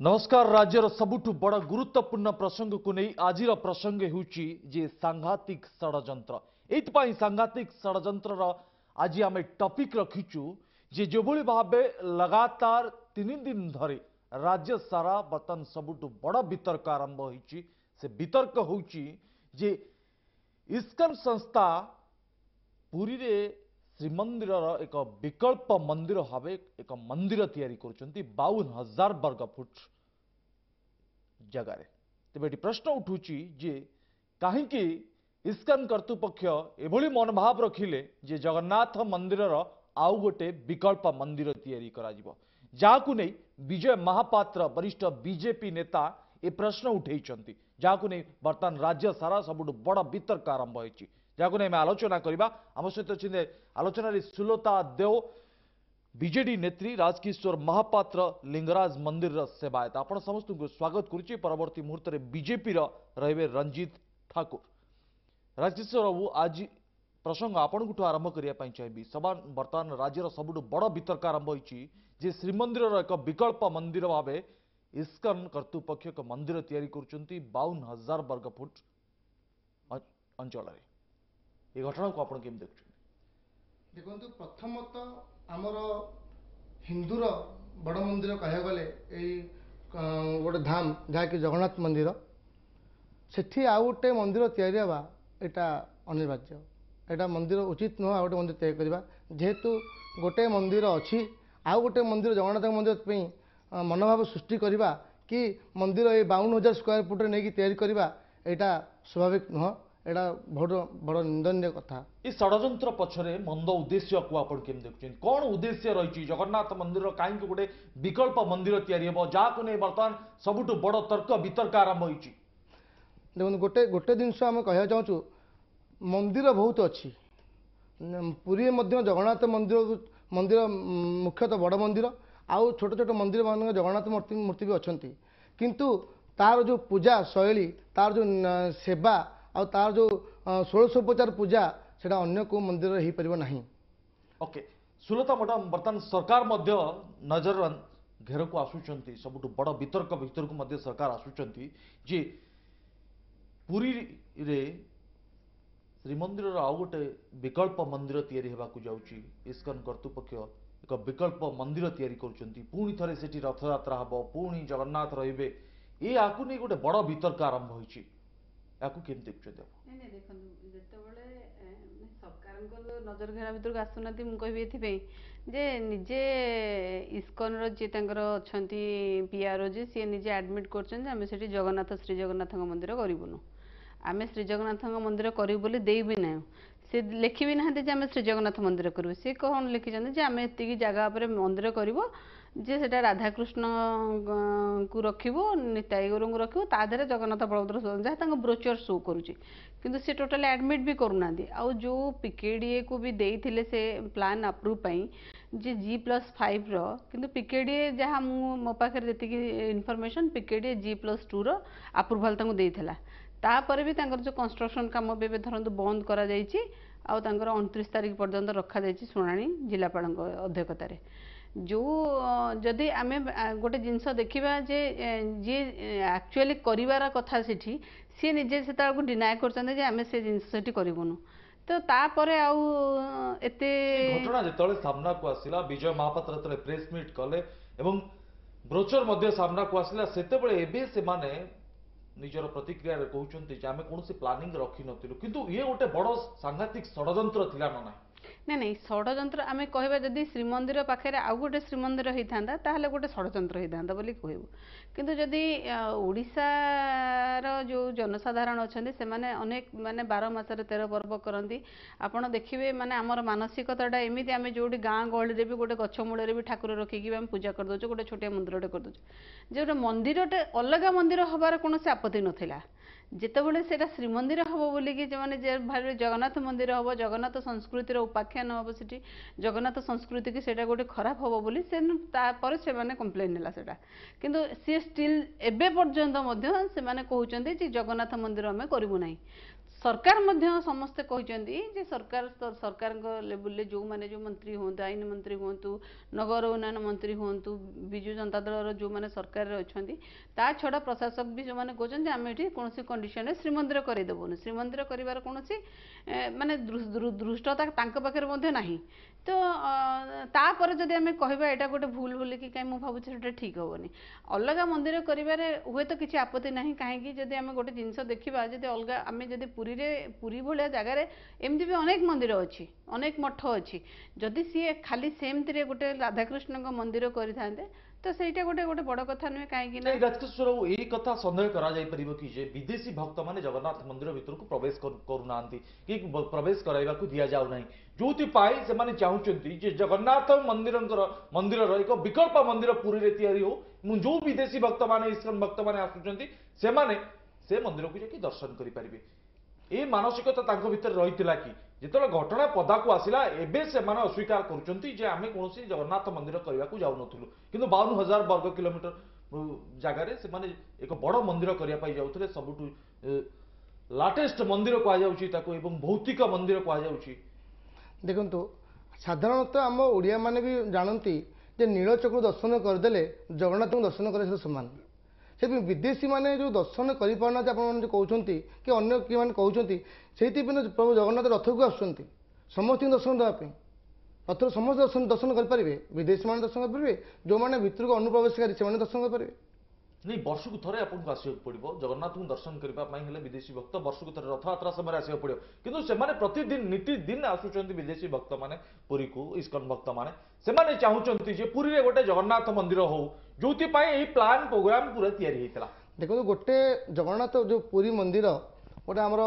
ନମସ୍କାର। ରାଜ୍ୟର ସବୁଠୁ ବଡ଼ ଗୁରୁତ୍ୱପୂର୍ଣ୍ଣ ପ୍ରସଙ୍ଗକୁ ନେଇ ଆଜିର ପ୍ରସଙ୍ଗ ହେଉଛି ଯେ ସାଂଘାତିକ ଷଡ଼ଯନ୍ତ୍ର। ଏଇଥିପାଇଁ ସାଂଘାତିକ ଷଡ଼ଯନ୍ତ୍ରର ଆଜି ଆମେ ଟପିକ୍ ରଖିଛୁ ଯେ ଯେଭଳି ଭାବେ ଲଗାତାର 3 ଦିନ ଧରି ରାଜ୍ୟ ସାରା ବର୍ତ୍ତମାନ ସବୁଠୁ ବଡ଼ ବିତର୍କ ଆରମ୍ଭ ହୋଇଛି। ସେ ବିତର୍କ ହେଉଛି ଯେ ଇସ୍କନ ସଂସ୍ଥା ପୁରୀରେ ଶ୍ରୀମନ୍ଦିରର ଏକ ବିକଳ୍ପ ମନ୍ଦିର ଭାବେ ଏକ ମନ୍ଦିର ତିଆରି କରୁଛନ୍ତି 52,000 ବର୍ଗ ଫୁଟ ଜାଗାରେ। ତେବେ ଏଠି ପ୍ରଶ୍ନ ଉଠୁଛି ଯେ କାହିଁକି ଇସ୍କନ କର୍ତ୍ତୃପକ୍ଷ ଏଭଳି ମନୋଭାବ ରଖିଲେ ଯେ ଜଗନ୍ନାଥ ମନ୍ଦିରର ଆଉ ଗୋଟେ ବିକଳ୍ପ ମନ୍ଦିର ତିଆରି କରାଯିବ, ଯାହାକୁ ନେଇ ବିଜୟ ମହାପାତ୍ର, ବରିଷ୍ଠ ବିଜେପି ନେତା, ଏ ପ୍ରଶ୍ନ ଉଠେଇଛନ୍ତି, ଯାହାକୁ ନେଇ ବର୍ତ୍ତମାନ ରାଜ୍ୟ ସାରା ସବୁଠୁ ବଡ଼ ବିତର୍କ ଆରମ୍ଭ ହୋଇଛି, ଯାହାକୁ ନେଇ ଆମେ ଆଲୋଚନା କରିବା। ଆମ ସହିତ ଅଛନ୍ତି ଆଲୋଚନାରେ ସୁଲତା ଦେଓ, ବିଜେଡି ନେତ୍ରୀ, ରାଜକିଶୋର ମହାପାତ୍ର, ଲିଙ୍ଗରାଜ ମନ୍ଦିରର ସେବାୟତ। ଆପଣ ସମସ୍ତଙ୍କୁ ସ୍ୱାଗତ କରୁଛି। ପରବର୍ତ୍ତୀ ମୁହୂର୍ତ୍ତରେ ବିଜେପିର ରହିବେ ରଞ୍ଜିତ ଠାକୁର। ରାଜକିଶୋର ବାବୁ, ଆଜି ପ୍ରସଙ୍ଗ ଆପଣଙ୍କଠୁ ଆରମ୍ଭ କରିବା ପାଇଁ ଚାହିଁବି। ସବା ବର୍ତ୍ତମାନ ରାଜ୍ୟର ସବୁଠୁ ବଡ଼ ବିତର୍କ ଆରମ୍ଭ ହୋଇଛି ଯେ ଶ୍ରୀମନ୍ଦିରର ଏକ ବିକଳ୍ପ ମନ୍ଦିର ଭାବେ ଇସ୍କନ କର୍ତ୍ତୃପକ୍ଷ ଏକ ମନ୍ଦିର ତିଆରି କରୁଛନ୍ତି 52,000 ବର୍ଗ ଫୁଟ ଅଞ୍ଚଳରେ। ଏ ଘଟଣାକୁ ଆପଣ କେମିତି ଦେଖୁଛନ୍ତି? ଦେଖନ୍ତୁ, ପ୍ରଥମତଃ ଆମର ହିନ୍ଦୁର ବଡ଼ ମନ୍ଦିର କହିବାକୁ ଗଲେ ଏଇ ଗୋଟେ ଧାମ, ଯାହାକି ଜଗନ୍ନାଥ ମନ୍ଦିର, ସେଠି ଆଉ ଗୋଟେ ମନ୍ଦିର ତିଆରି ହେବା ଏଇଟା ଅନିବାର୍ଯ୍ୟ। ଏଇଟା ମନ୍ଦିର ଉଚିତ ନୁହଁ ଆଉ ଗୋଟେ ମନ୍ଦିର ତିଆରି କରିବା। ଯେହେତୁ ଗୋଟେ ମନ୍ଦିର ଅଛି, ଆଉ ଗୋଟେ ମନ୍ଦିର ଜଗନ୍ନାଥ ମନ୍ଦିର ପାଇଁ ମନୋଭାବ ସୃଷ୍ଟି କରିବା କି ମନ୍ଦିର ଏଇ 52,000 ସ୍କୋୟାର ଫୁଟରେ ନେଇକି ତିଆରି କରିବା, ଏଇଟା ସ୍ୱାଭାବିକ ନୁହଁ। ଏଇଟା ବହୁତ ବଡ଼ ନିନ୍ଦନୀୟ କଥା। ଏ ଷଡ଼ଯନ୍ତ୍ର ପଛରେ ମନ୍ଦ ଉଦ୍ଦେଶ୍ୟକୁ ଆପଣ କେମିତି ଦେଖୁଛନ୍ତି? କ'ଣ ଉଦ୍ଦେଶ୍ୟ ରହିଛି? ଜଗନ୍ନାଥ ମନ୍ଦିର କାହିଁକି ଗୋଟେ ବିକଳ୍ପ ମନ୍ଦିର ତିଆରି ହେବ, ଯାହାକୁ ନେଇ ବର୍ତ୍ତମାନ ସବୁଠୁ ବଡ଼ ତର୍କ ବିତର୍କ ଆରମ୍ଭ ହୋଇଛି? ଦେଖନ୍ତୁ, ଗୋଟେ ଗୋଟେ ଜିନିଷ ଆମେ କହିବାକୁ ଚାହୁଁଛୁ, ମନ୍ଦିର ବହୁତ ଅଛି। ପୁରୀରେ ମଧ୍ୟ ଜଗନ୍ନାଥ ମନ୍ଦିର ମୁଖ୍ୟତଃ ବଡ଼ ମନ୍ଦିର, ଆଉ ଛୋଟ ଛୋଟ ମନ୍ଦିର ମାନଙ୍କ ଜଗନ୍ନାଥ ମୂର୍ତ୍ତି ବି ଅଛନ୍ତି। କିନ୍ତୁ ତାର ଯେଉଁ ପୂଜା ଶୈଳୀ, ତାର ଯେଉଁ ସେବା ଆଉ ତାର ଯେଉଁ ଷୋଡ଼ଶୋପଚାର ପୂଜା, ସେଇଟା ଅନ୍ୟ କେଉଁ ମନ୍ଦିରରେ ହେଇପାରିବ ନାହିଁ। ଓକେ ସୁଲତା ମ୍ୟାଡ଼ାମ, ବର୍ତ୍ତମାନ ସରକାର ମଧ୍ୟ ନଜର ଘେରକୁ ଆସୁଛନ୍ତି, ସବୁଠୁ ବଡ଼ ବିତର୍କ ଭିତରକୁ ମଧ୍ୟ ସରକାର ଆସୁଛନ୍ତି ଯେ ପୁରୀରେ ଶ୍ରୀମନ୍ଦିରର ଆଉ ଗୋଟେ ବିକଳ୍ପ ମନ୍ଦିର ତିଆରି ହେବାକୁ ଯାଉଛି। ଇସ୍କନ କର୍ତ୍ତୃପକ୍ଷ ଏକ ବିକଳ୍ପ ମନ୍ଦିର ତିଆରି କରୁଛନ୍ତି, ପୁଣି ଥରେ ସେଠି ରଥଯାତ୍ରା ହେବ, ପୁଣି ଜଗନ୍ନାଥ ରହିବେ। ଏହାକୁ ନେଇ ଗୋଟେ ବଡ଼ ବିତର୍କ ଆରମ୍ଭ ହୋଇଛି। ଏହାକୁ କେମିତି ଦେଖୁଛନ୍ତି ଆପଣ? ନାଇଁ ନାଇଁ, ଦେଖନ୍ତୁ, ଯେତେବେଳେ ସରକାରଙ୍କର ନଜର ଘେରା ଭିତରକୁ ଆସୁନାହାନ୍ତି, ମୁଁ କହିବି ଏଥିପାଇଁ ଯେ ନିଜେ ଇସ୍କନର ଯିଏ ତାଙ୍କର ଅଛନ୍ତି ପିଆରଓ ଯିଏ, ସିଏ ନିଜେ ଆଡ଼ମିଟ୍ କରୁଛନ୍ତି ଯେ ଆମେ ସେଠି ଶ୍ରୀ ଜଗନ୍ନାଥଙ୍କ ମନ୍ଦିର କରିବୁନୁ, ଆମେ ଶ୍ରୀ ଜଗନ୍ନାଥଙ୍କ ମନ୍ଦିର କରିବୁ ବୋଲି ଦେଇ ବି ନାହିଁ। ସେ ଲେଖି ବି ନାହାନ୍ତି ଯେ ଆମେ ଶ୍ରୀ ଜଗନ୍ନାଥ ମନ୍ଦିର କରିବୁ। ସେ କ'ଣ ଲେଖିଛନ୍ତି ଯେ ଆମେ ଏତିକି ଜାଗା ଉପରେ ମନ୍ଦିର କରିବୁ, ଯେ ସେଟା ରାଧାକୃଷ୍ଣଙ୍କୁ ରଖିବୁ, ନିତାଇ ଗୌରଙ୍କୁ ରଖିବୁ, ତା ଦେହରେ ଜଗନ୍ନାଥ, ବଳଭଦ୍ର, ସୁଭଦ୍ରା, ଯାହା ତାଙ୍କ ବ୍ରୋଚର ଶୋ କରୁଛି। କିନ୍ତୁ ସେ ଟୋଟାଲି ଆଡ଼ମିଟ୍ ବି କରୁନାହାନ୍ତି। ଆଉ ଯେଉଁ ପିକେଡ଼ିଏକୁ ବି ଦେଇଥିଲେ ସେ ପ୍ଲାନ୍ ଆପ୍ରୁଭ୍ ପାଇଁ ଯେ ଜି+5ର, କିନ୍ତୁ ପିକେଡ଼ିଏ ଯାହା ମୁଁ ମୋ ପାଖରେ ଯେତିକି ଇନଫର୍ମେସନ୍, ପିକେଡ଼ିଏ ଜି+2ର ଆପ୍ରୁଭାଲ୍ ତାଙ୍କୁ ଦେଇଥିଲା। ତାପରେ ବି ତାଙ୍କର ଯେଉଁ କନଷ୍ଟ୍ରକ୍ସନ୍ କାମ ବି ଏବେ ଧରନ୍ତୁ ବନ୍ଦ କରାଯାଇଛି, ଆଉ ତାଙ୍କର 29 ତାରିଖ ପର୍ଯ୍ୟନ୍ତ ରଖାଯାଇଛି ଶୁଣାଣି ଜିଲ୍ଲାପାଳଙ୍କ ଅଧ୍ୟକ୍ଷତାରେ। ଯେଉଁ ଯଦି ଆମେ ଗୋଟେ ଜିନିଷ ଦେଖିବା ଯେ ଯିଏ ଆକ୍ଚୁଆଲି କରିବାର କଥା ସେଠି, ସିଏ ନିଜେ ସେତେବେଳକୁ ଡିନାଏ କରୁଛନ୍ତି ଯେ ଆମେ ସେ ଜିନିଷ ସେଠି କରିବୁନୁ, ତ ତାପରେ ଆଉ ଏତେ ଘଟଣା ଯେତେବେଳେ ସାମ୍ନାକୁ ଆସିଲା, ବିଜୟ ମହାପାତ୍ର ଯେତେବେଳେ ପ୍ରେସ୍ ମିଟ୍ କଲେ ଏବଂ ବ୍ରୋଚର ମଧ୍ୟ ସାମ୍ନାକୁ ଆସିଲା, ସେତେବେଳେ ଏବେ ସେମାନେ ନିଜର ପ୍ରତିକ୍ରିୟାରେ କହୁଛନ୍ତି ଯେ ଆମେ କୌଣସି ପ୍ଲାନିଂ ରଖିନଥିଲୁ। କିନ୍ତୁ ଇଏ ଗୋଟେ ବଡ଼ ସାଂଘାତିକ ଷଡ଼ଯନ୍ତ୍ର ଥିଲା ନା ନାହିଁ? ନାଇଁ ନାଇଁ, ଷଡ଼ଯନ୍ତ୍ର ଆମେ କହିବା ଯଦି ଶ୍ରୀମନ୍ଦିର ପାଖରେ ଆଉ ଗୋଟେ ଶ୍ରୀମନ୍ଦିର ହେଇଥାନ୍ତା, ତାହେଲେ ଗୋଟେ ଷଡ଼ଯନ୍ତ୍ର ହେଇଥାନ୍ତା ବୋଲି କହିବୁ। କିନ୍ତୁ ଯଦି ଓଡ଼ିଶାର ଯେଉଁ ଜନସାଧାରଣ ଅଛନ୍ତି, ସେମାନେ ଅନେକ ମାନେ 12 ମାସରେ 13 ପର୍ବ କରନ୍ତି। ଆପଣ ଦେଖିବେ, ମାନେ ଆମର ମାନସିକତାଟା ଏମିତି, ଆମେ ଯେଉଁଠି ଗାଁ ଗହଳିରେ ବି ଗୋଟେ ଗଛ ମୂଳରେ ବି ଠାକୁର ରଖିକି ବି ଆମେ ପୂଜା କରିଦେଉଛୁ, ଗୋଟେ ଛୋଟିଆ ମନ୍ଦିରଟେ କରିଦେଉଛୁ। ଯେ ଗୋଟେ ମନ୍ଦିରଟେ ଅଲଗା ମନ୍ଦିର ହେବାର କୌଣସି ଆପତ୍ତି ନଥିଲା। ଯେତେବେଳେ ସେଇଟା ଶ୍ରୀମନ୍ଦିର ହେବ ବୋଲିକି ଯେଉଁମାନେ ଯେ ଭାବିବେ ଜଗନ୍ନାଥ ମନ୍ଦିର ହେବ, ଜଗନ୍ନାଥ ସଂସ୍କୃତିର ଉପାଖ୍ୟାନ ହେବ ସେଠି, ଜଗନ୍ନାଥ ସଂସ୍କୃତିକି ସେଇଟା ଗୋଟେ ଖରାପ ହେବ ବୋଲି ସେ ତାପରେ ସେମାନେ କମ୍ପ୍ଲେନ୍ ହେଲା ସେଇଟା। କିନ୍ତୁ ସିଏ ଷ୍ଟିଲ୍ ଏବେ ପର୍ଯ୍ୟନ୍ତ ମଧ୍ୟ ସେମାନେ କହୁଛନ୍ତି ଯେ ଜଗନ୍ନାଥ ମନ୍ଦିର ଆମେ କରିବୁ ନାହିଁ। ସରକାର ମଧ୍ୟ ସମସ୍ତେ କହିଛନ୍ତି ଯେ ସରକାର, ସରକାରଙ୍କ ଲେବୁଲରେ ଯେଉଁମାନେ ଯେଉଁ ମନ୍ତ୍ରୀ ହୁଅନ୍ତୁ, ଆଇନ ମନ୍ତ୍ରୀ ହୁଅନ୍ତୁ, ନଗର ଉନ୍ନୟନ ମନ୍ତ୍ରୀ ହୁଅନ୍ତୁ, ବିଜୁ ଜନତା ଦଳର ଯେଉଁମାନେ ସରକାରରେ ଅଛନ୍ତି, ତା ଛଡ଼ା ପ୍ରଶାସକ ବି ଯେଉଁମାନେ କହୁଛନ୍ତି ଆମେ ଏଠି କୌଣସି କଣ୍ଡିସନରେ ଶ୍ରୀମନ୍ଦିର କରିଦେବୁନି। ଶ୍ରୀମନ୍ଦିର କରିବାର କୌଣସି ମାନେ ଧୃଷ୍ଟତା ତାଙ୍କ ପାଖରେ ମଧ୍ୟ ନାହିଁ। ତ ତାପରେ ଯଦି ଆମେ କହିବା ଏଇଟା ଗୋଟେ ଭୁଲ ବୋଲିକି, କାହିଁ ମୁଁ ଭାବୁଛି ସେଟା ଠିକ୍ ହେବନି। ଅଲଗା ମନ୍ଦିର କରିବାରେ ହୁଏତ କିଛି ଆପତ୍ତି ନାହିଁ। କାହିଁକି, ଯଦି ଆମେ ଗୋଟେ ଜିନିଷ ଦେଖିବା, ଯଦି ଅଲଗା ଆମେ ଯଦି ପୁରୀରେ, ପୁରୀ ଭଳିଆ ଜାଗାରେ ଏମିତି ବି ଅନେକ ମନ୍ଦିର ଅଛି, ଅନେକ ମଠ ଅଛି, ଯଦି ସିଏ ଖାଲି ସେମିତିରେ ଗୋଟେ ରାଧାକୃଷ୍ଣଙ୍କ ମନ୍ଦିର କରିଥାନ୍ତେ ତ ସେଇଟା ଗୋଟେ ବଡ଼ କଥା ନୁହେଁ। କାହିଁକି ନା ରାଜକିଶୋର, ଏଇ କଥା ସନ୍ଦେହ କରାଯାଇପାରିବ କି ଯେ ବିଦେଶୀ ଭକ୍ତମାନେ ଜଗନ୍ନାଥ ମନ୍ଦିର ଭିତରକୁ ପ୍ରବେଶ କରୁନାହାନ୍ତି କି ପ୍ରବେଶ କରାଇବାକୁ ଦିଆଯାଉ ନାହିଁ, ଯୋଉଥିପାଇଁ ସେମାନେ ଚାହୁଁଛନ୍ତି ଯେ ଜଗନ୍ନାଥ ମନ୍ଦିରର ଏକ ବିକଳ୍ପ ମନ୍ଦିର ପୁରୀରେ ତିଆରି ହଉ ଏବଂ ଯୋଉ ବିଦେଶୀ ଭକ୍ତମାନେ, ଇସ୍କନ ଭକ୍ତମାନେ ଆସୁଛନ୍ତି, ସେମାନେ ସେ ମନ୍ଦିରକୁ ଯାଇକି ଦର୍ଶନ କରିପାରିବେ? ଏ ମାନସିକତା ତାଙ୍କ ଭିତରେ ରହିଥିଲା କି ଯେତେବେଳେ ଘଟଣା ପଦାକୁ ଆସିଲା? ଏବେ ସେମାନେ ଅସ୍ୱୀକାର କରୁଛନ୍ତି ଯେ ଆମେ କୌଣସି ଜଗନ୍ନାଥ ମନ୍ଦିର କରିବାକୁ ଯାଉନଥିଲୁ, କିନ୍ତୁ 52,000 ବର୍ଗ କିଲୋମିଟର ଜାଗାରେ ସେମାନେ ଏକ ବଡ଼ ମନ୍ଦିର କରିବା ପାଇଁ ଯାଉଥିଲେ। ସବୁଠୁ ଲାଟେଷ୍ଟ ମନ୍ଦିର କୁହାଯାଉଛି ତାକୁ ଏବଂ ଭୌତିକ ମନ୍ଦିର କୁହାଯାଉଛି। ଦେଖନ୍ତୁ, ସାଧାରଣତଃ ଆମ ଓଡ଼ିଆମାନେ ବି ଜାଣନ୍ତି ଯେ ନୀଳଚକ୍ର ଦର୍ଶନ କରିଦେଲେ ଜଗନ୍ନାଥଙ୍କୁ ଦର୍ଶନ କରିବା ସହିତ ସମାନ। ସେଥିପାଇଁ ବିଦେଶୀମାନେ ଯେଉଁ ଦର୍ଶନ କରିପାରୁନାହାନ୍ତି, ଆପଣମାନେ ଯେଉଁ କହୁଛନ୍ତି କି ଅନ୍ୟ କିଏମାନେ କହୁଛନ୍ତି, ସେଇଥିପାଇଁ ପ୍ରଭୁ ଜଗନ୍ନାଥ ରଥକୁ ଆସୁଛନ୍ତି ସମସ୍ତଙ୍କୁ ଦର୍ଶନ ଦେବା ପାଇଁ। ରଥରେ ସମସ୍ତେ ଦର୍ଶନ କରିପାରିବେ, ବିଦେଶୀମାନେ ଦର୍ଶନ କରିପାରିବେ, ଯେଉଁମାନେ ଭିତରକୁ ଅନୁପ୍ରବେଶକାରୀ ସେମାନେ ଦର୍ଶନ କରିପାରିବେ। ନାଇଁ, ବର୍ଷକୁ ଥରେ ଆପଣଙ୍କୁ ଆସିବାକୁ ପଡ଼ିବ ଜଗନ୍ନାଥଙ୍କୁ ଦର୍ଶନ କରିବା ପାଇଁ ହେଲେ। ବିଦେଶୀ ଭକ୍ତ ବର୍ଷକୁ ଥରେ ରଥଯାତ୍ରା ସମୟରେ ଆସିବାକୁ ପଡ଼ିବ, କିନ୍ତୁ ସେମାନେ ପ୍ରତିଦିନ ନୀତିଦିନ ଆସୁଛନ୍ତି ବିଦେଶୀ ଭକ୍ତମାନେ ପୁରୀକୁ, ଇସ୍କନ ଭକ୍ତମାନେ। ସେମାନେ ଚାହୁଁଛନ୍ତି ଯେ ପୁରୀରେ ଗୋଟେ ଜଗନ୍ନାଥ ମନ୍ଦିର ହଉ, ଯୋଉଥିପାଇଁ ଏଇ ପ୍ଲାନ୍ ପ୍ରୋଗ୍ରାମ ପୁରା ତିଆରି ହେଇଥିଲା। ଦେଖନ୍ତୁ, ଗୋଟେ ଜଗନ୍ନାଥ ଯେଉଁ ପୁରୀ ମନ୍ଦିର ଗୋଟେ ଆମର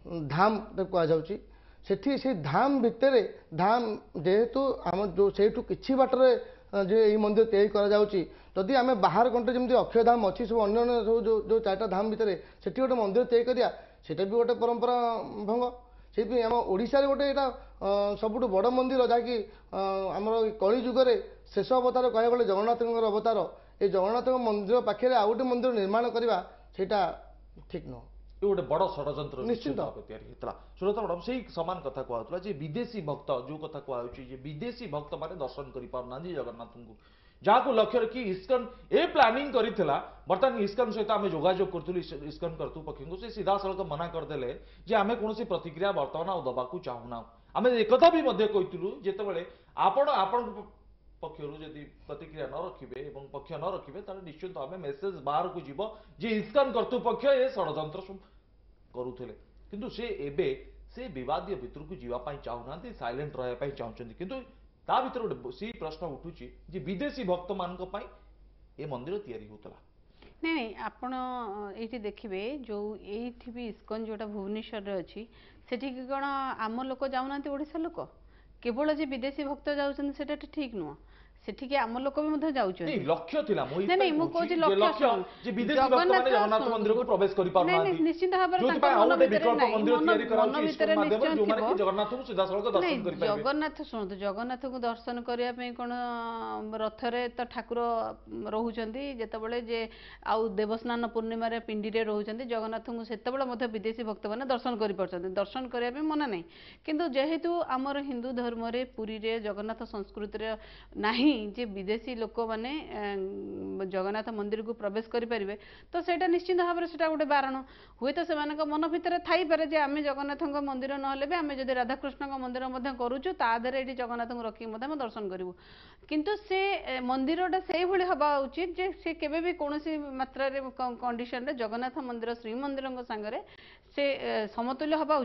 ଧାମ ତାକୁ କୁହାଯାଉଛି, ସେଠି ସେଇ ଧାମ ଭିତରେ, ଧାମ ଯେହେତୁ ଆମ ଯେଉଁ ସେଇଠୁ କିଛି ବାଟରେ ଯେ ଏଇ ମନ୍ଦିର ତିଆରି କରାଯାଉଛି, ଯଦି ଆମେ ବାହାର କଣ୍ଟ୍ରି ଯେମିତି ଅକ୍ଷୟଧାମ ଅଛି, ସବୁ ଅନ୍ୟ ଅନ୍ୟ ସବୁ ଯେଉଁ 4ଟା ଧାମ ଭିତରେ ସେଠି ଗୋଟେ ମନ୍ଦିର ତିଆରି କରିବା, ସେଇଟା ବି ଗୋଟେ ପରମ୍ପରା ଭଙ୍ଗ। ସେଇଥିପାଇଁ ଆମ ଓଡ଼ିଶାରେ ଗୋଟେ ଏଇଟା ସବୁଠୁ ବଡ଼ ମନ୍ଦିର, ଯାହାକି ଆମର କଳି ଯୁଗରେ ଶେଷ ଅବତାର କହିବାକୁ ଗଲେ ଜଗନ୍ନାଥଙ୍କର ଅବତାର, ଏ ଜଗନ୍ନାଥଙ୍କ ମନ୍ଦିର ପାଖରେ ଆଉ ଗୋଟେ ମନ୍ଦିର ନିର୍ମାଣ କରିବା ସେଇଟା ଠିକ୍ ନୁହଁ। ଏ ଗୋଟେ ବଡ଼ ଷଡ଼ଯନ୍ତ୍ର ନିଶ୍ଚିନ୍ତ ଭାବେ ତିଆରି ହେଇଥିଲା। ସୁରତ ମ୍ୟାଡ଼ାମ, ସେଇ ସମାନ କଥା କୁହାଯାଉଥିଲା ଯେ ବିଦେଶୀ ଭକ୍ତ, ଯୋଉ କଥା କୁହାଯାଉଛି ଯେ ବିଦେଶୀ ଭକ୍ତମାନେ ଦର୍ଶନ କରିପାରୁନାହାନ୍ତି ଜଗନ୍ନାଥଙ୍କୁ, ଯାହାକୁ ଲକ୍ଷ୍ୟ ରଖି ଇସ୍କନ ଏ ପ୍ଲାନିଂ କରିଥିଲା। ବର୍ତ୍ତମାନ ଇସ୍କନ ସହିତ ଆମେ ଯୋଗାଯୋଗ କରୁଥିଲୁ, ଇସ୍କନ କର୍ତ୍ତୃପକ୍ଷଙ୍କୁ, ସେ ସିଧାସଳଖ ମନା କରିଦେଲେ ଯେ ଆମେ କୌଣସି ପ୍ରତିକ୍ରିୟା ବର୍ତ୍ତମାନ ଆଉ ଦେବାକୁ ଚାହୁଁନାହୁଁ। ଆମେ ଏକଥା ବି ମଧ୍ୟ କହିଥିଲୁ, ଯେତେବେଳେ ଆପଣ ଆପଣଙ୍କ ପକ୍ଷରୁ ଯଦି ପ୍ରତିକ୍ରିୟା ନ ରଖିବେ ଏବଂ ପକ୍ଷ ନ ରଖିବେ, ତାହେଲେ ନିଶ୍ଚିନ୍ତ ଆମେ ମେସେଜ ବାହାରକୁ ଯିବ ଯେ ଇସ୍କନ କର୍ତ୍ତୃପକ୍ଷ ଏ ଷଡ଼ଯନ୍ତ୍ର ସବୁ କରୁଥିଲେ। କିନ୍ତୁ ସେ ଏବେ ସେ ବିବାଦୀୟ ଭିତରକୁ ଯିବା ପାଇଁ ଚାହୁଁନାହାନ୍ତି, ସାଇଲେଣ୍ଟ ରହିବା ପାଇଁ ଚାହୁଁଛନ୍ତି। କିନ୍ତୁ ତା ଭିତରେ ଗୋଟେ ସେଇ ପ୍ରଶ୍ନ ଉଠୁଛି ଯେ ବିଦେଶୀ ଭକ୍ତମାନଙ୍କ ପାଇଁ ଏ ମନ୍ଦିର ତିଆରି ହେଉଥିଲା। ନାଇଁ ନାଇଁ, ଆପଣ ଏଇଠି ଦେଖିବେ, ଯେଉଁ ଏଇଠି ବି ଇସ୍କନ ଯେଉଁଟା ଭୁବନେଶ୍ୱରରେ ଅଛି, ସେଠିକି କ'ଣ ଆମ ଲୋକ ଯାଉନାହାନ୍ତି? ଓଡ଼ିଶା ଲୋକ କେବଳ ଯେ ବିଦେଶୀ ଭକ୍ତ ଯାଉଛନ୍ତି ସେଇଟା ଠିକ୍ ନୁହଁ। ସେଠିକି ଆମ ଲୋକ ବି ମଧ୍ୟ ଯାଉଛନ୍ତି। ଲକ୍ଷ୍ୟ ଥିଲା। ନାଇଁ ନାଇଁ, ମୁଁ କହୁଛି ଲକ୍ଷ୍ୟ, ଜଗନ୍ନାଥ ଜଗନ୍ନାଥ ମନ୍ଦିରକୁ ପ୍ରବେଶ କରିପାରୁନାହାନ୍ତି। ନିଶ୍ଚିନ୍ତ ଭାବରେ ତାଙ୍କ ମନ ଭିତରେ ନାଇଁ, ମନ ଭିତରେ ନିଶ୍ଚୟ ଥିବ। ଜଗନ୍ନାଥଙ୍କୁ ସିଧାସଳଖ ଦର୍ଶନ କରିପାରିବେ। ଜଗନ୍ନାଥ, ଶୁଣନ୍ତୁ, ଜଗନ୍ନାଥଙ୍କୁ ଦର୍ଶନ କରିବା ପାଇଁ କ'ଣ ରଥରେ ତ ଠାକୁର ରହୁଛନ୍ତି ଯେତେବେଳେ ଯେ, ଆଉ ଦେବସ୍ନାନ ପୂର୍ଣ୍ଣିମାରେ ପିଣ୍ଡିରେ ରହୁଛନ୍ତି ଜଗନ୍ନାଥଙ୍କୁ, ସେତେବେଳେ ମଧ୍ୟ ବିଦେଶୀ ଭକ୍ତମାନେ ଦର୍ଶନ କରିପାରୁଛନ୍ତି। ଦର୍ଶନ କରିବା ପାଇଁ ମନା ନାହିଁ। କିନ୍ତୁ ଯେହେତୁ ଆମର ହିନ୍ଦୁ ଧର୍ମରେ ପୁରୀରେ ଜଗନ୍ନାଥ ସଂସ୍କୃତିରେ ନାହିଁ ଯେ ବିଦେଶୀ ଲୋକମାନେ ଜଗନ୍ନାଥ ମନ୍ଦିରକୁ ପ୍ରବେଶ କରିପାରିବେ, ତ ସେଇଟା ନିଶ୍ଚିନ୍ତ ଭାବରେ ସେଇଟା ଗୋଟେ ବାରଣ। ହୁଏତ ସେମାନଙ୍କ ମନ ଭିତରେ ଥାଇପାରେ ଯେ ଆମେ ଜଗନ୍ନାଥଙ୍କ ମନ୍ଦିର ନହେଲେ ବି ଆମେ ଯଦି ରାଧାକୃଷ୍ଣଙ୍କ ମନ୍ଦିର ମଧ୍ୟ କରୁଛୁ, ତା ଦେହରେ ଏଇଠି ଜଗନ୍ନାଥଙ୍କୁ ରଖିକି ମଧ୍ୟ ଆମେ ଦର୍ଶନ କରିବୁ। କିନ୍ତୁ ସେ ମନ୍ଦିରଟା ସେଇଭଳି ହେବା ଉଚିତ ଯେ ସେ କେବେ ବି କୌଣସି ମାତ୍ରାରେ କଣ୍ଡିସନରେ ଜଗନ୍ନାଥ ମନ୍ଦିର, ଶ୍ରୀମନ୍ଦିରଙ୍କ ସାଙ୍ଗରେ ସେ ସମତୁଲ୍ୟ ହେବା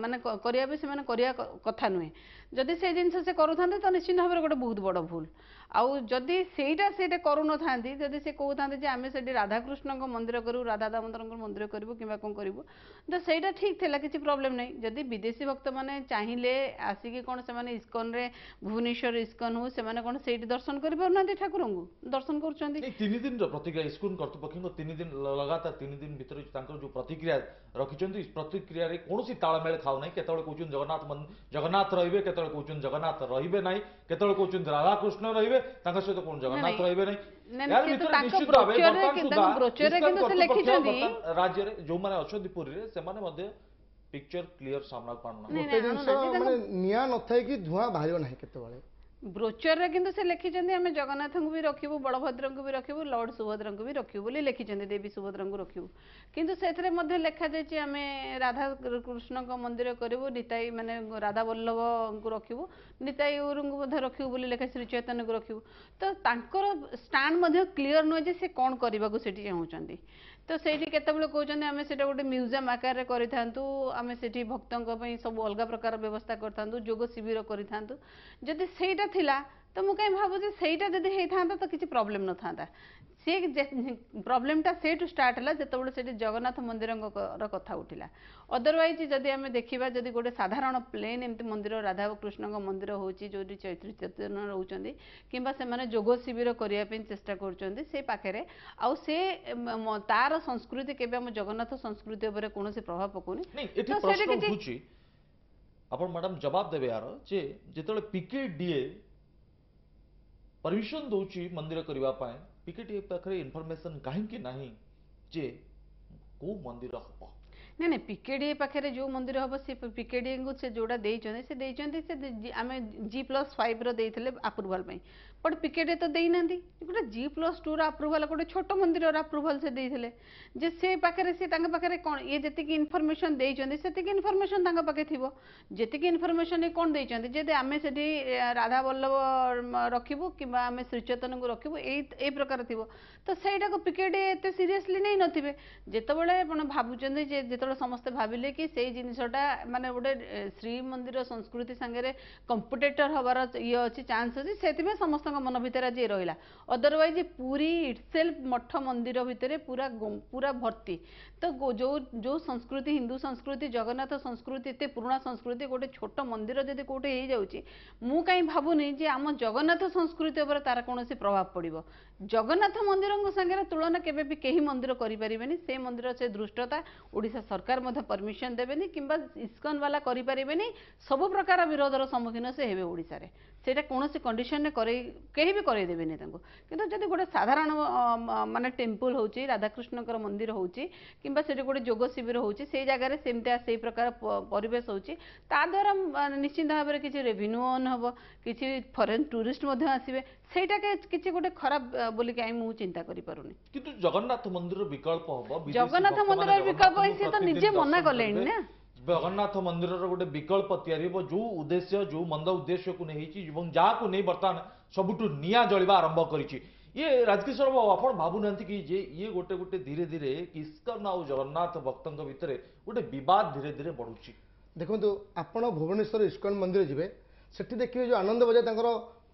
ମାନେ କରିବା ବି ସେମାନେ କରିବା କଥା ନୁହେଁ। ଯଦି ସେ ଜିନିଷ ସେ କରୁଥାନ୍ତେ ତ ନିଶ୍ଚିନ୍ତ ଭାବରେ ଗୋଟେ ବହୁତ ବଡ଼ ଭୁଲ। ଆଉ ଯଦି ସେଇଟା କରୁନଥାନ୍ତି, ଯଦି ସେ କହୁଥାନ୍ତେ ଯେ ଆମେ ସେଠି ରାଧାକୃଷ୍ଣଙ୍କ ମନ୍ଦିର କରିବୁ, ରାଧା ଦାମୋଦରଙ୍କ ମନ୍ଦିର କରିବୁ କିମ୍ବା କ'ଣ କରିବୁ, ତ ସେଇଟା ଠିକ୍ ଥିଲା, କିଛି ପ୍ରୋବ୍ଲେମ୍ ନାହିଁ। ଯଦି ବିଦେଶୀ ଭକ୍ତମାନେ ଚାହିଁଲେ ଆସିକି କ'ଣ ସେମାନେ ଇସ୍କନରେ, ଭୁବନେଶ୍ୱର ଇସ୍କନ ହଉ, ସେମାନେ କ'ଣ ସେଇଠି ଦର୍ଶନ କରିପାରୁନାହାନ୍ତି? ଠାକୁରଙ୍କୁ ଦର୍ଶନ କରୁଛନ୍ତି। 3 ଦିନର ପ୍ରତିକ୍ରିୟା ଇସ୍କନ କର୍ତ୍ତୃପକ୍ଷଙ୍କ, 3 ଦିନ ଲଗାତାର 3 ଦିନ ଭିତରେ ତାଙ୍କର ଯୋଉ ପ୍ରତିକ୍ରିୟା ରଖିଛନ୍ତି, ପ୍ରତିକ୍ରିୟାରେ କୌଣସି ତାଳମେଳ ଖାଉନାହିଁ। କେତେବେଳେ କହୁଛନ୍ତି ଜଗନ୍ନାଥ ରହିବେ, କେତେବେଳେ କହୁଛନ୍ତି ଜଗନ୍ନାଥ ରହିବେ ନାହିଁ, କେତେବେଳେ କହୁଛନ୍ତି ରାଧାକୃଷ୍ଣ ରହିବେ, ତାଙ୍କ ସହିତ କଣ ଜଗନ୍ନାଥ ରହିବେ ନାହିଁ। ରାଜ୍ୟରେ ଯୋଉମାନେ ଅଛନ୍ତି ପୁରୀରେ, ସେମାନେ ମଧ୍ୟ ପିକ୍ଚର କ୍ଲିୟର ସାମ୍ନାକୁ ଆଣୁନାହାନ୍ତି। ଗୋଟେ ଜିନିଷ ମାନେ ନିଆଁ ନଥାଏ କି ଧୂଆଁ ବାହାରିବ ନାହିଁ କେତେବେଳେ। ବ୍ରୋଚରରେ କିନ୍ତୁ ସେ ଲେଖିଛନ୍ତି ଆମେ ଜଗନ୍ନାଥଙ୍କୁ ବି ରଖିବୁ, ବଳଭଦ୍ରଙ୍କୁ ବି ରଖିବୁ, ଲର୍ଡ ସୁଭଦ୍ରାଙ୍କୁ ବି ରଖିବୁ ବୋଲି ଲେଖିଛନ୍ତି, ଦେବୀ ସୁଭଦ୍ରାଙ୍କୁ ରଖିବୁ। କିନ୍ତୁ ସେଥିରେ ମଧ୍ୟ ଲେଖାଯାଇଛି ଆମେ ରାଧା କୃଷ୍ଣଙ୍କ ମନ୍ଦିର କରିବୁ, ନିତାଇ ମାନେ ରାଧା ବଲ୍ଲଭଙ୍କୁ ରଖିବୁ, ନିତାଇ ଗୌରଙ୍କୁ ମଧ୍ୟ ରଖିବୁ ବୋଲି ଲେଖା, ଶ୍ରୀ ଚୈତନ୍ୟଙ୍କୁ ରଖିବୁ। ତ ତାଙ୍କର ଷ୍ଟାଣ୍ଡ ମଧ୍ୟ କ୍ଲିଅର ନୁହେଁ ଯେ ସେ କ'ଣ କରିବାକୁ ସେଠି ଚାହୁଁଛନ୍ତି। ତ ସେଇଠି କେତେବେଳେ କହୁଛନ୍ତି ଆମେ ସେଇଟା ଗୋଟେ ମ୍ୟୁଜିୟମ୍ ଆକାରରେ କରିଥାନ୍ତୁ, ଆମେ ସେଠି ଭକ୍ତଙ୍କ ପାଇଁ ସବୁ ଅଲଗା ପ୍ରକାର ବ୍ୟବସ୍ଥା କରିଥାନ୍ତୁ, ଯୋଗ ଶିବିର କରିଥାନ୍ତୁ। ଯଦି ସେଇଟା ଥିଲା ତ ମୁଁ କାହିଁ ଭାବୁଛି ସେଇଟା ଯଦି ହେଇଥାନ୍ତା ତ କିଛି ପ୍ରୋବ୍ଲେମ୍ ନଥାନ୍ତା। ସେ ପ୍ରୋବ୍ଲେମଟା ସେଇଠୁ ଷ୍ଟାର୍ଟ ହେଲା ଯେତେବେଳେ ସେଠି ଜଗନ୍ନାଥ ମନ୍ଦିରଙ୍କର କଥା ଉଠିଲା। ଅଦରୱାଇଜ୍ ଯଦି ଆମେ ଦେଖିବା, ଯଦି ଗୋଟେ ସାଧାରଣ ପ୍ଲେନ୍ ଏମିତି ମନ୍ଦିର ରାଧା କୃଷ୍ଣଙ୍କ ମନ୍ଦିର ହେଉଛି ଯେଉଁଠି ଚୈତନ୍ୟ ରହୁଛନ୍ତି, କିମ୍ବା ସେମାନେ ଯୋଗ ଶିବିର କରିବା ପାଇଁ ଚେଷ୍ଟା କରୁଛନ୍ତି ସେ ପାଖରେ, ଆଉ ସେ ତାର ସଂସ୍କୃତି କେବେ ଆମ ଜଗନ୍ନାଥ ସଂସ୍କୃତି ଉପରେ କୌଣସି ପ୍ରଭାବ ପକାଉନି। ଏଠି ପ୍ରଶ୍ନ ଉଠୁଛି, ଆପଣ ମ୍ୟାଡ଼ାମ ଜବାବ ଦେବେ ୟାର, ଯେ ଯେତେବେଳେ ପିକେଡିଏ ପରମିଶନ ଦଉଛି ମନ୍ଦିର କରିବା ପାଇଁ, ପିକେଡିଏ ପାଖରେ ଇନଫର୍ମେସନ କାହିଁକି ନାହିଁ ଯେ କୋଉ ମନ୍ଦିର ହବ? ନାଇଁ ନାଇଁ, ପିକେଡିଏ ପାଖରେ ଯେଉଁ ମନ୍ଦିର ହବ ସେ ପିକେଡିଏଙ୍କୁ ସେ ଯେଉଁଟା ଦେଇଛନ୍ତି ସେ ଦେଇଛନ୍ତି, ସେ ଆମେ G+5ର ଦେଇଥିଲେ ଆପ୍ରୁଭାଲ ପାଇଁ, ବଟ୍ ପିକେଡିଏ ତ ଦେଇନାହାନ୍ତି। ଗୋଟେ G+2ର ଆପ୍ରୁଭାଲ, ଗୋଟେ ଛୋଟ ମନ୍ଦିରର ଆପ୍ରୁଭାଲ ସେ ଦେଇଥିଲେ, ଯେ ସେ ପାଖରେ ସେ ତାଙ୍କ ପାଖରେ କ'ଣ ଇଏ ଯେତିକି ଇନଫର୍ମେସନ ଦେଇଛନ୍ତି ସେତିକି ଇନଫର୍ମେସନ ତାଙ୍କ ପାଖେ ଥିବ। ଯେତିକି ଇନଫର୍ମେସନ କ'ଣ ଦେଇଛନ୍ତି, ଯଦି ଆମେ ସେଠି ରାଧା ବଲ୍ଲଭ ରଖିବୁ କିମ୍ବା ଆମେ ଶ୍ରୀଚୈତନ୍ୟଙ୍କୁ ରଖିବୁ, ଏଇ ପ୍ରକାର ଥିବ, ତ ସେଇଟାକୁ ପିକେଡିଏ ଏତେ ସିରିୟସଲି ନେଇନଥିବେ। ଯେତେବେଳେ ଆପଣ ଭାବୁଛନ୍ତି ଯେ ଯେତେବେଳେ ସମସ୍ତେ ଭାବିଲେ କି ସେଇ ଜିନିଷଟା ମାନେ ଗୋଟେ ଶ୍ରୀମନ୍ଦିର ସଂସ୍କୃତି ସାଙ୍ଗରେ କମ୍ପିଟେଟର ହବାର ଇଏ ଅଛି, ଚାନ୍ସ ଅଛି, ସେଥିପାଇଁ ସମସ୍ତଙ୍କ ମନ ଭିତରେ ଆଜି ରହିଲା। ଅଦରୱାଇଜ ପୁରୀ ଇଟସେଲ୍ଫ ମଠ ମନ୍ଦିର ଭିତରେ ପୁରା ପୁରା ଭର୍ତ୍ତି। ତ ଯୋଉ ଯୋଉ ସଂସ୍କୃତି, ହିନ୍ଦୁ ସଂସ୍କୃତି, ଜଗନ୍ନାଥ ସଂସ୍କୃତି, ଏତେ ପୁରୁଣା ସଂସ୍କୃତି, ଗୋଟେ ଛୋଟ ମନ୍ଦିର ଯଦି କୋଉଠି ହେଇଯାଉଛି, ମୁଁ କାହିଁ ଭାବୁନି ଯେ ଆମ ଜଗନ୍ନାଥ ସଂସ୍କୃତି ଉପରେ ତାର କୌଣସି ପ୍ରଭାବ ପଡ଼ିବ। ଜଗନ୍ନାଥ ମନ୍ଦିରଙ୍କ ସାଙ୍ଗରେ ତୁଳନା କେବେ ବି କେହି ମନ୍ଦିର କରିପାରିବେନି। ସେ ମନ୍ଦିର ସେ ଦୃଷ୍ଟତା ଓଡ଼ିଶା ସରକାର ମଧ୍ୟ ପରମିଶନ ଦେବେନି, କିମ୍ବା ଇସ୍କନ ବାଲା କରିପାରିବେନି। ସବୁ ପ୍ରକାର ବିରୋଧର ସମ୍ମୁଖୀନ ସେ ହେବେ ଓଡ଼ିଶାରେ, ସେଇଟା କୌଣସି କଣ୍ଡିସନରେ କରେଇ କେହି ବି କରେଇ ଦେବେନି ତାଙ୍କୁ। କିନ୍ତୁ ଯଦି ଗୋଟେ ସାଧାରଣ ମାନେ ଟେମ୍ପଲ ହେଉଛି, ରାଧାକୃଷ୍ଣଙ୍କର ମନ୍ଦିର ହେଉଛି, କିମ୍ବା ସେଠି ଗୋଟେ ଯୋଗ ଶିବିର ହେଉଛି, ସେଇ ଜାଗାରେ ସେମିତିଆ ସେଇ ପ୍ରକାର ପରିବେଶ ହେଉଛି, ତା ଦ୍ୱାରା ନିଶ୍ଚିନ୍ତ ଭାବରେ କିଛି ରେଭିନ୍ୟୁ ଅନ୍ ହେବ, କିଛି ଫରେନ୍ ଟୁରିଷ୍ଟ ମଧ୍ୟ ଆସିବେ, ସେଇଟା କିଛି ଗୋଟେ ଖରାପ ବୋଲି କାହିଁ ମୁଁ ଚିନ୍ତା କରିପାରୁନି। କିନ୍ତୁ ଜଗନ୍ନାଥ ମନ୍ଦିର ବିକଳ୍ପ ହବ, ଜଗନ୍ନାଥ ମନ୍ଦିରର ବିକଳ୍ପ ସିଏ ତ ନିଜେ ମନା କଲେଣି ନା। ଜଗନ୍ନାଥ ମନ୍ଦିରର ଗୋଟେ ବିକଳ୍ପ ତିଆରି ହେବ, ଯୋଉ ଉଦ୍ଦେଶ୍ୟ, ଯୋଉ ମନ୍ଦ ଉଦ୍ଦେଶ୍ୟକୁ ନେଇ ହେଇଛି ଏବଂ ଯାହାକୁ ନେଇ ବର୍ତ୍ତମାନ ସବୁଠୁ ନିଆଁ ଜଳିବା ଆରମ୍ଭ କରିଛି ଇଏ। ରାଜକିଶୋର ବାବୁ, ଆପଣ ଭାବୁନାହାନ୍ତି କି ଯେ ଇଏ ଗୋଟେ ଗୋଟେ ଧୀରେ ଧୀରେ ଇସ୍କନ ଆଉ ଜଗନ୍ନାଥ ଭକ୍ତଙ୍କ ଭିତରେ ଗୋଟେ ବିବାଦ ଧୀରେ ଧୀରେ ବଢୁଛି? ଦେଖନ୍ତୁ, ଆପଣ ଭୁବନେଶ୍ୱର ଇସ୍କନ ମନ୍ଦିର ଯିବେ, ସେଠି ଦେଖିବେ ଯେଉଁ ଆନନ୍ଦ ବଜାର, ତାଙ୍କର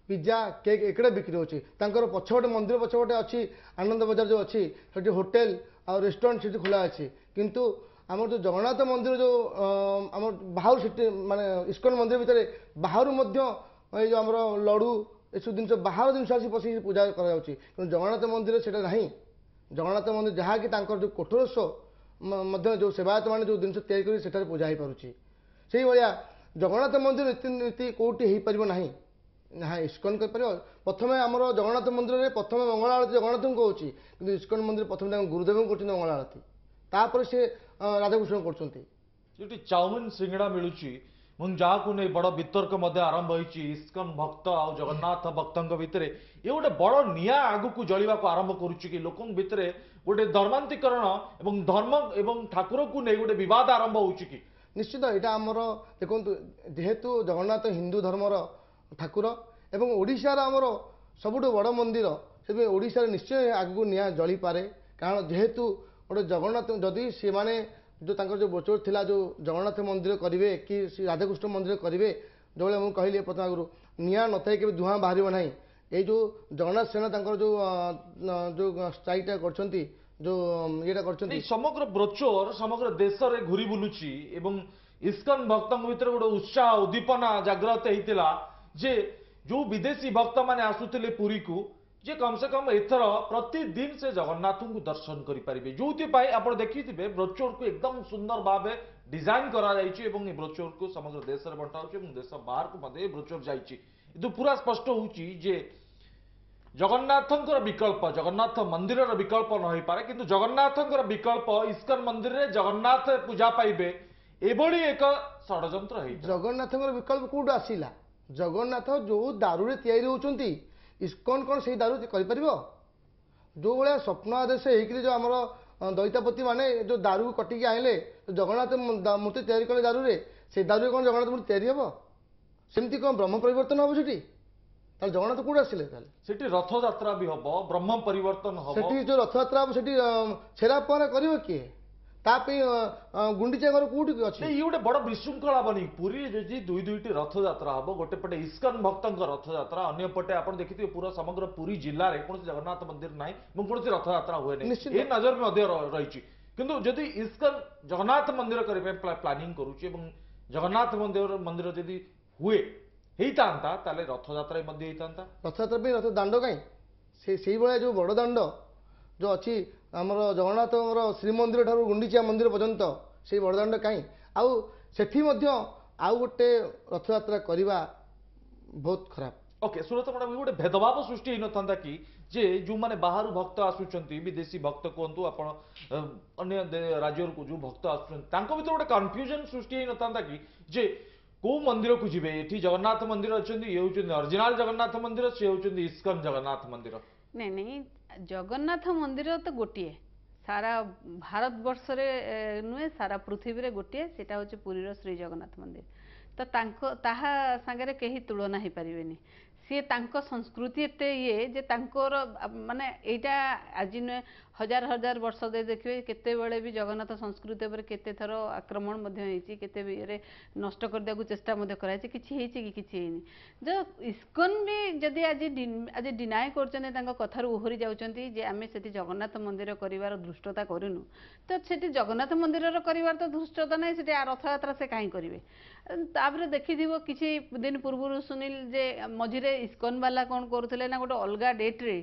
ପିଜା କେକ୍ ଏକଡ଼ା ବିକ୍ରି ହେଉଛି। ତାଙ୍କର ପଛପଟେ, ମନ୍ଦିର ପଛପଟେ ଅଛି ଆନନ୍ଦ ବଜାର ଯେଉଁ ଅଛି, ସେଠି ହୋଟେଲ ଆଉ ରେଷ୍ଟୁରାଣ୍ଟ ସେଠି ଖୋଲା ଅଛି। କିନ୍ତୁ ଆମର ଯେଉଁ ଜଗନ୍ନାଥ ମନ୍ଦିର ଯେଉଁ ଆମର ବାହାରୁ ସେଠି ମାନେ ଇସ୍କନ ମନ୍ଦିର ଭିତରେ ବାହାରୁ ମଧ୍ୟ ଏଇ ଯେଉଁ ଆମର ଲଡ଼ୁ ଏସବୁ ଜିନିଷ ବାହାର ଜିନିଷ ଆସି ପଶିକି ପୂଜା କରାଯାଉଛି, କିନ୍ତୁ ଜଗନ୍ନାଥ ମନ୍ଦିର ସେଇଟା ନାହିଁ। ଜଗନ୍ନାଥ ମନ୍ଦିର ଯାହାକି ତାଙ୍କର ଯେଉଁ କୋଠରସ୍ୱ ମଧ୍ୟ ଯେଉଁ ସେବାୟତମାନେ ଯେଉଁ ଜିନିଷ ତିଆରି କରି ସେଠାରେ ପୂଜା ହେଇପାରୁଛି, ସେଇଭଳିଆ ଜଗନ୍ନାଥ ମନ୍ଦିର ରୀତିନୀତି କେଉଁଠି ହେଇପାରିବ ନାହିଁ ନା ଇସ୍କନ କରିପାରିବ। ପ୍ରଥମେ ଆମର ଜଗନ୍ନାଥ ମନ୍ଦିରରେ ପ୍ରଥମେ ମଙ୍ଗଳ ଆଳତୀ ଜଗନ୍ନାଥଙ୍କୁ ହେଉଛି, କିନ୍ତୁ ଇସ୍କନ ମନ୍ଦିର ପ୍ରଥମେ ତାଙ୍କ ଗୁରୁଦେବଙ୍କୁ କରୁଛନ୍ତି ମଙ୍ଗଳ ଆଳତୀ, ତାପରେ ସେ ରାଧାକୃଷ୍ଣ କରୁଛନ୍ତି। ଯୋଉଠି ଚାଉମିନ ସିଙ୍ଗଡ଼ା ମିଳୁଛି ଏବଂ ଯାହାକୁ ନେଇ ବଡ଼ ବିତର୍କ ମଧ୍ୟ ଆରମ୍ଭ ହୋଇଛି ଇସ୍କନ ଭକ୍ତ ଆଉ ଜଗନ୍ନାଥ ଭକ୍ତଙ୍କ ଭିତରେ, ଇଏ ଗୋଟେ ବଡ଼ ନିଆଁ ଆଗକୁ ଜଳିବାକୁ ଆରମ୍ଭ କରୁଛି କି ଲୋକଙ୍କ ଭିତରେ ଗୋଟେ ଧର୍ମାନ୍ତୀକରଣ ଏବଂ ଧର୍ମ ଏବଂ ଠାକୁରକୁ ନେଇ ଗୋଟେ ବିବାଦ ଆରମ୍ଭ ହେଉଛି କି? ନିଶ୍ଚିତ ଏଇଟା ଆମର ଦେଖନ୍ତୁ, ଯେହେତୁ ଜଗନ୍ନାଥ ହିନ୍ଦୁ ଧର୍ମର ଠାକୁର ଏବଂ ଓଡ଼ିଶାର ଆମର ସବୁଠୁ ବଡ଼ ମନ୍ଦିର, ସେଥିପାଇଁ ଓଡ଼ିଶାରେ ନିଶ୍ଚୟ ଆଗକୁ ନିଆଁ ଜଳିପାରେ। କାରଣ ଯେହେତୁ ଗୋଟେ ଜଗନ୍ନାଥ, ଯଦି ସେମାନେ ଯେଉଁ ତାଙ୍କର ଯେଉଁ ବ୍ରୋଚର ଥିଲା ଯେଉଁ ଜଗନ୍ନାଥ ମନ୍ଦିର କରିବେ କି ରାଧାକୃଷ୍ଣ ମନ୍ଦିର କରିବେ, ଯେଉଁଭଳିଆ ମୁଁ କହିଲି ପ୍ରଥମ ଆଗରୁ, ନିଆଁ ନଥାଏ କେବେ ଧୂଆଁ ବାହାରିବ ନାହିଁ। ଏଇ ଯେଉଁ ଜଗନ୍ନାଥ ସେନା ତାଙ୍କର ଯେଉଁ ଯେଉଁ ଷ୍ଟ୍ରାଇକ୍ଟା କରିଛନ୍ତି, ଯେଉଁ ଇଏଟା କରିଛନ୍ତି, ସମଗ୍ର ବ୍ରୋଚର ସମଗ୍ର ଦେଶରେ ଘୁରି ବୁଲୁଛି ଏବଂ ଇସ୍କନ ଭକ୍ତଙ୍କ ଭିତରେ ଗୋଟେ ଉତ୍ସାହ ଉଦ୍ଦୀପନା ଜାଗ୍ରତ ହେଇଥିଲା ଯେ ଯୋଉ ବିଦେଶୀ ଭକ୍ତମାନେ ଆସୁଥିଲେ ପୁରୀକୁ, ଯେ କମ ସେ କମ ଏଥର ପ୍ରତିଦିନ ସେ ଜଗନ୍ନାଥଙ୍କୁ ଦର୍ଶନ କରିପାରିବେ। ଯୋଉଥିପାଇଁ ଆପଣ ଦେଖିଥିବେ ବ୍ରୋଚରକୁ ଏକଦମ ସୁନ୍ଦର ଭାବେ ଡିଜାଇନ କରାଯାଇଛି ଏବଂ ଏ ବ୍ରୋଚରକୁ ସମଗ୍ର ଦେଶରେ ବଣ୍ଟା ହେଉଛି ଏବଂ ଦେଶ ବାହାରକୁ ମଧ୍ୟ ଏ ବ୍ରୋଚର ଯାଇଛି। କିନ୍ତୁ ପୁରା ସ୍ପଷ୍ଟ ହେଉଛି ଯେ ଜଗନ୍ନାଥଙ୍କର ବିକଳ୍ପ, ଜଗନ୍ନାଥ ମନ୍ଦିରର ବିକଳ୍ପ ନ ହେଇପାରେ, କିନ୍ତୁ ଜଗନ୍ନାଥଙ୍କର ବିକଳ୍ପ ଇସ୍କନ ମନ୍ଦିରରେ ଜଗନ୍ନାଥ ପୂଜା ପାଇବେ, ଏଭଳି ଏକ ଷଡ଼ଯନ୍ତ୍ର ହେଇଥିଲା। ଜଗନ୍ନାଥଙ୍କର ବିକଳ୍ପ କୋଉଠୁ ଆସିଲା? ଜଗନ୍ନାଥ ଯୋଉ ଦାରୁରେ ତିଆରି ହେଉଛନ୍ତି, ଇସ୍କନ କ'ଣ ସେଇ ଦାରୁ କରିପାରିବ? ଯେଉଁ ଭଳିଆ ସ୍ୱପ୍ନ ଆଦେଶ ହେଇକିରି ଯେଉଁ ଆମର ଦଇତାପତି ମାନେ ଯେଉଁ ଦାରୁକୁ କଟିକି ଆଣିଲେ, ଜଗନ୍ନାଥ ମୂର୍ତ୍ତି ତିଆରି କଲେ ଦାରୁରେ, ସେଇ ଦାରୁରେ କ'ଣ ଜଗନ୍ନାଥ ମୂର୍ତ୍ତି ତିଆରି ହେବ? ସେମିତି କ'ଣ ବ୍ରହ୍ମ ପରିବର୍ତ୍ତନ ହେବ ସେଠି? ତାହେଲେ ଜଗନ୍ନାଥ କୋଉଠୁ ଆସିଲେ? ତାହେଲେ ସେଠି ରଥଯାତ୍ରା ବି ହବ, ବ୍ରହ୍ମ ପରିବର୍ତ୍ତନ ହବ। ସେଠି ଯୋଉ ରଥଯାତ୍ରା ହବ, ସେଠି ଛେରା ପହଁରା କରିବ କିଏ? ତା ପାଇଁ ଗୁଣ୍ଡିଚା ଘର କୋଉଠି ଅଛି? ଇଏ ଗୋଟେ ବଡ ବିଶୃଙ୍ଖଳା ବନି। ପୁରୀରେ ଯଦି ଦୁଇ ଦୁଇଟି ରଥଯାତ୍ରା ହବ, ଗୋଟେ ପଟେ ଇସ୍କନ ଭକ୍ତଙ୍କ ରଥଯାତ୍ରା, ଅନ୍ୟ ପଟେ ଆପଣ ଦେଖିଥିବେ ପୁରା ସମଗ୍ର ପୁରୀ ଜିଲ୍ଲାରେ କୌଣସି ଜଗନ୍ନାଥ ମନ୍ଦିର ନାହିଁ ଏବଂ କୌଣସି ରଥଯାତ୍ରା ହୁଏ ନାହିଁ, ଏ ନଜର ମଧ୍ୟ ରହିଛି। କିନ୍ତୁ ଯଦି ଇସ୍କନ ଜଗନ୍ନାଥ ମନ୍ଦିର କରିବା ପାଇଁ ପ୍ଲାନିଂ କରୁଛି ଏବଂ ଜଗନ୍ନାଥ ମନ୍ଦିର ଯଦି ହୁଏ ହେଇଥାନ୍ତା, ତାହେଲେ ରଥଯାତ୍ରା ମଧ୍ୟ ହେଇଥାନ୍ତା। ରଥଯାତ୍ରା ପାଇଁ ରଥ ଦାଣ୍ଡ କାହିଁ? ସେ ସେଇଭଳିଆ ଯୋଉ ବଡ଼ ଦାଣ୍ଡ ଯୋଉ ଅଛି ଆମର ଜଗନ୍ନାଥଙ୍କର ଶ୍ରୀମନ୍ଦିର ଠାରୁ ଗୁଣ୍ଡିଚା ମନ୍ଦିର ପର୍ଯ୍ୟନ୍ତ, ସେଇ ବଡ଼ ଦାଣ୍ଡ କାହିଁ? ଆଉ ସେଠି ମଧ୍ୟ ଆଉ ଗୋଟେ ରଥଯାତ୍ରା କରିବା ବହୁତ ଖରାପ। ଓକେ ସୁରତ ମ୍ୟାଡ଼ାମ, ଗୋଟେ ଭେଦଭାବ ସୃଷ୍ଟି ହେଇନଥାନ୍ତା କି ଯେ ଯେଉଁମାନେ ବାହାରୁ ଭକ୍ତ ଆସୁଛନ୍ତି, ବିଦେଶୀ ଭକ୍ତ କୁହନ୍ତୁ ଆପଣ, ଅନ୍ୟ ରାଜ୍ୟରୁ ଯୋଉ ଭକ୍ତ ଆସୁଛନ୍ତି, ତାଙ୍କ ଭିତରେ ଗୋଟେ କନଫ୍ୟୁଜନ ସୃଷ୍ଟି ହେଇନଥାନ୍ତା କି ଯେ କୋଉ ମନ୍ଦିରକୁ ଯିବେ? ଏଠି ଜଗନ୍ନାଥ ମନ୍ଦିର ଅଛନ୍ତି, ଇଏ ହେଉଛନ୍ତି ଅରିଜିନାଲ ଜଗନ୍ନାଥ ମନ୍ଦିର, ସିଏ ହେଉଛନ୍ତି ଇସ୍କନ ଜଗନ୍ନାଥ ମନ୍ଦିର। ନାଇଁ ନାଇଁ, ଜଗନ୍ନାଥ ମନ୍ଦିର ତ ଗୋଟିଏ, ସାରା ଭାରତବର୍ଷରେ ନୁହେଁ ସାରା ପୃଥିବୀରେ ଗୋଟିଏ, ସେଇଟା ହେଉଛି ପୁରୀର ଶ୍ରୀ ଜଗନ୍ନାଥ ମନ୍ଦିର। ତ ତାଙ୍କ ତାହା ସାଙ୍ଗରେ କେହି ତୁଳନା ହେଇପାରିବେନି। ସିଏ ତାଙ୍କ ସଂସ୍କୃତି ଏତେ ଇଏ ଯେ ତାଙ୍କର ମାନେ ଏଇଟା ଆଜି ନୁହେଁ, ହଜାର ହଜାର ବର୍ଷ ଦେଇ ଦେଖିବେ କେତେବେଳେ ବି ଜଗନ୍ନାଥ ସଂସ୍କୃତି ଉପରେ କେତେ ଥର ଆକ୍ରମଣ ମଧ୍ୟ ହେଇଛି, କେତେ ଇଏରେ ନଷ୍ଟ କରିଦେବାକୁ ଚେଷ୍ଟା ମଧ୍ୟ କରାଯାଇଛି, କିଛି ହେଇଛି କି? କିଛି ହେଇନି। ଯେଉଁ ଇସ୍କନ ବି ଯଦି ଆଜି ଡିନାଏ କରୁଛନ୍ତି, ତାଙ୍କ କଥାରୁ ଓହରି ଯାଉଛନ୍ତି ଯେ ଆମେ ସେଠି ଜଗନ୍ନାଥ ମନ୍ଦିର କରିବାର ଧୃଷ୍ଟତା କରିନୁ, ତ ସେଠି ଜଗନ୍ନାଥ ମନ୍ଦିରର କରିବାର ତ ଧୃଷ୍ଟତା ନାହିଁ, ସେଠି ରଥଯାତ୍ରା ସେ କାହିଁ କରିବେ? ତାପରେ ଦେଖିଥିବ କିଛି ଦିନ ପୂର୍ବରୁ ସୁନିଲ, ଯେ ମଝିରେ ଇସ୍କନ ବାଲା କ'ଣ କରୁଥିଲେ ନା ଗୋଟେ ଅଲଗା ଡେଟ୍ରେ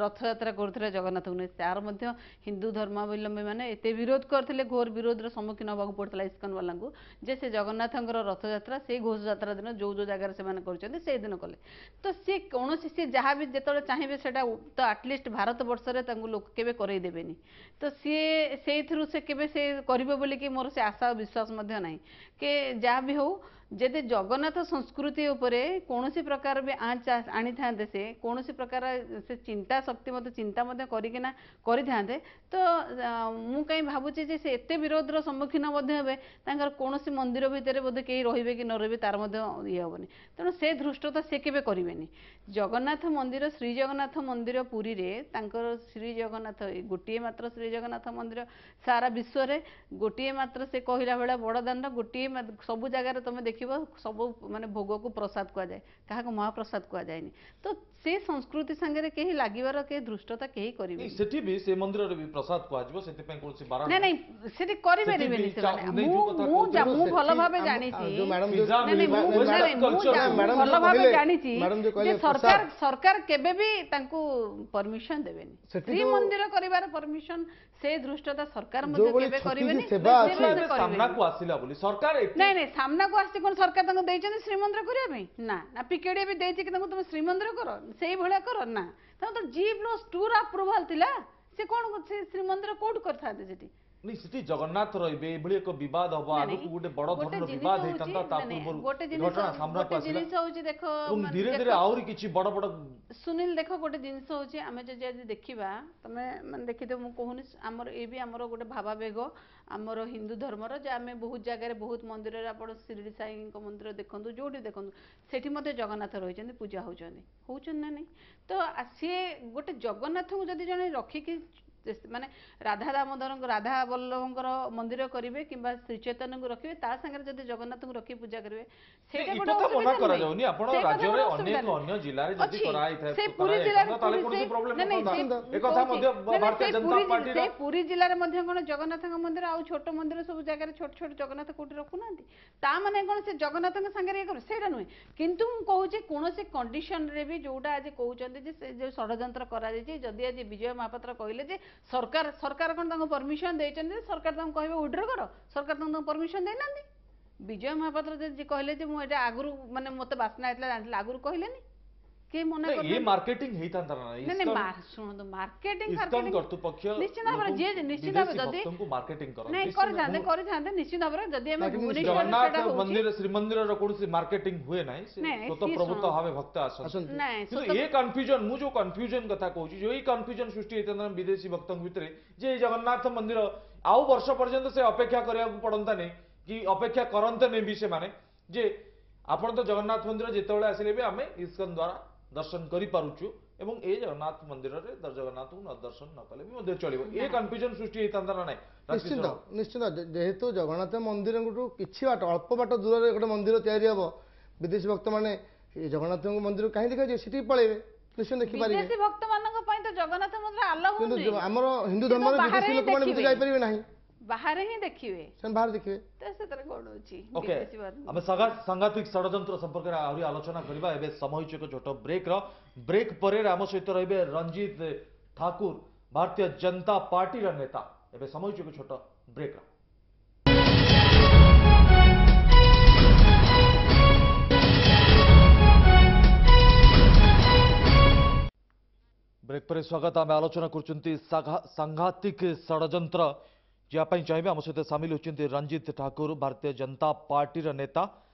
ରଥଯାତ୍ରା କରୁଥିଲେ ଜଗନ୍ନାଥଙ୍କୁ ନେଇ। ତାର ମଧ୍ୟ ହିନ୍ଦୁ ଧର୍ମାବଲମ୍ବୀ ମାନେ ଏତେ ବିରୋଧ କରିଥିଲେ, ଘୋର ବିରୋଧର ସମ୍ମୁଖୀନ ହେବାକୁ ପଡ଼ିଥିଲା ଇସ୍କନ ବାଲାଙ୍କୁ, ଯେ ସେ ଜଗନ୍ନାଥଙ୍କର ରଥଯାତ୍ରା ସେଇ ଘୋଷଯାତ୍ରା ଦିନ ଯୋଉ ଯୋଉ ଜାଗାରେ ସେମାନେ କରୁଛନ୍ତି ସେଇଦିନ କଲେ। ତ ସିଏ କୌଣସି ସିଏ ଯାହା ବି ଯେତେବେଳେ ଚାହିଁବେ ସେଇଟା ତ ଆଟଲିଷ୍ଟ ଭାରତ ବର୍ଷରେ ତାଙ୍କୁ ଲୋକ କେବେ କରେଇ ଦେବେନି। ତ ସିଏ ସେଇଥିରୁ ସେ କେବେ ସେ କରିବ ବୋଲିକି ମୋର ସେ ଆଶା ଆଉ ବିଶ୍ୱାସ ମଧ୍ୟ ନାହିଁ। କି ଯାହା ବି ହଉ, ଯଦି ଜଗନ୍ନାଥ ସଂସ୍କୃତି ଉପରେ କୌଣସି ପ୍ରକାର ବି ଆଞ୍ଚ ଆଣିଥାନ୍ତେ, ସେ କୌଣସି ପ୍ରକାର ସେ ଚିନ୍ତା ଶକ୍ତି ମଧ୍ୟ ଚିନ୍ତା ମଧ୍ୟ କରିକିନା କରିଥାନ୍ତେ, ତ ମୁଁ କାହିଁ ଭାବୁଛି ଯେ ସେ ଏତେ ବିରୋଧର ସମ୍ମୁଖୀନ ମଧ୍ୟ ହେବେ, ତାଙ୍କର କୌଣସି ମନ୍ଦିର ଭିତରେ ବୋଧେ କେହି ରହିବେ କି ନ ରହିବେ ତାର ମଧ୍ୟ ଇଏ ହେବନି। ତେଣୁ ସେ ଧୃଷ୍ଟତା ସେ କେବେ କରିବେନି। ଜଗନ୍ନାଥ ମନ୍ଦିର, ଶ୍ରୀ ଜଗନ୍ନାଥ ମନ୍ଦିର ପୁରୀରେ ତାଙ୍କର ଶ୍ରୀ ଜଗନ୍ନାଥ ଗୋଟିଏ ମାତ୍ର ଶ୍ରୀ ଜଗନ୍ନାଥ ମନ୍ଦିର ସାରା ବିଶ୍ୱରେ ଗୋଟିଏ ମାତ୍ର। ସେ କହିଲା ଭଳିଆ ବଡ଼ ଦାଣ୍ଡ ଗୋଟିଏ, ସବୁ ଜାଗାରେ ତମେ ଦେଖିବ ସବୁ ମାନେ ଭୋଗକୁ ପ୍ରସାଦ କୁହାଯାଏ, କାହାକୁ ମହାପ୍ରସାଦ କୁହାଯାଏନି। ତ ସେ ସଂସ୍କୃତି ସାଙ୍ଗରେ କେହି ଲାଗିବାର କେହି ଧୃଷ୍ଟତା କେହି କରିବେନି। ସେଠି ବି ସେ ମନ୍ଦିରରେ ବି ପ୍ରସାଦ କୁହାଯିବ, ସେଥିପାଇଁ କୌଣସି ବାରଣ ନାଇଁ। ନାଇଁ, ସେଠି କରିପାରିବେନି ସେମାନେ। ମୁଁ ମୁଁ ମୁଁ ଭଲ ଭାବେ ଜାଣିଛି, ନାଇଁ ମୁଁ ଭଲ ଭାବେ ଜାଣିଛି ଯେ ସରକାର କେବେ ବି ତାଙ୍କୁ ପରମିଶନ ଦେବେନି ଶ୍ରୀମନ୍ଦିର କରିବାର ପରମିଶନ। ସେ ଧୃଷ୍ଟତା ସରକାର ମଧ୍ୟ କେବେ କରିବେନି। ସାମ୍ନାକୁ ଆସିଲା ବୋଲି ସରକାର ନାଇଁ ନାଇଁ, ସାମ୍ନାକୁ ଆସିଛି କଣ ସରକାର ତାଙ୍କୁ ଦେଇଛନ୍ତି ଶ୍ରୀମନ୍ଦିର କରିବା ପାଇଁ? ନା ନା, ପିକେଡିଏ ବି ଦେଇଛି କି ତାଙ୍କୁ ତମେ ଶ୍ରୀମନ୍ଦିର କର, ସେଇଭଳିଆ କର? ନା, ତାଙ୍କ ତ G+2 ର ଆପ୍ରୁଭାଲ ଥିଲା। ସେ କଣ ସେ ଶ୍ରୀମନ୍ଦିର କୋଉଠୁ କରିଥାନ୍ତେ ସେଠି? ନାଇଁ, ସେଠି ଜଗନ୍ନାଥ ରହିବେ ଏଭଳି ଏକ ବିବାଦ ହବ, ଆଗକୁ ଗୋଟେ ବଡ ଧରଣର ବିବାଦ ହେଇଥାନ୍ତା, ତା ପୂର୍ବରୁ ଘଟଣା ସାମ୍ନାକୁ ଆସିଲା। ଜିନିଷ ହଉଛି ଦେଖ, ଧୀରେ ଧୀରେ ଆହୁରି କିଛି ବଡ ବଡ ସୁନୀଲ ଦେଖ, ଗୋଟେ ଜିନିଷ ହଉଛି ଆମେ ଯଦି ଆଜି ଦେଖିବା, ତମେ ମାନେ ଦେଖିଥିବ, ମୁଁ କହୁନି, ଆମର ଏ ବି ଆମର ଗୋଟେ ଭାବାବେଗ ଆମର ହିନ୍ଦୁ ଧର୍ମର ଯେ ଆମେ ବହୁତ ଜାଗାରେ ବହୁତ ମନ୍ଦିରରେ, ଆପଣ ଶିରିଡ଼ି ସାଇଙ୍କ ମନ୍ଦିର ଦେଖନ୍ତୁ, ଯୋଉଠି ଦେଖନ୍ତୁ ସେଠି ମଧ୍ୟ ଜଗନ୍ନାଥ ରହିଛନ୍ତି, ପୂଜା ହଉଛନ୍ତି, ହଉଛନ୍ତି ନା ନାଇଁ? ତ ସିଏ ଗୋଟେ ଜଗନ୍ନାଥଙ୍କୁ ଯଦି ଜଣେ ରଖିକି ମାନେ ରାଧା ଦାମୋଦରଙ୍କ ରାଧା ବଲ୍ଲଭଙ୍କର ମନ୍ଦିର କରିବେ କିମ୍ବା ଶ୍ରୀ ଚୈତନ୍ୟଙ୍କୁ ରଖିବେ, ତା ସାଙ୍ଗରେ ଯଦି ଜଗନ୍ନାଥଙ୍କୁ ରଖି ପୂଜା କରିବେ, ସେଇଟା ଗୋଟେ ମନା କରାଯାଉନି। ଆପଣ ରାଜ୍ୟରେ ଅନେକ ଅନ୍ୟ ଜିଲ୍ଲାରେ ଯଦି କରାଯାଇଥାଏ ସେ ପୁରୀ ଜିଲ୍ଲାରେ, ତାହେଲେ କୌଣସି ପ୍ରୋବ୍ଲେମ ନଥାନ୍ତା। ଏକଥା ମଧ୍ୟ ଭାରତୀୟ ଜନତା ପାର୍ଟିର ସେ ପୁରୀ ଜିଲ୍ଲାରେ ମଧ୍ୟ କଣ ଜଗନ୍ନାଥଙ୍କ ମନ୍ଦିର ଆଉ ଛୋଟ ମନ୍ଦିର ସବୁ ଜାଗାରେ ଛୋଟ ଛୋଟ ଜଗନ୍ନାଥ କୋଉଠି ରଖୁନାହାନ୍ତି? ତା ମାନେ କଣ ସେ ଜଗନ୍ନାଥଙ୍କ ସାଙ୍ଗରେ ଇଏ କରିବେ ସେଇଟା ନୁହେଁ। କିନ୍ତୁ ମୁଁ କହୁଛି କୌଣସି କଣ୍ଡିସନରେ ବି ଯୋଉଟା ଆଜି କହୁଛନ୍ତି ଯେ ସେ ଯୋଉ ଷଡ଼ଯନ୍ତ୍ର କରାଯାଇଛି, ଯଦି ଆଜି ବିଜୟ ମହାପାତ୍ର କହିଲେ ଯେ ସରକାର କଣ ତାଙ୍କୁ ପରମିଶନ ଦେଇଛନ୍ତି? ସରକାର ତାଙ୍କୁ କହିବେ ୱିଡ୍ର କର? ସରକାର ତାଙ୍କୁ ପରମିଶନ ଦେଇନାହାନ୍ତି। ବିଜୟ ମହାପାତ୍ର ଯଦି କହିଲେ ଯେ ମୁଁ ଏଇଟା ଆଗରୁ ମାନେ ମୋତେ ବାସ୍ନା ହେଇଥିଲା ଜାଣିଥିଲି, ଆଗରୁ କହିଲେନି। କେହି ମନା ଏ କରିନାହାନ୍ତି। ମାର୍କେଟିଂ ହେଇଥାନ୍ତା ନା? ନାଇଁ ନାଇଁ, ଶୁଣନ୍ତୁ, ମାର୍କେଟିଂ ଇସ୍କନ କର୍ତ୍ତୃପକ୍ଷ ନିଶ୍ଚିତ ଭାବରେ ଯିଏ ନିଶ୍ଚିତ ଭାବରେ ଯଦି ଭକ୍ତଙ୍କୁ ମାର୍କେଟିଂ ନାଇଁ କରନ୍ତି। କରିଥାନ୍ତେ, କରିଥାନ୍ତେ ନିଶ୍ଚିତ ଭାବରେ। ଯଦି ଆମେ ବାକି ଭୁବନେଶ୍ୱରରେ ଜଗନ୍ନାଥ ସେଟା ହଉଛି ମନ୍ଦିର, ଶ୍ରୀମନ୍ଦିରର କୌଣସି ମାର୍କେଟିଂ ହୁଏ ନାହିଁ, ସେ ନାଇଁ, ନାଇଁ, ସ୍ୱତଃ ସିଏ ପ୍ରଭୁତ ଶୁଣ। ଭାବେ ଭକ୍ତ ଆସନ୍ତି। ଆସନ୍ତି। ନାଇଁ, କିନ୍ତୁ ଏ କନଫ୍ୟୁଜନ, ମୁଁ ଯୋଉ କନଫ୍ୟୁଜନ କଥା କହୁଛି, ଯୋଉ ଏଇ କନଫ୍ୟୁଜନ ସୃଷ୍ଟି ହେଇଥାନ୍ତା ବିଦେଶୀ ଭକ୍ତଙ୍କ ଭିତରେ ଯେ ଏଇ ଜଗନ୍ନାଥ ମନ୍ଦିର ଆଉ ବର୍ଷ ପର୍ଯ୍ୟନ୍ତ ସେ ଅପେକ୍ଷା କରିବାକୁ ପଡନ୍ତାନି କି ଅପେକ୍ଷା କରନ୍ତେନି ବି ସେମାନେ, ଯେ ଆପଣ ତ ଜଗନ୍ନାଥ ମନ୍ଦିର ଯେତେବେଳେ ଆସିଲେ ବି ଆମେ ଇସ୍କନ ଦ୍ୱାରା ଦର୍ଶନ କରିପାରୁଛୁ ଏବଂ ଏ ଜଗନ୍ନାଥ ମନ୍ଦିରରେ ଜଗନ୍ନାଥଙ୍କୁ ନ ଦର୍ଶନ ନ କଲେ ବି ମଧ୍ୟ ଚଳିବ, ଏ କନଫ୍ୟୁଜନ ସୃଷ୍ଟି ହେଇଥାନ୍ତା ନା ନାଇଁ? ନିଶ୍ଚିନ୍ତ, ନିଶ୍ଚିନ୍ତ। ଯେହେତୁ ଜଗନ୍ନାଥ ମନ୍ଦିରଙ୍କଠୁ କିଛି ବାଟ, ଅଳ୍ପ ବାଟ ଦୂରରେ ଗୋଟେ ମନ୍ଦିର ତିଆରି ହେବ, ବିଦେଶୀ ଭକ୍ତମାନେ ଏ ଜଗନ୍ନାଥଙ୍କ ମନ୍ଦିର କାହିଁ ଦେଖିବାକୁ ଯିବେ, ସେଠିକି ପଳେଇବେ, ନିଶ୍ଚୟ ଦେଖିପାରିବେ। ବିଦେଶୀ ଭକ୍ତ ମାନଙ୍କ ପାଇଁ ତ ଜଗନ୍ନାଥ ମନ୍ଦିର ଆଲାଉ କିନ୍ତୁ ନୁହେଁ। ଆମର ହିନ୍ଦୁ ସେ ତ ଧର୍ମରେ ବାହାରେ ବିଦେଶୀ ହିଁ ଲୋକମାନେ ଦେଖିବେ। ଯାଇପାରିବେ ନାହିଁ, ବାହାରେ ହିଁ ଦେଖିବେ, ସେମାନେ ବାହାରେ ଦେଖିବେ। ତ ସେଥିରେ କଣ ଅଛି? ଓକେ, ବିଦେଶୀ ମାନଙ୍କୁ ଆମେ ସାଂଘାତିକ ଷଡ଼ଯନ୍ତ୍ର ସମ୍ପର୍କରେ ଆହୁରି ଆଲୋଚନା କରିବା। ଏବେ ସମୟ ହେଇଛି ଏକ ଛୋଟ ବ୍ରେକ୍ର। ବ୍ରେକ୍ ପରେ ଆମ ସହିତ ରହିବେ ରଞ୍ଜିତ ଠାକୁର, ଭାରତୀୟ ଜନତା ପାର୍ଟିର ନେତା। ଏବେ ସମୟ ହେଇଛି ଏକ ଛୋଟ ବ୍ରେକ୍ର। ବ୍ରେକ୍ ପରେ ସ୍ୱାଗତ। ଆମେ ଆଲୋଚନା କରୁଛନ୍ତି ସାଂଘାତିକ ଷଡ଼ଯନ୍ତ୍ର। ଯିବା ପାଇଁ ଚାହିଁବେ, ଆମ ସହିତ ସାମିଲ ହେଉଛନ୍ତି ରଞ୍ଜିତ ଠାକୁର, ଭାରତୀୟ ଜନତା ପାର୍ଟିର ନେତା।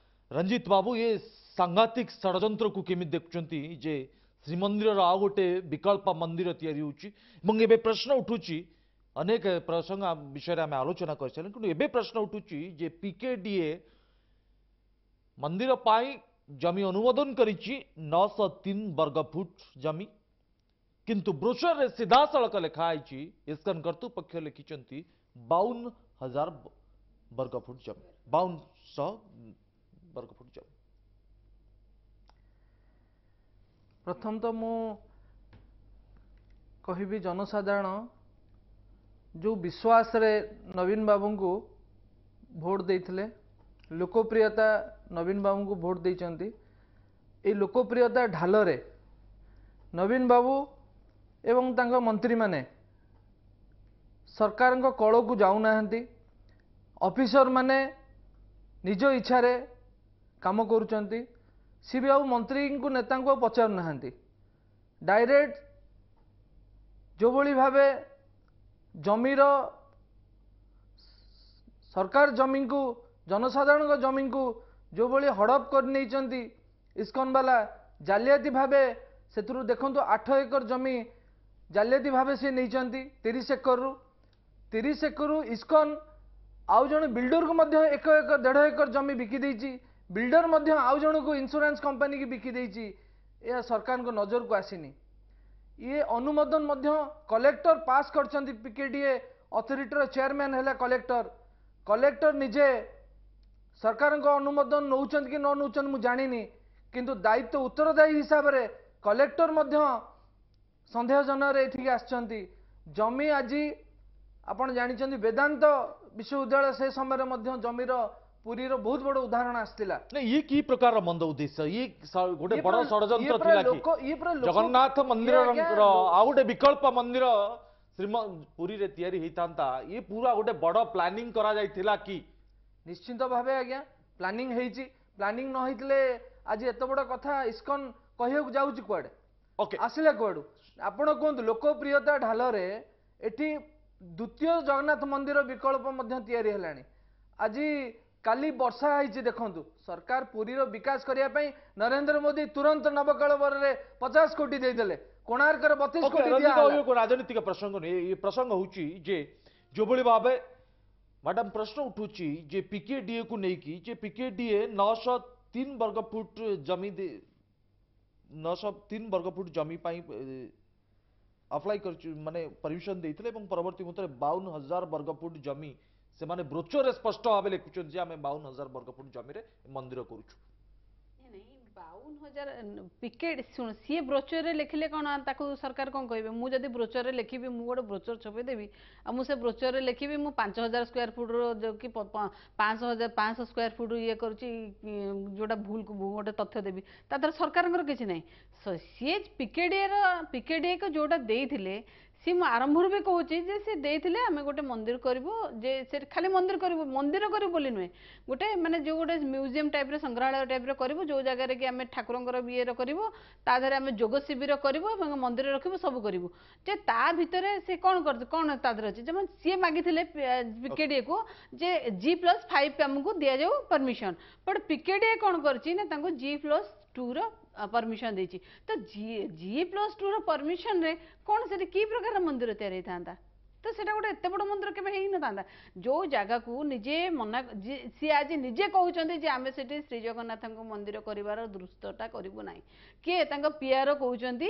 ରଞ୍ଜିତ ବାବୁ, ଏ ସାଂଘାତିକ ଷଡ଼ଯନ୍ତ୍ରକୁ କେମିତି ଦେଖୁଛନ୍ତି ଯେ ଶ୍ରୀମନ୍ଦିରର ଆଉ ଗୋଟେ ବିକଳ୍ପ ମନ୍ଦିର ତିଆରି ହେଉଛି? ଏବଂ ଏବେ ପ୍ରଶ୍ନ ଉଠୁଛି, ଅନେକ ପ୍ରସଙ୍ଗ ବିଷୟରେ ଆମେ ଆଲୋଚନା କରିସାରିଲେଣି, କିନ୍ତୁ ଏବେ ପ୍ରଶ୍ନ ଉଠୁଛି ଯେ ପିକେଡିଏ ମନ୍ଦିର ପାଇଁ ଜମି ଅନୁମୋଦନ କରିଛି 903 ବର୍ଗ ଫୁଟ ଜମି, କିନ୍ତୁ ବ୍ରୋଚରରେ ସିଧାସଳଖ ଲେଖା ହେଇଛି, ଇସ୍କନ କର୍ତ୍ତୃପକ୍ଷ ଲେଖିଛନ୍ତି 52,000 ବର୍ଗ ଫୁଟ ଜମି, 5200 ବର୍ଗ ଫୁଟ ଜମି। ପ୍ରଥମ ତ ମୁଁ କହିବି, ଜନସାଧାରଣ ଯେଉଁ ବିଶ୍ୱାସରେ ନବୀନ ବାବୁଙ୍କୁ ଭୋଟ ଦେଇଥିଲେ, ଲୋକପ୍ରିୟତା ନବୀନ ବାବୁଙ୍କୁ ଭୋଟ ଦେଇଛନ୍ତି, ଏଇ ଲୋକପ୍ରିୟତା ଢାଲରେ ନବୀନ ବାବୁ ଏବଂ ତାଙ୍କ ମନ୍ତ୍ରୀମାନେ ସରକାରଙ୍କ କଳକୁ ଯାଉନାହାନ୍ତି। ଅଫିସରମାନେ ନିଜ ଇଚ୍ଛାରେ କାମ କରୁଛନ୍ତି। ସିଏ ବି ଆଉ ମନ୍ତ୍ରୀଙ୍କୁ, ନେତାଙ୍କୁ ଆଉ ପଚାରୁନାହାନ୍ତି। ଡାଇରେକ୍ଟ ଯେଉଁଭଳି ଭାବେ ଜମିର, ସରକାର ଜମିକୁ, ଜନସାଧାରଣଙ୍କ ଜମିକୁ ଯେଉଁଭଳି ହଡ଼ପ କରିନେଇଛନ୍ତି ଇସ୍କନ ବାଲା ଜାଲିଆତି ଭାବେ, ସେଥିରୁ ଦେଖନ୍ତୁ 8 ଏକର ଜମି ଜାଲିଆତି ଭାବେ ସେ ନେଇଛନ୍ତି 30 ଏକରରୁ। 30 ଏକରରୁ ଇସ୍କନ ଆଉ ଜଣେ ବିଲ୍ଡରକୁ ମଧ୍ୟ 1 ଏକର, 1.5 ଏକର ଜମି ବିକି ଦେଇଛି। ବିଲ୍ଡର ମଧ୍ୟ ଆଉ ଜଣକୁ, ଇନ୍ସୁରାନ୍ସ କମ୍ପାନୀକି ବିକି ଦେଇଛି। ଏହା ସରକାରଙ୍କ ନଜରକୁ ଆସିନି। ଇଏ ଅନୁମୋଦନ ମଧ୍ୟ କଲେକ୍ଟର ପାସ୍ କରିଛନ୍ତି। ପିକେଡିଏ ଅଥରିଟିର ଚେୟାରମ୍ୟାନ୍ ହେଲା କଲେକ୍ଟର। କଲେକ୍ଟର ନିଜେ ସରକାରଙ୍କ ଅନୁମୋଦନ ନେଉଛନ୍ତି କି ନ ନେଉଛନ୍ତି ମୁଁ ଜାଣିନି, କିନ୍ତୁ ଦାୟିତ୍ୱ ଉତ୍ତରଦାୟୀ ହିସାବରେ କଲେକ୍ଟର ମଧ୍ୟ ସନ୍ଦେହଜନକରେ ଏଠିକି ଆସିଛନ୍ତି। ଜମି ଆଜି ଆପଣ ଜାଣିଛନ୍ତି, ବେଦାନ୍ତ ବିଶ୍ୱବିଦ୍ୟାଳୟ ସେ ସମୟରେ ମଧ୍ୟ ଜମିର ପୁରୀର ବହୁତ ବଡ଼ ଉଦାହରଣ ଆସିଥିଲା। ନାଇଁ, ଇଏ କି ପ୍ରକାରର ମନ୍ଦ ଉଦ୍ଦେଶ୍ୟ? ଇଏ ଗୋଟେ ଇଏ ବଡ଼ ପୁରା ଷଡ଼ଯନ୍ତ୍ର ଇଏ ପୁରା ଥିଲା କି? ଲୋକ ଇଏ ପୁରା ଲୋକ ଜଗନ୍ନାଥ ଇଏ ମନ୍ଦିରର ଆଜ୍ଞା ଆଉ ଗୋଟେ ବିକଳ୍ପ ମନ୍ଦିର ଶ୍ରୀମ ପୁରୀରେ ତିଆରି ହେଇଥାନ୍ତା, ଇଏ ପୁରା ଗୋଟେ ବଡ଼ ପ୍ଲାନିଂ କରାଯାଇଥିଲା କି? ନିଶ୍ଚିନ୍ତ ଭାବେ ଆଜ୍ଞା ପ୍ଲାନିଂ ହେଇଛି। ପ୍ଲାନିଂ ନ ହେଇଥିଲେ ଆଜି ଏତେ ବଡ଼ କଥା ଇସ୍କନ କହିବାକୁ ଯାଉଛି କୁଆଡ଼େ, ଆସିଲା କୁଆଡ଼ୁ? ଆପଣ କୁହନ୍ତୁ, ଲୋକପ୍ରିୟତା ଢାଲରେ ଏଠି ଦ୍ୱିତୀୟ ଜଗନ୍ନାଥ ମନ୍ଦିର ବିକଳ୍ପ ମଧ୍ୟ ତିଆରି ହେଲାଣି। ଆଜି କାଲି ବର୍ଷା ହେଇଛି ଦେଖନ୍ତୁ, ସରକାର ପୁରୀର ବିକାଶ କରିବା ପାଇଁ ନରେନ୍ଦ୍ର ମୋଦି ତୁରନ୍ତ ନବକଳେବରରେ 50 କୋଟି ଦେଇଦେଲେ, କୋଣାର୍କରେ 32 କୋଟି ରଞ୍ଜିତ ଦିଆହେଲା। ବାବୁ, ରାଜନୈତିକ ପ୍ରସଙ୍ଗ ନୁହେଁ ଏ ପ୍ରସଙ୍ଗ। ହେଉଛି ଯେ ଯେଉଁଭଳି ଭାବେ ମ୍ୟାଡାମ ପ୍ରଶ୍ନ ଉଠୁଛି ଯେ ପିକେଡିଏ କୁ ନେଇକି, ଯେ ପିକେଡିଏ 903 ବର୍ଗ ଫୁଟ ଜମି, 903 ବର୍ଗ ଫୁଟ ଜମି ପାଇଁ ଆପ୍ଲାଏ କରିଛୁ, ମାନେ ପରମିଶନ ଦେଇଥିଲେ, ଏବଂ ପରବର୍ତ୍ତୀ ମୁହୂର୍ତ୍ତରେ 52,000 ବର୍ଗ ଫୁଟ ଜମି ସେମାନେ ବ୍ରୋଚରରେ ସ୍ପଷ୍ଟ ଭାବେ ଲେଖୁଛନ୍ତି ଯେ ଆମେ 52,000 ବର୍ଗ ଫୁଟ ଜମିରେ ମନ୍ଦିର କରୁଛୁ। ନାଇଁ, 52,000 ପିକେଟ ଶୁଣ, ସିଏ ବ୍ରୋଚରରେ ଲେଖିଲେ କ'ଣ ତାକୁ ସରକାର କ'ଣ କହିବେ? ମୁଁ ଯଦି ବ୍ରୋଚରରେ ଲେଖିବି, ମୁଁ ଗୋଟେ ବ୍ରୋଚର ଛପେଇଦେବି ଆଉ ମୁଁ ସେ ବ୍ରୋଚରରେ ଲେଖିବି ମୁଁ 5000 ସ୍କୋୟାର ଫୁଟର ଯୋଉ କି 500,000, 500 ସ୍କୋୟାର ଫୁଟ ଇଏ କରୁଛି, ଯୋଉଟା ଭୁଲ ଗୋଟେ ତଥ୍ୟ ଦେବି, ତା ଦ୍ୱାରା ସରକାରଙ୍କର କିଛି ନାହିଁ। ସିଏ ପିକେଡିଏର, ପିକେଡିଏକୁ ଯୋଉଟା ଦେଇଥିଲେ ସିଏ ମୁଁ ଆରମ୍ଭରୁ ବି କହୁଛି ଯେ ସେ ଦେଇଥିଲେ ଆମେ ଗୋଟେ ମନ୍ଦିର କରିବୁ, ଯେ ସେ ଖାଲି ମନ୍ଦିର କରିବୁ, ମନ୍ଦିର କରିବୁ ବୋଲି ନୁହେଁ, ଗୋଟେ ମାନେ ଯେଉଁ ଗୋଟେ ମ୍ୟୁଜିୟମ୍ ଟାଇପ୍ର, ସଂଗ୍ରହାଳୟ ଟାଇପ୍ର କରିବୁ, ଯେଉଁ ଜାଗାରେ କି ଆମେ ଠାକୁରଙ୍କର ଇଏର କରିବୁ, ତା ଦେହରେ ଆମେ ଯୋଗ ଶିବିର କରିବୁ ଏବଂ ମନ୍ଦିର ରଖିବୁ, ସବୁ କରିବୁ। ଯେ ତା ଭିତରେ ସେ କ'ଣ କରିଛି, କ'ଣ ତା ଦେହରେ ଅଛି? ଯେମିତି ସିଏ ମାଗିଥିଲେ ପିକେଡିଏକୁ ଯେ G+5 ଆମକୁ ଦିଆଯାଉ ପରମିସନ୍, ବଟ୍ ପିକେଡିଏ କ'ଣ କରିଛି ନା ତାଙ୍କୁ G+2ର ପରମିସନ୍ ଦେଇଛି। ତ G+2ର ପରମିସନ୍ରେ କ'ଣ ସେଠି କି ପ୍ରକାର ମନ୍ଦିର ତିଆରି ହେଇଥାନ୍ତା? ତ ସେଇଟା ଗୋଟେ ଏତେ ବଡ଼ ମନ୍ଦିର କେବେ ହେଇନଥାନ୍ତା। ଯେଉଁ ଜାଗାକୁ ନିଜେ ମନା, ସିଏ ଆଜି ନିଜେ କହୁଛନ୍ତି ଯେ ଆମେ ସେଠି ଶ୍ରୀ ଜଗନ୍ନାଥଙ୍କ ମନ୍ଦିର କରିବାର ଦୃଷ୍ଟଟା କରିବୁ ନାହିଁ। କିଏ? ତାଙ୍କ ପିଆର କହୁଛନ୍ତି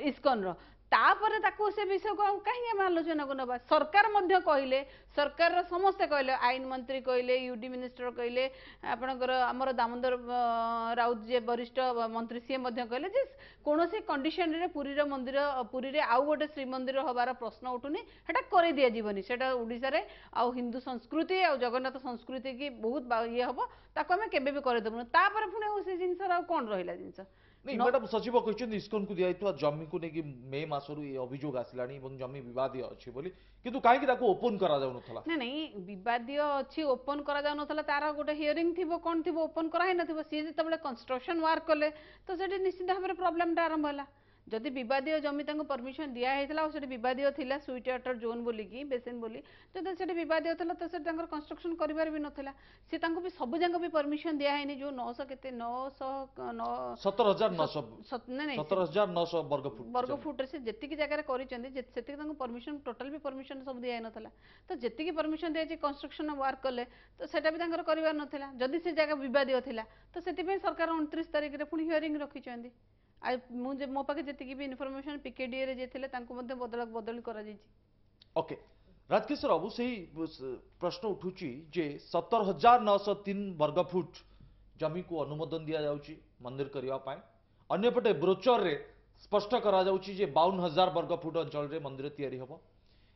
ଇସ୍କନର। ତାପରେ ତାକୁ ସେ ବିଷୟକୁ ଆଉ କାହିଁକି ଆମେ ଆଲୋଚନାକୁ ନେବା? ସରକାର ମଧ୍ୟ କହିଲେ, ସରକାରର ସମସ୍ତେ କହିଲେ, ଆଇନ ମନ୍ତ୍ରୀ କହିଲେ, ୟୁଡି ମିନିଷ୍ଟର କହିଲେ, ଆପଣଙ୍କର ଆମର ଦାମୋଦର ରାଉତ ଯିଏ ବରିଷ୍ଠ ମନ୍ତ୍ରୀ ସିଏ ମଧ୍ୟ କହିଲେ ଯେ କୌଣସି କଣ୍ଡିସନରେ ପୁରୀର ମନ୍ଦିର, ପୁରୀରେ ଆଉ ଗୋଟେ ଶ୍ରୀମନ୍ଦିର ହେବାର ପ୍ରଶ୍ନ ଉଠୁନି, ସେଟା କରେଇ ଦିଆଯିବନି। ସେଟା ଓଡ଼ିଶାରେ ଆଉ ହିନ୍ଦୁ ସଂସ୍କୃତି ଆଉ ଜଗନ୍ନାଥ ସଂସ୍କୃତି କି ବହୁତ ଇଏ ହବ, ତାକୁ ଆମେ କେବେ ବି କରେଇଦେବୁନି। ତାପରେ ପୁଣି ଆଉ ସେ ଜିନିଷର ଆଉ କ'ଣ ରହିଲା ଜିନିଷ? ନାଇଁ ମ୍ୟାଡାମ, ସଚିବ କହିଛନ୍ତି ଇସ୍କନକୁ ଦିଆଯାଇଥିବା ଜମିକୁ ନେଇକି ମେ ମାସରୁ ଏ ଅଭିଯୋଗ ଆସିଲାଣି ଏବଂ ଜମି ବିବାଦୀୟ ଅଛି ବୋଲି, କିନ୍ତୁ କାହିଁକି ତାକୁ ଓପନ କରାଯାଉନଥିଲା? ନାଇଁ ନାଇଁ, ବିବାଦୀୟ ଅଛି, ଓପନ କରାଯାଉନଥିଲା, ତାର ଗୋଟେ ହିୟରିଂ ଥିବ, କ'ଣ ଥିବ, ଓପନ କରାହେଇନଥିବ। ସିଏ ଯେତେବେଳେ କନଷ୍ଟ୍ରକ୍ସନ ୱାର୍କ କଲେ ତ ସେଠି ନିଶ୍ଚିତ ଭାବରେ ପ୍ରୋବ୍ଲେମଟା ଆରମ୍ଭ ହେଲା। ଯଦି ବିବାଦୀୟ ଜମି ତାଙ୍କୁ ପରମିସନ ଦିଆ ହେଇଥିଲା ଆଉ ସେଠି ବିବାଦୀୟ ଥିଲା ସୁଇଟ୍ ୱାଟର ଜୋନ୍ ବୋଲିକି, ବେସିନ୍ ବୋଲି, ଯଦି ସେଠି ବିବାଦୀୟ ଥିଲା ତ ସେଠି ତାଙ୍କର କନଷ୍ଟ୍ରକ୍ସନ କରିବାର ବି ନଥିଲା। ସେ ତାଙ୍କୁ ବି ସବୁ ଯାକ ବି ପରମିସନ ଦିଆ ହେଇନି। ଯେଉଁ 900 କେତେ, 909, 17,900, ନାଇଁ ନାଇଁ, 17,900 ବର୍ଗ ଫୁଟ। ବର୍ଗ ଫୁଟରେ ସେ ଯେତିକି ଜାଗାରେ କରିଛନ୍ତି ସେତିକି ତାଙ୍କୁ ପରମିସନ, ଟୋଟାଲ ବି ପରମିସନ ସବୁ ଦିଆହେଇନଥିଲା। ତ ଯେତିକି ପରମିସନ ଦିଆଯାଇଛି, କନଷ୍ଟ୍ରକ୍ସନ ୱାର୍କ କଲେ, ତ ସେଟା ବି ତାଙ୍କର କରିବାର ନଥିଲା ଯଦି ସେ ଜାଗା ବିବାଦୀୟ ଥିଲା। ତ ସେଥିପାଇଁ ସରକାର 29 ତାରିଖରେ ପୁଣି ହିୟରିଂ ରଖିଛନ୍ତି। ଆଉ ମୁଁ ଯେ ମୋ ପାଖେ ଯେତିକି ବି ଇନଫର୍ମେସନ, ପିକେଡିଏରେ ଯିଏ ଥିଲେ ତାଙ୍କୁ ମଧ୍ୟ ବଦଳି କରାଯାଇଛି। ଓକେ ରାଜକିଶୋର ବାବୁ, ସେଇ ପ୍ରଶ୍ନ ଉଠୁଛି ଯେ 17,903 ବର୍ଗ ଫୁଟ ଜମିକୁ ଅନୁମୋଦନ ଦିଆଯାଉଛି ମନ୍ଦିର କରିବା ପାଇଁ, ଅନ୍ୟପଟେ ବ୍ରୋଚରରେ ସ୍ପଷ୍ଟ କରାଯାଉଛି ଯେ 52,000 ବର୍ଗ ଫୁଟ ଅଞ୍ଚଳରେ ମନ୍ଦିର ତିଆରି ହେବ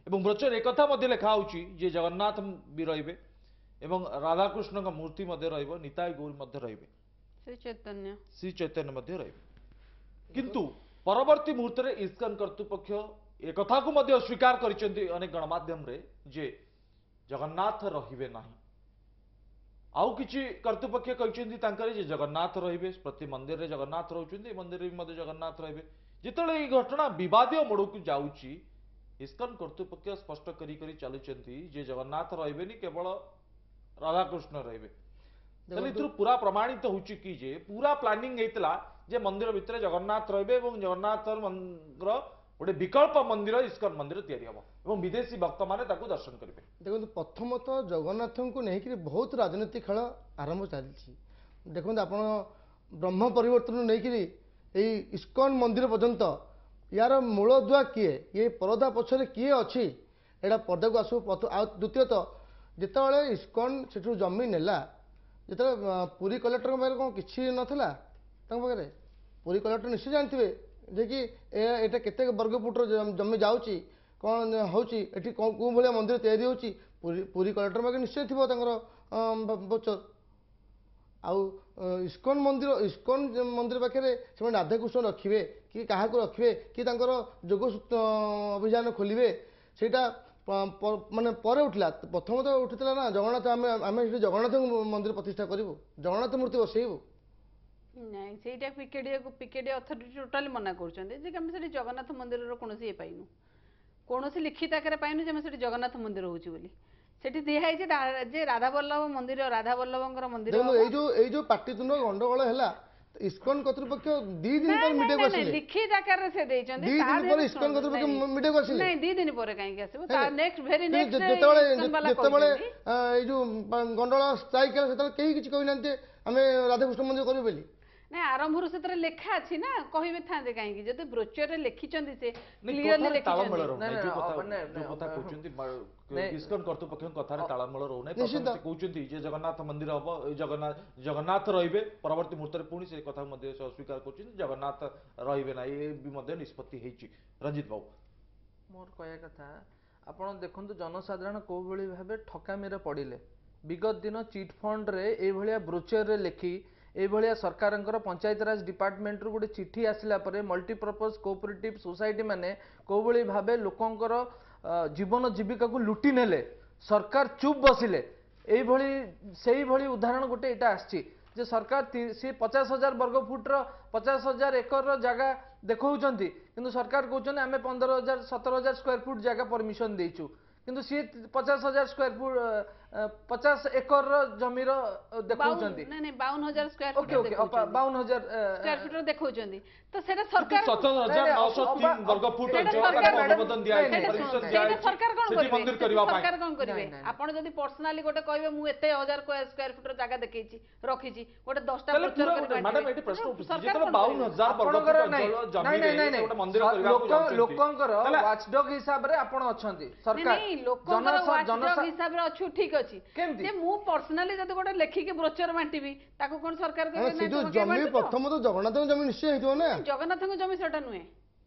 ଏବଂ ବ୍ରୋଚର ଏକଥା ମଧ୍ୟ ଲେଖା ହେଉଛି ଯେ ଜଗନ୍ନାଥ ବି ରହିବେ ଏବଂ ରାଧାକୃଷ୍ଣଙ୍କ ମୂର୍ତ୍ତି ମଧ୍ୟ ରହିବ, ନିତାଇ ଗୌରୀ ମଧ୍ୟ ରହିବେ, ଶ୍ରୀ ଚୈତନ୍ୟ, ଶ୍ରୀ ଚୈତନ୍ୟ ମଧ୍ୟ ରହିବେ। କିନ୍ତୁ ପରବର୍ତ୍ତୀ ମୁହୂର୍ତ୍ତରେ ଇସ୍କନ କର୍ତ୍ତୃପକ୍ଷ ଏକଥାକୁ ମଧ୍ୟ ସ୍ୱୀକାର କରିଛନ୍ତି ଅନେକ ଗଣମାଧ୍ୟମରେ ଯେ ଜଗନ୍ନାଥ ରହିବେ ନାହିଁ। ଆଉ କିଛି କର୍ତ୍ତୃପକ୍ଷ କହିଛନ୍ତି ତାଙ୍କର ଯେ ଜଗନ୍ନାଥ ରହିବେ, ପ୍ରତି ମନ୍ଦିରରେ ଜଗନ୍ନାଥ ରହୁଛନ୍ତି, ଏ ମନ୍ଦିରରେ ବି ମଧ୍ୟ ଜଗନ୍ନାଥ ରହିବେ। ଯେତେବେଳେ ଏଇ ଘଟଣା ବିବାଦୀୟ ମୋଡ଼କୁ ଯାଉଛି, ଇସ୍କନ କର୍ତ୍ତୃପକ୍ଷ ସ୍ପଷ୍ଟ କରି କରି ଚାଲୁଛନ୍ତି ଯେ ଜଗନ୍ନାଥ ରହିବେନି, କେବଳ ରାଧାକୃଷ୍ଣ ରହିବେ। ତାହେଲେ ଏଥିରୁ ପୁରା ପ୍ରମାଣିତ ହେଉଛି କି ଯେ ପୁରା ପ୍ଲାନିଂ ହେଇଥିଲା ଯେ ମନ୍ଦିର ଭିତରେ ଜଗନ୍ନାଥ ରହିବେ ଏବଂ ଜଗନ୍ନାଥଙ୍କର ଗୋଟେ ବିକଳ୍ପ ମନ୍ଦିର ଇସ୍କନ ମନ୍ଦିର ତିଆରି ହେବ ଏବଂ ବିଦେଶୀ ଭକ୍ତମାନେ ତାକୁ ଦର୍ଶନ କରିବେ। ଦେଖନ୍ତୁ, ପ୍ରଥମତଃ ଜଗନ୍ନାଥଙ୍କୁ ନେଇକରି ବହୁତ ରାଜନୀତି ଖେଳ ଆରମ୍ଭ ଚାଲିଛି। ଦେଖନ୍ତୁ ଆପଣ, ବ୍ରହ୍ମ ପରିବର୍ତ୍ତନ ନେଇକରି ଏଇ ଇସ୍କନ ମନ୍ଦିର ପର୍ଯ୍ୟନ୍ତ ୟାର ମୂଳଦୁଆ କିଏ, ଇଏ ପରଦା ପଛରେ କିଏ ଅଛି, ଏଇଟା ପର୍ଦାକୁ ଆସିବ। ଆଉ ଦ୍ୱିତୀୟତଃ, ଯେତେବେଳେ ଇସ୍କନ ସେଠୁ ଜମି ନେଲା, ଯେତେବେଳେ ପୁରୀ କଲେକ୍ଟରଙ୍କ ପାଖରେ କ'ଣ କିଛି ନଥିଲା? ତାଙ୍କ ପାଖରେ ପୁରୀ କଲେକ୍ଟର ନିଶ୍ଚୟ ଜାଣିଥିବେ ଯେ କି ଏଇଟା କେତେ ବର୍ଗ ଫୁଟର ଜମି ଯାଉଛି, କ'ଣ ହେଉଛି ଏଠି, କେଉଁ ଭଳିଆ ମନ୍ଦିର ତିଆରି ହେଉଛି। ପୁରୀ କଲେକ୍ଟର ପାଖରେ ନିଶ୍ଚୟ ଥିବ ତାଙ୍କର ବ୍ରୋଚର। ଆଉ ଇସ୍କନ ମନ୍ଦିର, ଇସ୍କନ ମନ୍ଦିର ପାଖରେ ସେମାନେ ରାଧାକୃଷ୍ଣ ରଖିବେ କି କାହାକୁ ରଖିବେ କି ତାଙ୍କର ଯୋଗ ଅଭିଯାନ ଖୋଲିବେ, ସେଇଟା ମାନେ ପରେ ଉଠିଲା। ପ୍ରଥମତଃ ଉଠିଥିଲା ନା ଜଗନ୍ନାଥ, ଆମେ ସେଠି ଜଗନ୍ନାଥଙ୍କ ମନ୍ଦିର ପ୍ରତିଷ୍ଠା କରିବୁ, ଜଗନ୍ନାଥ ମୂର୍ତ୍ତି ବସେଇବୁ। ନାଇଁ, ସେଇଟା ପିକେଡିଏକୁ, ପିକେଡିଏ ଅଥରିଟି ଟୋଟାଲି ମନା କରୁଛନ୍ତି ଯେ ଆମେ ସେଠି ଜଗନ୍ନାଥ ମନ୍ଦିରର କୌଣସି ଇଏ ପାଇନୁ, କୌଣସି ଲିଖିତ ଆକାରରେ ପାଇନୁ ଯେ ଆମେ ସେଠି ଜଗନ୍ନାଥ ମନ୍ଦିର ହେଉଛି ବୋଲି। ସେଠି ଦିଆହେଇଛି ଯେ ରାଧାବଲ୍ଲଭ ମନ୍ଦିର, ରାଧାବଲ୍ଲଭଙ୍କର ମନ୍ଦିର। ଏଇ ଯୋଉ ପାଟିତୁଣ୍ଡ ଗଣ୍ଡଗୋଳ ହେଲା, ଇସ୍କନ କର୍ତ୍ତୃପକ୍ଷ 2 ଦିନ ପରେ ମିଡିଆକୁ ଆସିଲେ। ଲିଖିତ ଆକାରରେ ସେ ଦେଇଛନ୍ତି। 2 ଦିନ ପରେ ଇସ୍କନ କର୍ତ୍ତୃପକ୍ଷ ମିଡିଆକୁ ଆସିଲେ। ନାଇଁ, 2 ଦିନ ପରେ କାହିଁକି ଆସିବ? ତା ନେକ୍ସଟ, ଭେରି ନେକ୍ସଟ। ଯେତେବେଳେ ଏଇ ଯୋଉ ଗଣ୍ଡଗୋଳ ଷ୍ଟ୍ରାଇକ୍ ହେଲା, ସେତେବେଳେ କେହି କିଛି କହିନାହାନ୍ତି ଆମେ ରାଧାକୃଷ୍ଣ ମନ୍ଦିର କରିବୁ ବୋଲି। ନାଇଁ, ଆରମ୍ଭରୁ ସେଥିରେ ଲେଖା ଅଛି ନା, କହିବେ ଥାନ୍ତେ କାହିଁକି ଯଦି ବ୍ରୋଚରରେ ଲେଖିଛନ୍ତି, ସେ କ୍ଲିୟରଲି ଲେଖିଛନ୍ତି। କଥା କହୁଛନ୍ତି ଇସ୍କନ କର୍ତ୍ତୃପକ୍ଷଙ୍କ କଥାରେ ତାଳମେଳ ରହୁନାହିଁ। ପ୍ରଥମେ ସେ କହୁଛନ୍ତି ଯେ ଜଗନ୍ନାଥ ମନ୍ଦିର ହବ, ଜଗନ୍ନାଥ ରହିବେ, ପରବର୍ତ୍ତୀ ମୁହୂର୍ତ୍ତରେ ପୁଣି ସେ କଥାକୁ ମଧ୍ୟ ସେ ଅସ୍ୱୀକାର କରୁଛନ୍ତି, ଜଗନ୍ନାଥ ରହିବେ ନାହିଁ, ଏ ବି ମଧ୍ୟ ନିଷ୍ପତ୍ତି ହେଇଛି। ରଞ୍ଜିତ ବାବୁ, ମୋର କହିବା କଥା, ଆପଣ ଦେଖନ୍ତୁ ଜନସାଧାରଣ କୋଉଭଳି ଭାବେ ଠକାମିରେ ପଡ଼ିଲେ। ବିଗତ ଦିନ ଚିଟ୍ ଫଣ୍ଡରେ ଏଇଭଳିଆ ବ୍ରୋଚରରେ ଲେଖି ଏଇଭଳିଆ ସରକାରଙ୍କର ପଞ୍ଚାୟତରାଜ ଡିପାର୍ଟମେଣ୍ଟରୁ ଗୋଟେ ଚିଠି ଆସିଲା ପରେ ମଲ୍ଟିପର୍ପଜ୍ କୋଅପରେଟିଭ୍ ସୋସାଇଟି ମାନେ କୋଉଭଳି ଭାବେ ଲୋକଙ୍କର ଜୀବନ ଜୀବିକାକୁ ଲୁଟି ନେଲେ, ସରକାର ଚୁପ୍ ବସିଲେ। ଏଇଭଳି ସେଇଭଳି ଉଦାହରଣ ଗୋଟେ ଏଇଟା ଆସିଛି ଯେ ସରକାର ସିଏ 50,000 ବର୍ଗ ଫୁଟର, 50,000 ଏକରର ଜାଗା ଦେଖାଉଛନ୍ତି, କିନ୍ତୁ ସରକାର କହୁଛନ୍ତି ଆମେ 15,000, 17,000 ସ୍କୋୟାର ଫୁଟ ଜାଗା ପରମିଶନ ଦେଇଛୁ, କିନ୍ତୁ ସିଏ 50,000 ସ୍କୋୟାର ଫୁଟ, 50 ଏକରର ଜମିର ଦେଖାଉଛନ୍ତି। ନାଇଁ ନାଇଁ, 52,000 ସ୍କୋୟାର। ଓକେ ଓକେ, 52,000 ସ୍କୋୟାର ଫୁଟର ଦେଖାଉଛନ୍ତି। ତ ସେଟା ସରକାର 17,903 ବର୍ଗ ଫୁଟ ଅନୁମୋଦନ ଦିଆଯାଇଛି, ପରମିଶନ ଦିଆଯାଇଛି। ସରକାର କଣ କରିବେ? ସରକାର କଣ କରିବେ? ଆପଣ ଯଦି ପର୍ସନାଲି ଗୋଟେ କହିବେ ମୁଁ ଏତେ ହଜାର ସ୍କୋୟାର ଫୁଟର ଜାଗା ଦେଖେଇଛି, ରଖିଛି, ଗୋଟେ 10ଟା। ମ୍ୟାଡାମ, ଏଠି ପ୍ରଶ୍ନ ଉଠୁଛି, ଯେତେବେଳେ 52,000 ବର୍ଗ ଫୁଟ ଜମିରେ ଗୋଟେ ମନ୍ଦିର କରିବାକୁ ଯାଉଛନ୍ତି, ଲୋକଙ୍କର ୱାଚଡଗ ହିସାବରେ ଆପଣ ଅଛନ୍ତି ସରକାର? ଲୋକଙ୍କର ୱାଚଡଗ ହିସାବରେ ଅଛୁ, ଠିକ ଅଛି। ଯେ ମୁଁ ପର୍ସନାଲି ଯଦି ଗୋଟେ ଲେଖିକି ବ୍ରୋଚର ବାଣ୍ଟିବି, ତାକୁ କଣ ସରକାର କହିବେ? ସେ ଯୋଉ ଜମି ପ୍ରଥମତଃ ଜଗନ୍ନାଥଙ୍କ ଜମି ନିଶ୍ଚୟ ହେଇଥିବ ନା? ଜଗନ୍ନାଥଙ୍କ ଜମି ସେଟା ନୁହେଁ,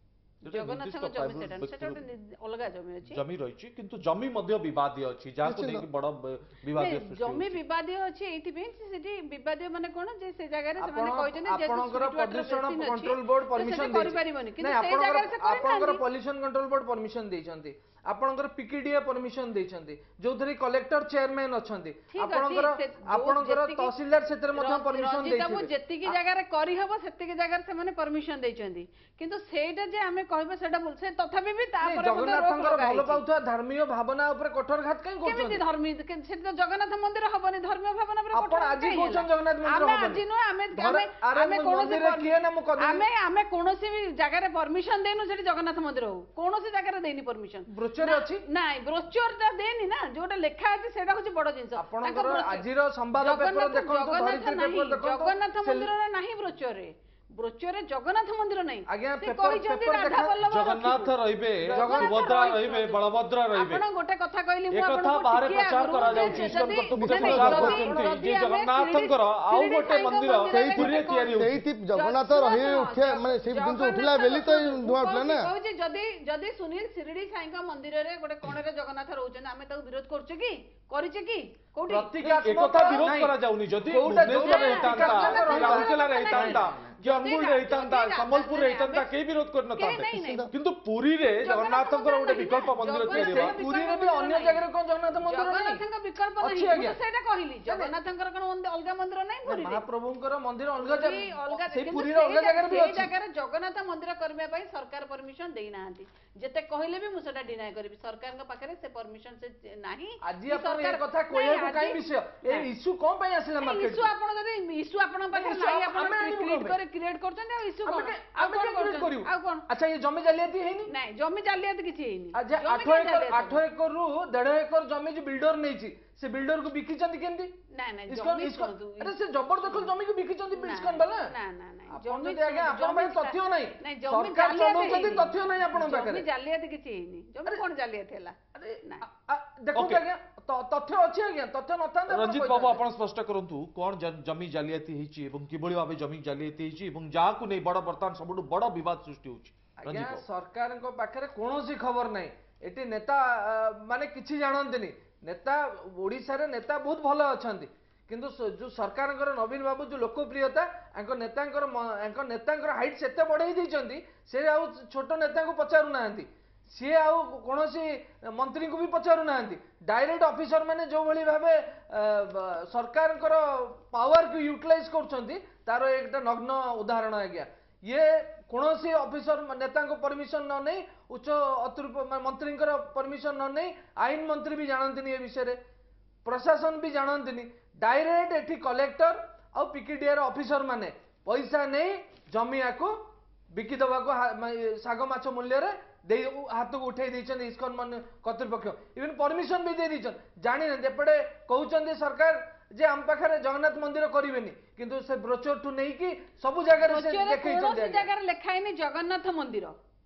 ଜଗନ୍ନାଥଙ୍କ ଜମି ସେଟା ନୁହେଁ, ସେଟା ଗୋଟେ ଅଲଗା ଜମି ଅଛି। ଜମି ରହିଛି, କିନ୍ତୁ ଜମି ମଧ୍ୟ ବିବାଦୀୟ ଅଛି, ଯାହାକୁ ନେଇକି ବଡ ବିବାଦୀୟ ସୃଷ୍ଟି। ଜମି ବିବାଦୀୟ ଅଛି ଏଇଥିପାଇଁ, ସେଠି ବିବାଦୀୟ ମାନେ କଣ ଯେ ସେ ଜାଗାରେ ସେମାନେ କହିଛନ୍ତି ଯେ ଆପଣଙ୍କର ପ୍ରଦୂଷଣ କଣ୍ଟ୍ରୋଲ ବୋର୍ଡ ପରମିଶନ କରିପାରିବନି, କିନ୍ତୁ ସେଇ ଜାଗାରେ ସେ ଆପଣଙ୍କର ପଲ୍ୟୁସନ କଣ୍ଟ୍ରୋଲ ବୋର୍ଡ ପରମିଶନ ଦେଇଛନ୍ତି, ଆପଣଙ୍କର ପିକିଡିଏ ପରମିଶନ ଦେଇଛନ୍ତି, ଯୋଉଥିରେ କଲେକ୍ଟର ଚେୟାରମ୍ୟାନ ଅଛନ୍ତି, ଆପଣଙ୍କର ତହସିଲଦାର ସେଥିରେ ମଧ୍ୟ ପରମିଶନ ଦେଇଥିବେ। ଯେତିକି ଜାଗାରେ କରିହବ ସେତିକି ଜାଗାରେ ସେମାନେ ପରମିଶନ ଦେଇଛନ୍ତି, କିନ୍ତୁ ସେଇଟା ଯେ ଆମେ କହିବା ସେଇଟା ଭୁଲ। ସେ ତଥାପି ବି ତାପରେ ଜଗନ୍ନାଥଙ୍କର ଭଲ ପାଉଥିବା ଧର୍ମୀୟ ଭାବନା ଉପରେ କଠୋର ଘାତ କାହିଁ କରୁଛନ୍ତି? କେମିତି ଧର୍ମୀୟ? ସେଠି ତ ଜଗନ୍ନାଥ ମନ୍ଦିର ହବନି, ଧର୍ମୀୟ ଭାବନା ଉପରେ। ଆପଣ ଆଜି କହୁଛନ୍ତି ଜଗନ୍ନାଥ ମନ୍ଦିର ହବନି? ଆମେ ଆଜି ନୁହେଁ, ଆମେ କୌଣସି ଆମେ କୌଣସି ବି ଜାଗାରେ ପରମିଶନ ଦେଇନୁ ସେଠି ଜଗନ୍ନାଥ ମନ୍ଦିର ହଉ। କୌଣସି ଜାଗାରେ ଦେଇନି ପରମିଶନ। ବ୍ରୋଚର ଅଛି? ନାଇଁ, ବ୍ରୋଚରଟା ଦେଇନି ନା, ଯୋଉଟା ଲେଖା ଅଛି ସେଇଟା ହଉଛି ବଡ ଜିନିଷ। ଆପଣଙ୍କର ଆଜିର ସମ୍ବାଦ ପେପର ଦେଖନ୍ତୁ, ଧରିତ୍ରୀ ପେପର ଦେଖନ୍ତୁ, ଜଗନ୍ନାଥ ମନ୍ଦିରର ନାହିଁ ବ୍ରୋଚରରେ। ବ୍ରୋଚରରେ ଜଗନ୍ନାଥ ମନ୍ଦିର ନାହିଁ। ସେ କହିଛନ୍ତି ରାଧା ବଲ୍ଲଭ। ଜଗନ୍ନାଥ ରହିବେ, ସୁଭଦ୍ରା ରହିବେ, ବଳଭଦ୍ର ରହିବେ। ଆପଣ ଗୋଟେ କଥା କହିଲି ମୁଁ ଆପଣଙ୍କୁ, ବାହାରେ ପ୍ରଚାର କରାଯାଉଛି, ଇସ୍କନ କର୍ତ୍ତୃପକ୍ଷ ପ୍ରଚାର କରୁଛନ୍ତି ଯେ ଜଗନ୍ନାଥଙ୍କର ଆଉ ଗୋଟେ ମନ୍ଦିର ପୁରୀରେ ତିଆରି ହେଉଛି। ସେଇଠି ଜଗନ୍ନାଥ ରହି ଉଠିବା ମାନେ ସେଇ ଜିନିଷ ଉଠିଲା ବୋଲି ତ ଧୂଆଁ ଉଠିଲା ନା। କହୁଛି, ଯଦି ସୁନୀଲ ଶିରିଡି ସାଇଙ୍କ ମନ୍ଦିରରେ ଗୋଟେ କୋଣରେ ଜଗନ୍ନାଥ ରହୁଛନ୍ତି, ଆମେ ତାକୁ ବିରୋଧ କରୁଛେ କି କରିଛେ କି କୋଉଠି? ଏକଥା ବିରୋଧ କରାଯାଉନି। ଯଦି ଭୁବନେଶ୍ୱରରେ ହେଇଥାନ୍ତା, ରାଉରକେଲାରେ ହେଇଥାନ୍ତା କି ଅନୁଗୁଳରେ ହେଇଥାନ୍ତା, ସମ୍ବଲପୁରରେ ହେଇଥାନ୍ତା, କେହି ବିରୋଧ କରିନଥାନ୍ତେ। କିନ୍ତୁ ପୁରୀରେ ଜଗନ୍ନାଥଙ୍କର ଗୋଟେ ବିକଳ୍ପ ମନ୍ଦିର ତିଆରି ହେବ। ପୁରୀରେ ବି ଅନ୍ୟ ଜାଗାରେ କଣ ଜଗନ୍ନାଥ ମନ୍ଦିର? ଜଗନ୍ନାଥଙ୍କ ବିକଳ୍ପ ନାହିଁ, ମୁଁ ସେଇଟା କହିଲି। ଜଗନ୍ନାଥଙ୍କର କଣ ଅଲଗା ମନ୍ଦିର ନାହିଁ ପୁରୀରେ? ମହାପ୍ରଭୁଙ୍କର ମନ୍ଦିର ଅଲଗା ଅଲଗା, ସେଇ ପୁରୀର ଅଲଗା ଜାଗାରେ ବି ଅଛି। ସେଇ ଜାଗାରେ ଜଗନ୍ନାଥ ମନ୍ଦିର କରିବା ପାଇଁ ସରକାର ପରମିଶନ ଦେଇନାହାନ୍ତି। ଯେତେ କହିଲେ ବି ମୁଁ ସେଟା ଡିନାଏ କରିବି, ସରକାରଙ୍କ ପାଖରେ ସେ ପରମିଶନ ସେ ନାହିଁ। ଆଜି ଆପଣ ଏ କଥା କହିବାକୁ କାଇଁ ବିଷୟ, ଏ ଇସ୍ୟୁ କଣ ପାଇଁ ଆସିଲା ମାର୍କେଟ? ଇସ୍ୟୁ ଆପଣ ଯଦି ଇସ୍ୟୁ ଆପଣଙ୍କ ପାଖରେ ନାହିଁ, ଆପଣ କ୍ରିଏଟ କରି କ୍ରିଏଟ କରୁଛନ୍ତି। ଆଉ ଇସ୍ୟୁ କଣ? ଆଉ କଣ କରିବୁ? ଆଉ କଣ? ଆଚ୍ଛା, ଏ ଜମି ଜାଲିଆତି ହେଇନି? ନାଇଁ, ଜମି ଜାଲିଆତି କିଛି ହେଇନି। ଆଚ୍ଛା, 8 ଏକର, 8 ଏକରରୁ 1.5 ଏକର ଜମି ଯୋଉ ବିଲ୍ଡର ନେଇଛି, ସେ ବିଲ୍ଡରକୁ ବିକିଛନ୍ତି କେମିତି? ନାଇଁ ନାଇଁ, ଜମି ଶୁଣନ୍ତୁ, ଆରେ ସେ ଜବରଦଖଲ ଜମିକୁ ବିକିଛନ୍ତି ଇସ୍କନ ବାଲା। ନା ନା ନା, ଜମି ଆଜ୍ଞା ଆପଣଙ୍କ ପାଖରେ ତଥ୍ୟ ନାହିଁ। ସରକାର ଚଲାଉଛନ୍ତି, ତଥ୍ୟ ନାହିଁ ଆପଣଙ୍କ ପାଖରେ। ଜମି ଜାଲିଆତି କିଛି ହେଇନି। ଜମି କଣ ଜାଲିଆତି ହେଲା? ଦେଖନ୍ତୁ ଆଜ୍ଞା, ତଥ୍ୟ ଅଛି ଆଜ୍ଞା, ତଥ୍ୟ ନଥାନ୍ତା। ରଞ୍ଜିତ ବାବୁ, ଆପଣ ସ୍ପଷ୍ଟ କରନ୍ତୁ କଣ ଜମି ଜାଲିଆତି ହେଇଛି ଏବଂ କିଭଳି ଭାବେ ଜମି ଜାଲିଆତି ହେଇଛି ଏବଂ ଯାହାକୁ ନେଇ ବଡ ବର୍ତ୍ତମାନ ସବୁଠୁ ବଡ ବିବାଦ ସୃଷ୍ଟି ହଉଛି। ଆଜ୍ଞା, ସରକାରଙ୍କ ପାଖରେ କୌଣସି ଖବର ନାହିଁ। ଏଠି ନେତା ମାନେ କିଛି ଜାଣନ୍ତିନି। ନେତା ଓଡ଼ିଶାରେ ନେତା ବହୁତ ଭଲ ଅଛନ୍ତି, କିନ୍ତୁ ଯୋଉ ସରକାରଙ୍କର ନବୀନ ବାବୁ ଯୋଉ ଲୋକପ୍ରିୟତା, ଆଙ୍କ ନେତାଙ୍କର ହାଇଟ୍ ସେତେ ବଢେଇ ଦେଇଛନ୍ତି, ସେ ଆଉ ଛୋଟ ନେତାଙ୍କୁ ପଚାରୁନାହାନ୍ତି, ସିଏ ଆଉ କୌଣସି ମନ୍ତ୍ରୀଙ୍କୁ ବି ପଚାରୁନାହାନ୍ତି। ଡାଇରେକ୍ଟ ଅଫିସର ମାନେ ଯୋଉଭଳି ଭାବେ ସରକାରଙ୍କର ପାୱାରକୁ ୟୁଟିଲାଇଜ କରୁଛନ୍ତି, ତାର ଏଇଟା ନଗ୍ନ ଉଦାହରଣ ଆଜ୍ଞା। ଇଏ କୌଣସି ଅଫିସର ନେତାଙ୍କ ପରମିଶନ ନ ନେଇ, ଉଚ୍ଚ ଅତିରିକ୍ତ ମନ୍ତ୍ରୀଙ୍କର ପରମିଶନ ନ ନେଇ, ଆଇନ ମନ୍ତ୍ରୀ ବି ଜାଣନ୍ତିନି ଏ ବିଷୟରେ, ପ୍ରଶାସନ ବି ଜାଣନ୍ତିନି, ଡାଇରେକ୍ଟ ଏଠି କଲେକ୍ଟର ଆଉ ପିକିଡିଆର ଅଫିସର ମାନେ ପଇସା ନେଇ ଜମିଆକୁ ବିକି ଦେବାକୁ ଶାଗ ମାଛ ମୂଲ୍ୟରେ ଦେଇ ହାତକୁ ଉଠେଇ ଦେଇଛନ୍ତି ଇସ୍କନ କର୍ତ୍ତୃପକ୍ଷ। ଇଭେନ୍ ପରମିଶନ ବି ଦେଇ ଦେଇଛନ୍ତି, ଜାଣିନାହାନ୍ତି। ଏପଟେ କହୁଛନ୍ତି ସରକାର ଯେ ଆମ ପାଖରେ ଜଗନ୍ନାଥ ମନ୍ଦିର କରିବେନି, କିନ୍ତୁ ସେ ବ୍ରୋଚରଠୁ ନେଇକି ସବୁ ଜାଗାରେ ସେ ଦେଖେଇଛନ୍ତି। କୌଣସି ଜାଗାରେ ଲେଖା ହେଇନି ଜଗନ୍ନାଥ ମନ୍ଦିର,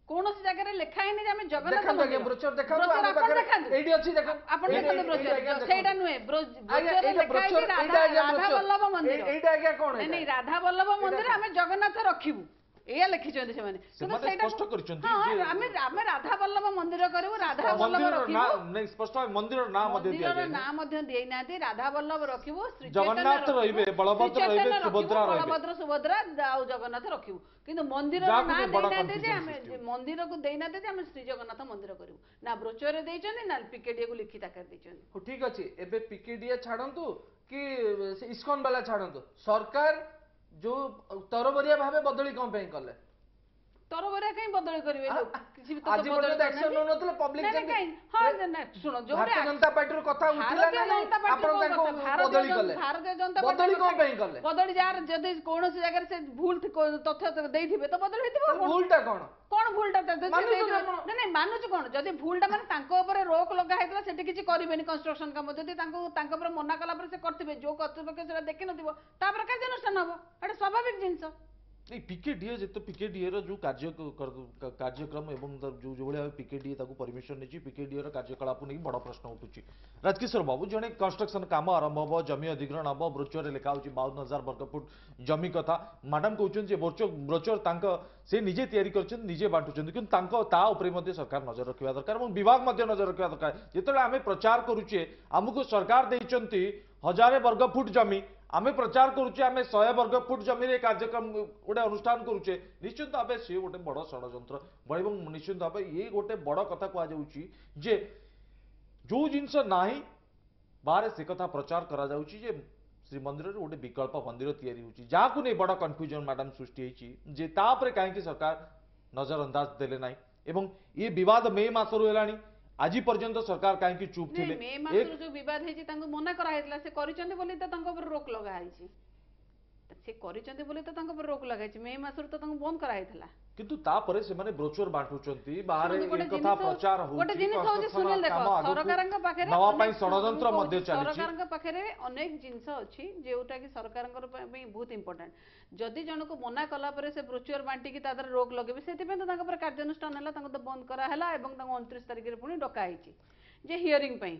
କୌଣସି ଜାଗାରେ ଲେଖା ହେଇନି ଯେ ଆମେ ଜଗନ୍ନାଥ ମନ୍ଦିର। ବ୍ରୋଚର ଦେଖାନ୍ତୁ, ଆମ ପାଖରେ ଏଇଠି ଅଛି, ଦେଖନ୍ତୁ ଆପଣ, ଦେଖନ୍ତୁ ବ୍ରୋଚର। ସେଇଟା ନୁହେଁ, ବ୍ରୋଚରରେ ଲେଖା ହେଇଛି ରାଧା ବଲ୍ଲଭ ମନ୍ଦିର। ଏଇଟା ଆଜ୍ଞା କଣ? ନାଇଁ ନାଇଁ, ରାଧା ବଲ୍ଲଭ ମନ୍ଦିର, ଆମେ ଜଗନ୍ନାଥ ରଖିବୁ, ଏଇଆ ଲେଖିଛନ୍ତି ସେମାନେ। କିନ୍ତୁ ସେମାନେ ସେଇଟା ସ୍ପଷ୍ଟ କରିଛନ୍ତି ହଁ ଯେ ଆମେ ଆମେ ରାଧା ବଲ୍ଲଭ ମନ୍ଦିର କରିବୁ, ରାଧା ବଲ୍ଲଭ ମନ୍ଦିରର ରଖିବୁ। ନାଁ ନାଇଁ, ସ୍ପଷ୍ଟ ଭାବେ ମନ୍ଦିରର ନାଁ ମଧ୍ୟ ମନ୍ଦିରର ଦିଆଯାଇନି। ନାଁ ମଧ୍ୟ ଦେଇନାହାନ୍ତି। ରାଧା ବଲ୍ଲଭ ରଖିବୁ, ଶ୍ରୀ ଜଗନ୍ନାଥ ଚୈତନ୍ୟ ରହିବେ, ରଖିବୁ, ବଳଭଦ୍ର ଶ୍ରୀ ରହିବେ, ଚୈତନ୍ୟ ରଖିବୁ, ସୁଭଦ୍ରା ରହିବେ। ବଳଭଦ୍ର ସୁଭଦ୍ରା ଆଉ ଜଗନ୍ନାଥ ରଖିବୁ, କିନ୍ତୁ ମନ୍ଦିରର ଯାହାକୁ ନାଁ ନେଇ ବଡ଼ ଦେଇନାହାନ୍ତି ଯେ confusion ଆମେ ସୃଷ୍ଟି ହଉଛି। ମନ୍ଦିରକୁ ଦେଇନାହାନ୍ତି ଯେ ଆମେ ଶ୍ରୀ ଜଗନ୍ନାଥ ମନ୍ଦିର କରିବୁ। ନା ବ୍ରୋଚରରେ ଦେଇଛନ୍ତି, ନା ପିକେଡିଏକୁ ଲିଖିତ ଆକାରରେ ଦେଇଛନ୍ତି। ହଉ ଠିକ ଅଛି, ଏବେ ପିକେଡିଏ ଛାଡ଼ନ୍ତୁ କି ସେ ଇସ୍କନ ବାଲା ଛାଡ଼ନ୍ତୁ, ସରକାର ଯୋଉ ତରବରିଆ ଭାବେ ବଦଳି କଣ ପାଇଁ କଲେ? ତରବରିଆ କାହିଁ ବଦଳି କରିବେ? କିଛି ବି ତ ଆଜି ବଦଳି ପର୍ଯ୍ୟନ୍ତ ଆକ୍ସନ କରିନାହାନ୍ତି। ନେଉନଥିଲେ ପବ୍ଲିକ। ନାଇଁ, ନାଇଁ, କାହିଁ? ହଁ, ନା, ଶୁଣ, ଯୋଉଠି ଭାରତୀୟ ଜନତା ପାର୍ଟିରୁ କଥା ଉଠିଲା ଭାରତୀୟ ନା ନାଇଁ, ଜନତା ପାର୍ଟି ଆପଣ କୋଉ ତାଙ୍କୁ କଥା? ଭାରତୀୟ ବଦଳି କଲେ। ଭାରତୀୟ ଜନତା ବଦଳି ପାର୍ଟି କଣ ପାଇଁ କଲେ? ବଦଳି ଯାହାର ଯଦି କୌଣସି ଜାଗାରେ ସେ ଭୁଲ ତଥ୍ୟ ଦେଇଥିବେ ତ ବଦଳି ହେଇଥିବ। ଆଉ କଣ? ଭୁଲଟା କଣ? କଣ ଭୁଲଟା ତ ଯଦି ସେ ମାନୁଛନ୍ତି ଦେଇଥିବେ? ଆପଣ? ନାଇଁ ନାଇଁ, ମାନୁଛୁ କଣ? ଯଦି ଭୁଲଟା ମାନେ ତାଙ୍କ ଉପରେ ରୋକ ଲଗା ହେଇଥିଲା, ସେଠି କିଛି କରିବେନି କନଷ୍ଟ୍ରକ୍ସନ କାମ, ଯଦି ତାଙ୍କୁ ତାଙ୍କ ଉପରେ ମନା କଲା ପରେ ସେ କରିଥିବେ, ଯୋଉ କର୍ତ୍ତୃପକ୍ଷ ସେଟା ଦେଖିନଥିବ ତାପରେ କାର୍ଯ୍ୟାନୁଷ୍ଠାନ ହବ, ଏଟା ସ୍ୱାଭାବିକ ଜିନିଷ। ନାଇଁ, ପିକେଡିଏ ଯେତେ ପିକେଡିଏ ର ଯୋଉ କାର୍ଯ୍ୟ କାର୍ଯ୍ୟକ୍ରମ ଏବଂ ତାର ଯୋଉ ଯୋଉଭଳି ଭାବେ ପିକେଡିଏ ତାକୁ ପରମିଶନ ନେଇଛି, ପିକେଡିଏ ର କାର୍ଯ୍ୟକଳାପ ନେଇ ବଡ଼ ପ୍ରଶ୍ନ ଉଠୁଛି। ରାଜକିଶୋର ବାବୁ, ଜଣେ କନଷ୍ଟ୍ରକ୍ସନ କାମ ଆରମ୍ଭ ହବ, ଜମି ଅଧିଗ୍ରହଣ ହବ, ବ୍ରୋଚରରେ ଲେଖା ହଉଛି 52,000 ବର୍ଗଫୁଟ ଜମି କଥା। ମ୍ୟାଡାମ କହୁଛନ୍ତି ଯେ ବ୍ରୋଚର ତାଙ୍କ ସେ ନିଜେ ତିଆରି କରିଛନ୍ତି, ନିଜେ ବାଣ୍ଟୁଛନ୍ତି, କିନ୍ତୁ ତାଙ୍କ ତା ଉପରେ ମଧ୍ୟ ସରକାର ନଜର ରଖିବା ଦରକାର ଏବଂ ବିଭାଗ ମଧ୍ୟ ନଜର ରଖିବା ଦରକାର। ଯେତେବେଳେ ଆମେ ପ୍ରଚାର କରୁଛେ ଆମକୁ ସରକାର ଦେଇଛନ୍ତି 1000 ବର୍ଗଫୁଟ ଜମି, ଆମେ ପ୍ରଚାର କରୁଛେ ଆମେ 100 ବର୍ଗ ଫୁଟ ଜମିରେ କାର୍ଯ୍ୟକ୍ରମ ଗୋଟେ ଅନୁଷ୍ଠାନ କରୁଛେ, ନିଶ୍ଚିନ୍ତ ଭାବେ ସିଏ ଗୋଟେ ବଡ଼ ଷଡ଼ଯନ୍ତ୍ର ଏବଂ ନିଶ୍ଚିନ୍ତ ଭାବେ ଇଏ ଗୋଟେ ବଡ଼ କଥା କୁହାଯାଉଛି ଯେ ଯୋଉ ଜିନିଷ ନାହିଁ ବାହାରେ ସେ କଥା ପ୍ରଚାର କରାଯାଉଛି ଯେ ଶ୍ରୀମନ୍ଦିରରେ ଗୋଟେ ବିକଳ୍ପ ମନ୍ଦିର ତିଆରି ହେଉଛି, ଯାହାକୁ ନେଇ ବଡ଼ କନଫ୍ୟୁଜନ ମ୍ୟାଡାମ ସୃଷ୍ଟି ହେଇଛି ଯେ ତା ଉପରେ କାହିଁକି ସରକାର ନଜର ଅନ୍ଦାଜ ଦେଲେ ନାହିଁ ଏବଂ ଇଏ ବିବାଦ ମେ ମାସରୁ ହେଲାଣି, ଆଜି ପର୍ଯ୍ୟନ୍ତ ସରକାର କାହିଁକି ଚୁପ୍ ନାଇଁ, ଥିଲେ? ମେ ମାସରୁ ଯୋଉ ବିବାଦ ହେଇଛି ତାଙ୍କୁ ମନା କରାହେଇଥିଲା, ସେ କରିଛନ୍ତି ବୋଲି ତ ତାଙ୍କ ଉପରେ ରୋକ ଲଗା ହେଇଛି। ସେ କରିଛନ୍ତି ବୋଲି ତ ତାଙ୍କ ଉପରେ ରୋକ ଲଗାହେଇଛି। ମେ ମାସରୁ ତ ତାଙ୍କୁ ବନ୍ଦ କରାହେଇଥିଲା। କିନ୍ତୁ ତାପରେ ସେମାନେ ବ୍ରୋଚର ବାଣ୍ଟୁଛନ୍ତି ବାହାରେ, ଶୁଣନ୍ତୁ, ଏ ଗୋଟେ କଥା ଜିନିଷ ପ୍ରଚାର ଗୋଟେ ହଉଛି, ଜିନିଷ ହଉଛି କନଷ୍ଟ୍ରକ୍ସନ ସୁନିଲ, ଦେଖ, କାମ ଆଗକୁ ସରକାରଙ୍କ ପାଖରେ ନବା ପାଇଁ ଅନେକ ଷଡ଼ଯନ୍ତ୍ର ମୁଁ ମଧ୍ୟ କହୁଛି, ଚାଲିଛି। ସରକାରଙ୍କ ପାଖରେ ଅନେକ ଜିନିଷ ଅଛି ଯୋଉଟା କି ସରକାରଙ୍କର ପାଇଁ ବହୁତ ଇମ୍ପୋର୍ଟାଣ୍ଟ। ଯଦି ଜଣକୁ ମନା କଲା ପରେ ସେ ବ୍ରୋଚର ବାଣ୍ଟିକି ତା ଦେହରେ ରୋକ ଲଗେଇବେ, ସେଥିପାଇଁ ତ ତାଙ୍କ ଉପରେ କାର୍ଯ୍ୟାନୁଷ୍ଠାନ ହେଲା, ତାଙ୍କୁ ତ ବନ୍ଦ କରାହେଲା ଏବଂ ତାଙ୍କୁ 29 ତାରିଖରେ ପୁଣି ଡକା ହେଇଛି ଯେ ହିୟରିଂ ପାଇଁ,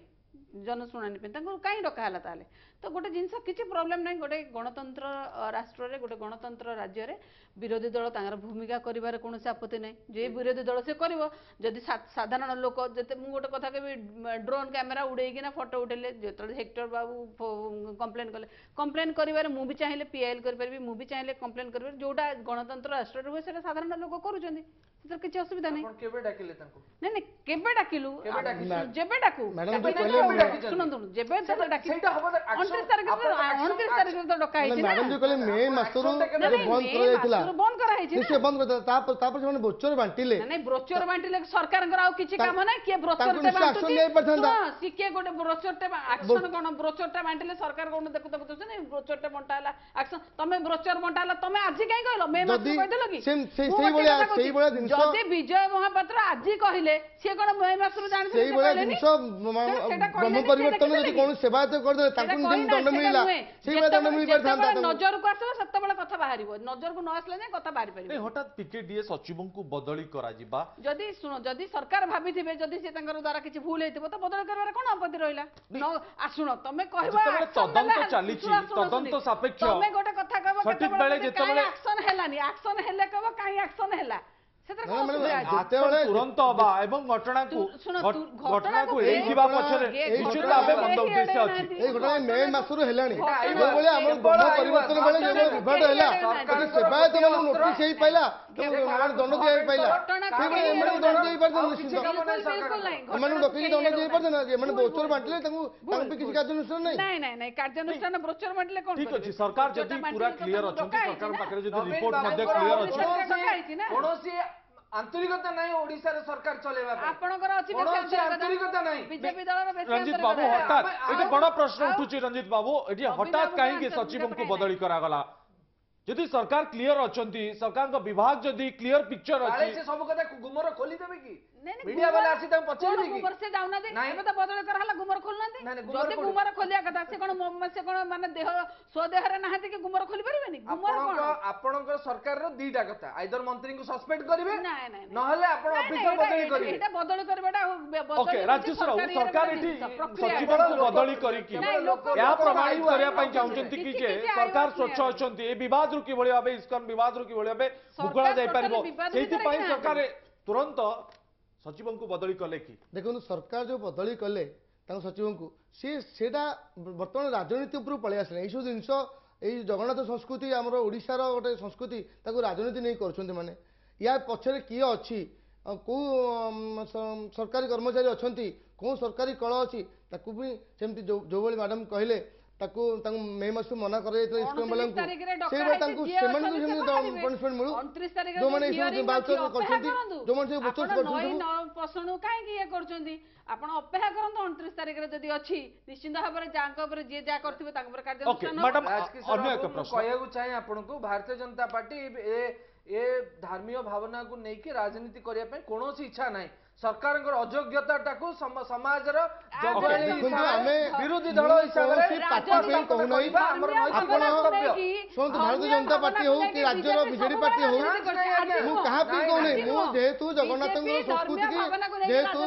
ଜନଶୁଣାଣି ପାଇଁ। ତାଙ୍କୁ କାହିଁ ଡକା ହେଲା ତାହେଲେ? ତ ଗୋଟେ ଜିନିଷ, କିଛି ପ୍ରୋବ୍ଲେମ ନାହିଁ। ଗୋଟେ ଗଣତନ୍ତ୍ର ରାଷ୍ଟ୍ରରେ, ଗୋଟେ ଗଣତନ୍ତ୍ର ରାଜ୍ୟରେ ବିରୋଧୀ ଦଳ ତାଙ୍କର ଭୂମିକା କରିବାରେ କୌଣସି ଆପତ୍ତି ନାହିଁ। ଯେ ବିରୋଧୀ ଦଳ ସେ କରିବ। ଯଦି ସାଧାରଣ ଲୋକ ଯେତେ, ମୁଁ ଗୋଟେ କଥା କହିବି, ଡ୍ରୋନ୍ କ୍ୟାମେରା ଉଡେଇକିନା ଫଟୋ ଉଠେଇଲେ, ଯେତେବେଳେ ହେକ୍ଟର ବାବୁ କମ୍ପ୍ଲେନ୍ କଲେ, କମ୍ପ୍ଲେନ୍ କରିବାରେ ମୁଁ ବି ଚାହିଁଲେ ପିଆଇଏଲ୍ କରିପାରିବି, ମୁଁ ବି ଚାହିଁଲେ କମ୍ପ୍ଲେନ୍ କରିପାରିବି। ଯୋଉଟା ଗଣତନ୍ତ୍ର ରାଷ୍ଟ୍ରରେ ହୁଏ ସେଟା ସାଧାରଣ ଲୋକ କରୁଛନ୍ତି, ସେଥିରେ କିଛି ଅସୁବିଧା ନାହିଁ। ଆପଣ କେବେ ଡାକିଲେ ତାଙ୍କୁ? ନାଇଁ ନାଇଁ, କେବେ ଡାକିଲୁ? କେବେ ଡାକିଛନ୍ତି? ଯେବେ ଡାକୁ। ମ୍ୟାଡ଼ାମ ଡାକିଲେ ଯୋଉ କହିଲେ ତ ଡାକିଛନ୍ତି। ଶୁଣନ୍ତୁ, ଯେବେ ସେଇଟା ଡାକି ସେଇଟା ହବ ନା, action- 29 ତାରିଖରେ ଆପଣ action- 29 ତାରିଖରେ ତ ଡକା ହେଇଛି ନା। ମ୍ୟାଡ଼ାମ ଯୋଉ କହିଲେ ମେ ମାସରୁ action ଟା କେବେ ନାଇଁ, ଯୋଉ ବନ୍ଦ ମେ କରାଯାଇଥିଲା, ମାସରୁ ବନ୍ଦ କରାହେଇଛି ନା। ନିଶ୍ଚୟ ବନ୍ଦ କରିଥିଲା। ତାପରେ ତାପରେ ସେମାନେ ବ୍ରୋଚର ବାଣ୍ଟିଲେ। ନାଇଁ ନାଇଁ, ବ୍ରୋଚର ବାଣ୍ଟିଲେ ସରକାରଙ୍କର ଆଉ କିଛି କାମ ନାହିଁ? କିଏ ବ୍ରୋଚର ତାଙ୍କୁ ଟେ ନିଶ୍ଚୟ action ବାଣ୍ଟୁଛି? ନେଇପାରିଥାନ୍ତା। ଶୁଣ, ସିଏ କିଏ ଗୋଟେ ବ୍ରୋଚର ଟେ ଆକ୍ସନ କଣ? ବ୍ରୋଚର ଟା ବାଣ୍ଟିଲେ ସରକାର କଣ ଦେଖୁ ଦେଖୁଛନ୍ତି ବ୍ରୋଚର ଟେ ବଣ୍ଟା ହେଲା ଆକ୍ସନ? ତମେ ବ୍ରୋଚର ବଣ୍ଟା ହେଲା ତମେ ଆଜି କାହିଁ କହିଲ? ମେ ମାସରୁ ଯଦି କହିଦେଲ କି? ସେଇ ମୁଁ ଗୋଟେ ସେଇଭଳିଆ କଥା କହୁଛି, ସେଇଭଳିଆ ଜିନିଷ ଯଦି ବିଜୟ ମହାପାତ୍ର ଆଜି କହିଲେ, ସିଏ କଣ ମେ ମାସରୁ ଜାଣିଥିଲେ ସେ ସେଇଭଳିଆ କହିଲେନି? ଜିନିଷ ସେଟା ବ୍ରହ୍ମ କହିଲେନି, ସେ ପରିବର୍ତ୍ତନ ଯଦି ଦେଖିଦେଲେ କି? କୌଣସି ସେବାୟତ କରିଦେଲେ ସେଟା ତାଙ୍କୁ ଯେମିତି କହିନା, ଦଣ୍ଡ ସେଟା ମିଳିଲା, ନୁହେଁ। ସେଇଭଳିଆ ଦଣ୍ଡ ଯେତେବେଳେ ମିଳିପାରିଥାନ୍ତା ଯେତେବେଳେ ତାଙ୍କୁ। ନଜରକୁ ଆସିବ ସେତେବେଳେ କଥା ବାହାରିବ, ନଜରକୁ ନ ଆସିଲେ ଯାଏ କଥା ବାହାରି ପାରିବ? ନାଇଁ, ହଠାତ୍ ପିକେଡିଏ ସଚିବଙ୍କୁ ବଦଳି କରାଯିବା, ଯଦି ଶୁଣ, ଯଦି ସରକାର ଭାବିଥିବେ, ଯଦି ସେ ତାଙ୍କର ଦ୍ୱାରା କିଛି ଭୁଲ ହେଇଥିବ ତ ବଦଳି କରିବାରେ କଣ ଆପତ୍ତି ରହିଲା? ନ ଶୁଣ, ତମେ କହିବ ଯେତେବେଳେ action ତଦନ୍ତ ନେଲା, ଚାଲିଛି, ଶୁଣ, ଶୁଣ, ତଦନ୍ତ ଶୁଣ, ସାପେକ୍ଷ, ତମେ ଗୋଟେ କଥା କହିବ ସଠିକ କେତେବେଳେ ବେଳେ ଯଦି କାଇଁ ଯେତେବେଳେ ଆକ୍ସନ ହେଲାନି, ଆକ୍ସନ ହେଲେ କହିବ କାଇଁ ଆକ୍ସନ ହେଲା, ସେଥିରେ କଣ ନା, ମାନେ ଅସୁବିଧା ଅଛି? ଆକ୍ସନ ଯେତେବେଳେ ତୁରନ୍ତ ହବା ଏବଂ ଘଟଣାକୁ ଶୁଣ, ଘଟଣାକୁ ଘଟଣାକୁ ଏଡ଼େଇଯିବା କେହି ପଛରେ ଏଇ ନିଶ୍ଚିତ ଘଟଣା ଭାବେ ମନ୍ଦ କେହି ଉଦ୍ଦେଶ୍ୟ ଅଛି। ଏଡ଼େଇ ଏଇ ଘଟଣା ମେ ମାସରୁ ହେଲାଣି। ଘଟଣାକୁ ଯେଉଁଭଳି ଆମର କେବଳ ବ୍ରହ୍ମ ଆଇବ, ପରିବର୍ତ୍ତନ ବେଳେ ଯେଉଁଭଳି ଘଟଣାକୁ ବିଭ୍ରାଟ କେହି ହେଲା, ଏଡ଼େଇ ନାହାନ୍ତି। ଯଦି ସେବାୟତ ମାନଙ୍କୁ ନୋଟିସ ହେଇପାରିଲା, ତାଙ୍କୁ ଦଣ୍ଡ ଦିଆଯାଇପାରିଲା, ଘଟଣାକୁ ସେଇଭଳି କେହି ଏମାନଙ୍କୁ ଦଣ୍ଡ ଏଡ଼େଇ ଦେଇପାରିଥାନ୍ତେ ଆଉ କିଛି ନିଶ୍ଚିନ୍ତ। କାମ ନାହିଁ ବିଲକୁଲ ସରକାରଙ୍କର। ନାହିଁ। ଏମାନଙ୍କୁ ଘଟଣାକୁ ଡକେଇକି କେହି ଦଣ୍ଡ ଏଡ଼ଉ ଦେଇପାରିଥାନ୍ତେ। ନାହାନ୍ତି। ଏମାନେ ଭୁଲ, ବ୍ରୋଚର ଭୁଲ, ବାଣ୍ଟିଲେ ତାଙ୍କୁ ଭୁଲ, ତାଙ୍କୁ ବି କିଛି ଭୁଲ। କାର୍ଯ୍ୟାନୁଷ୍ଠାନ ନାହିଁ। ନାଇଁ ନାଇଁ ନାଇଁ, କାର୍ଯ୍ୟାନୁଷ୍ଠାନ ବ୍ରୋଚର ବାଣ୍ଟିଲେ କଣ ଠିକ ଅଛି, କରିବେ? ସରକାର ବ୍ରୋଚରଟା ଯଦି ପୁରା ବାଣ୍ଟିଲେ ତ କ୍ଲିୟର ତାଙ୍କୁ ଅଛନ୍ତି, ଡକା ହେଇଛି ସରକାରଙ୍କ ନା। ପାଖରେ ଯଦି ନବୀନ ରିପୋର୍ଟ ମଧ୍ୟ ବାବୁଙ୍କର କ୍ଲିୟର ଅଛି, ଡକା ହେଇଛି ନା। କୌଣସି ଆନ୍ତରିକତା ନାହିଁ ଓଡିଶାରେ ସରକାର ଚଲେଇବା ପାଇଁ। ଆପଣଙ୍କର ଅଛି ବେଶୀ କୌଣସି ଆନ୍ତରିକତା। ଆନ୍ତରିକତା ନାହିଁ। ବିଜେପି ଦଳର ବେଶୀ ରଞ୍ଜିତ ବାବୁ, ଆନ୍ତରିକତା। ହଠାତ୍ ଏଠି ବଡ ପ୍ରଶ୍ନ ଆଉ ଉଠୁଛି। ରଞ୍ଜିତ ବାବୁ, ଏଠି ନବୀନ ହଠାତ୍ ବାବୁଙ୍କର କାହିଁକି ଆନ୍ତରିକତା ସଚିବଙ୍କୁ କାହିଁ ବଦଳି କରାଗଲା? ଯଦି ସରକାର କ୍ଲିୟର ଅଛନ୍ତି, ସରକାରଙ୍କ ବିଭାଗ ଯଦି କ୍ଲିୟର ପିକ୍ଚର କାଳେ ଅଛି, ସେ ସବୁ କଥା ଗୁମର ଖୋଲିଦେବେ କି? ନାଇଁ, ନାଇଁ, ମିଡିଆ ବାଲା ଆସି ତାଙ୍କୁ କଣ ପଚାରିବେ କି? ଗୁମର? ସେ ଯାଉନାହାନ୍ତି। ନାଇଁ। ଏବେ ତ ବଦଳି କରାହେଲା, ଗୁମର ଖୋଲୁନାହାନ୍ତି? ନାଇଁ, ନାଇଁ, ଗୁମର ଯଦି କୋଉଠି? ଗୁମର ଖୋଲିବା କଥା, ସେ କଣ ସେ କଣ ମାନେ ଦେହ ସ୍ୱଦେହରେ ନାହାନ୍ତି କି ଗୁମର ଖୋଲି ପାରିବେନି? ଗୁମର ଆପଣଙ୍କ କଣ? ଆପଣଙ୍କର ସରକାରର ଦିଟା କଥା, ଆଇଦର ମନ୍ତ୍ରୀଙ୍କୁ ସସ୍ପେଣ୍ଡ କରିବେ, ନାଇଁ ନାଇଁ ନାଇଁ। ନହେଲେ ଆପଣ ନାଇଁ, ନାଇଁ, ଅଫିସର ଏଇଟା- ବଦଳି ଏଇଟା- କରିବେ। ଏଇଟା ବଦଳି କରିବାଟା ବଦଳି ଓକେ ହେଉଛି ରାଜେଶ୍ୱର ବାବୁ, ସରକାରୀ ସରକାର ଗୋଟେ ଏଠି ଜିନିଷ, ପ୍ରକ୍ରିୟା। ସଚିବଙ୍କୁ ଲୋକ- ବଦଳି କରିକି ନାଇଁ, ଲୋକ ଏହା ଲୋକ ପ୍ରମାଣିତ ଆଇବ କରିବା ପାଇଁ ଆଇବ ଚାହୁଁଛନ୍ତି କି କିଛି ଯେ କିଛି ଆଇବ ସରକାର ନାହିଁ। ସ୍ୱଚ୍ଛ ଅଛନ୍ତି ଏ ବିବାଦରୁ ବିବାଦରୁ କିଭଳି ଭାବେ ଇସ୍କନ ବିବାଦରୁ କିଭଳି ଭାବେ ମୁକୁଳା ସରକାର ଯାଇପାରିବ ଟୋଟାଲି ବିବାଦ ଭିତରେ ସେଇଥିପାଇଁ ହିଁ ସରକାର ତୁରନ୍ତ ସଚିବଙ୍କୁ ବଦଳି କଲେ କି? ଦେଖନ୍ତୁ, ସରକାର ଯେଉଁ ବଦଳି କଲେ ତାଙ୍କ ସଚିବଙ୍କୁ, ସିଏ ସେଇଟା ବର୍ତ୍ତମାନ ରାଜନୀତି ଉପରକୁ ପଳେଇ ଆସିଲାଣି। ଏଇସବୁ ଜିନିଷ, ଏଇ ଜଗନ୍ନାଥ ସଂସ୍କୃତି, ଆମର ଓଡ଼ିଶାର ଗୋଟେ ସଂସ୍କୃତି, ତାକୁ ରାଜନୀତି ନେଇ କରୁଛନ୍ତି। ମାନେ ୟା ପଛରେ କିଏ ଅଛି, ଆଉ କେଉଁ ସରକାରୀ କର୍ମଚାରୀ ଅଛନ୍ତି, କେଉଁ ସରକାରୀ କଳ ଅଛି, ତାକୁ ବି ସେମିତି ଯେଉଁଭଳି ମ୍ୟାଡ଼ାମ୍ କହିଲେ, ତାକୁ ତାଙ୍କୁ ମେ ମାସରୁ ମନା କରାଯାଇଥିଲା ଇସ୍କନ 29 ବାଲାଙ୍କୁ, ତାରିଖରେ ଡକା ସେଇଭଳି ହେଇଛି, ତାଙ୍କୁ ଯିଏ ସେମାନଙ୍କୁ ଅଛନ୍ତି ସେ ସେମିତି ବାହାରିବେ। ପନିଶମେଣ୍ଟ ମିଳୁ। 29 ତାରିଖରେ ଯୋଉମାନେ ଯୋଉ ଏସବୁ hearing voucher ଅଛି, ଅପେକ୍ଷା କରିଛନ୍ତି, କରନ୍ତୁ। ଯୋଉମାନେ ସବୁ vouchers ଆପଣ କରିଛନ୍ତି ନଈ ସବୁ ନ ପଶୁଣୁ କାହିଁକି ଇଏ କରୁଛନ୍ତି? ଆପଣ ଅପେକ୍ଷା କରନ୍ତୁ, 29 ତାରିଖରେ ଯଦି ଅଛି ନିଶ୍ଚିନ୍ତ ଭାବରେ ଯାହାଙ୍କ ଉପରେ ଯିଏ ଯାହା କରିଥିବେ ତାଙ୍କ ଉପରେ ଓକେ କାର୍ଯ୍ୟାନୁଷ୍ଠାନ ହବ। ମ୍ୟାଡାମ, ରାଜକିଶୋର ଅନ୍ୟ ଏକ ବାବୁ, ମୁଁ ପ୍ରଶ୍ନ କହିବାକୁ ଚାହେଁ ଆପଣଙ୍କୁ, ଭାରତୀୟ ଜନତା ପାର୍ଟି ଏ ଧାର୍ମୀୟ ଭାବନାକୁ ନେଇକି ରାଜନୀତି କରିବା ପାଇଁ କୌଣସି ଇଚ୍ଛା ନାହିଁ। ସରକାରଙ୍କର ଅଯୋଗ୍ୟତାଟାକୁ ସମାଜର ଜଗୁଆଳି ଦେଖନ୍ତୁ, ହିସାବରେ, ଆମେ ବିରୋଧୀ ଦଳ ମୁଁ ହିସାବରେ କୌଣସି ପାର୍ଟି ପାଇଁ କହୁନାହିଁ। କରିବା ଆମର ନୈତିକ ଆପଣ କର୍ତ୍ତବ୍ୟ। ଶୁଣନ୍ତୁ, ଭାରତୀୟ ଜନତା ପାର୍ଟି ହଉ କି ରାଜ୍ୟର ବିଜେଡି ପାର୍ଟି ହଉ, ମୁଁ କାହା ପାଇଁ କହୁନାହିଁ। ମୁଁ ଯେହେତୁ ଜଗନ୍ନାଥଙ୍କର ସଂସ୍କୃତିକି, ଯେହେତୁ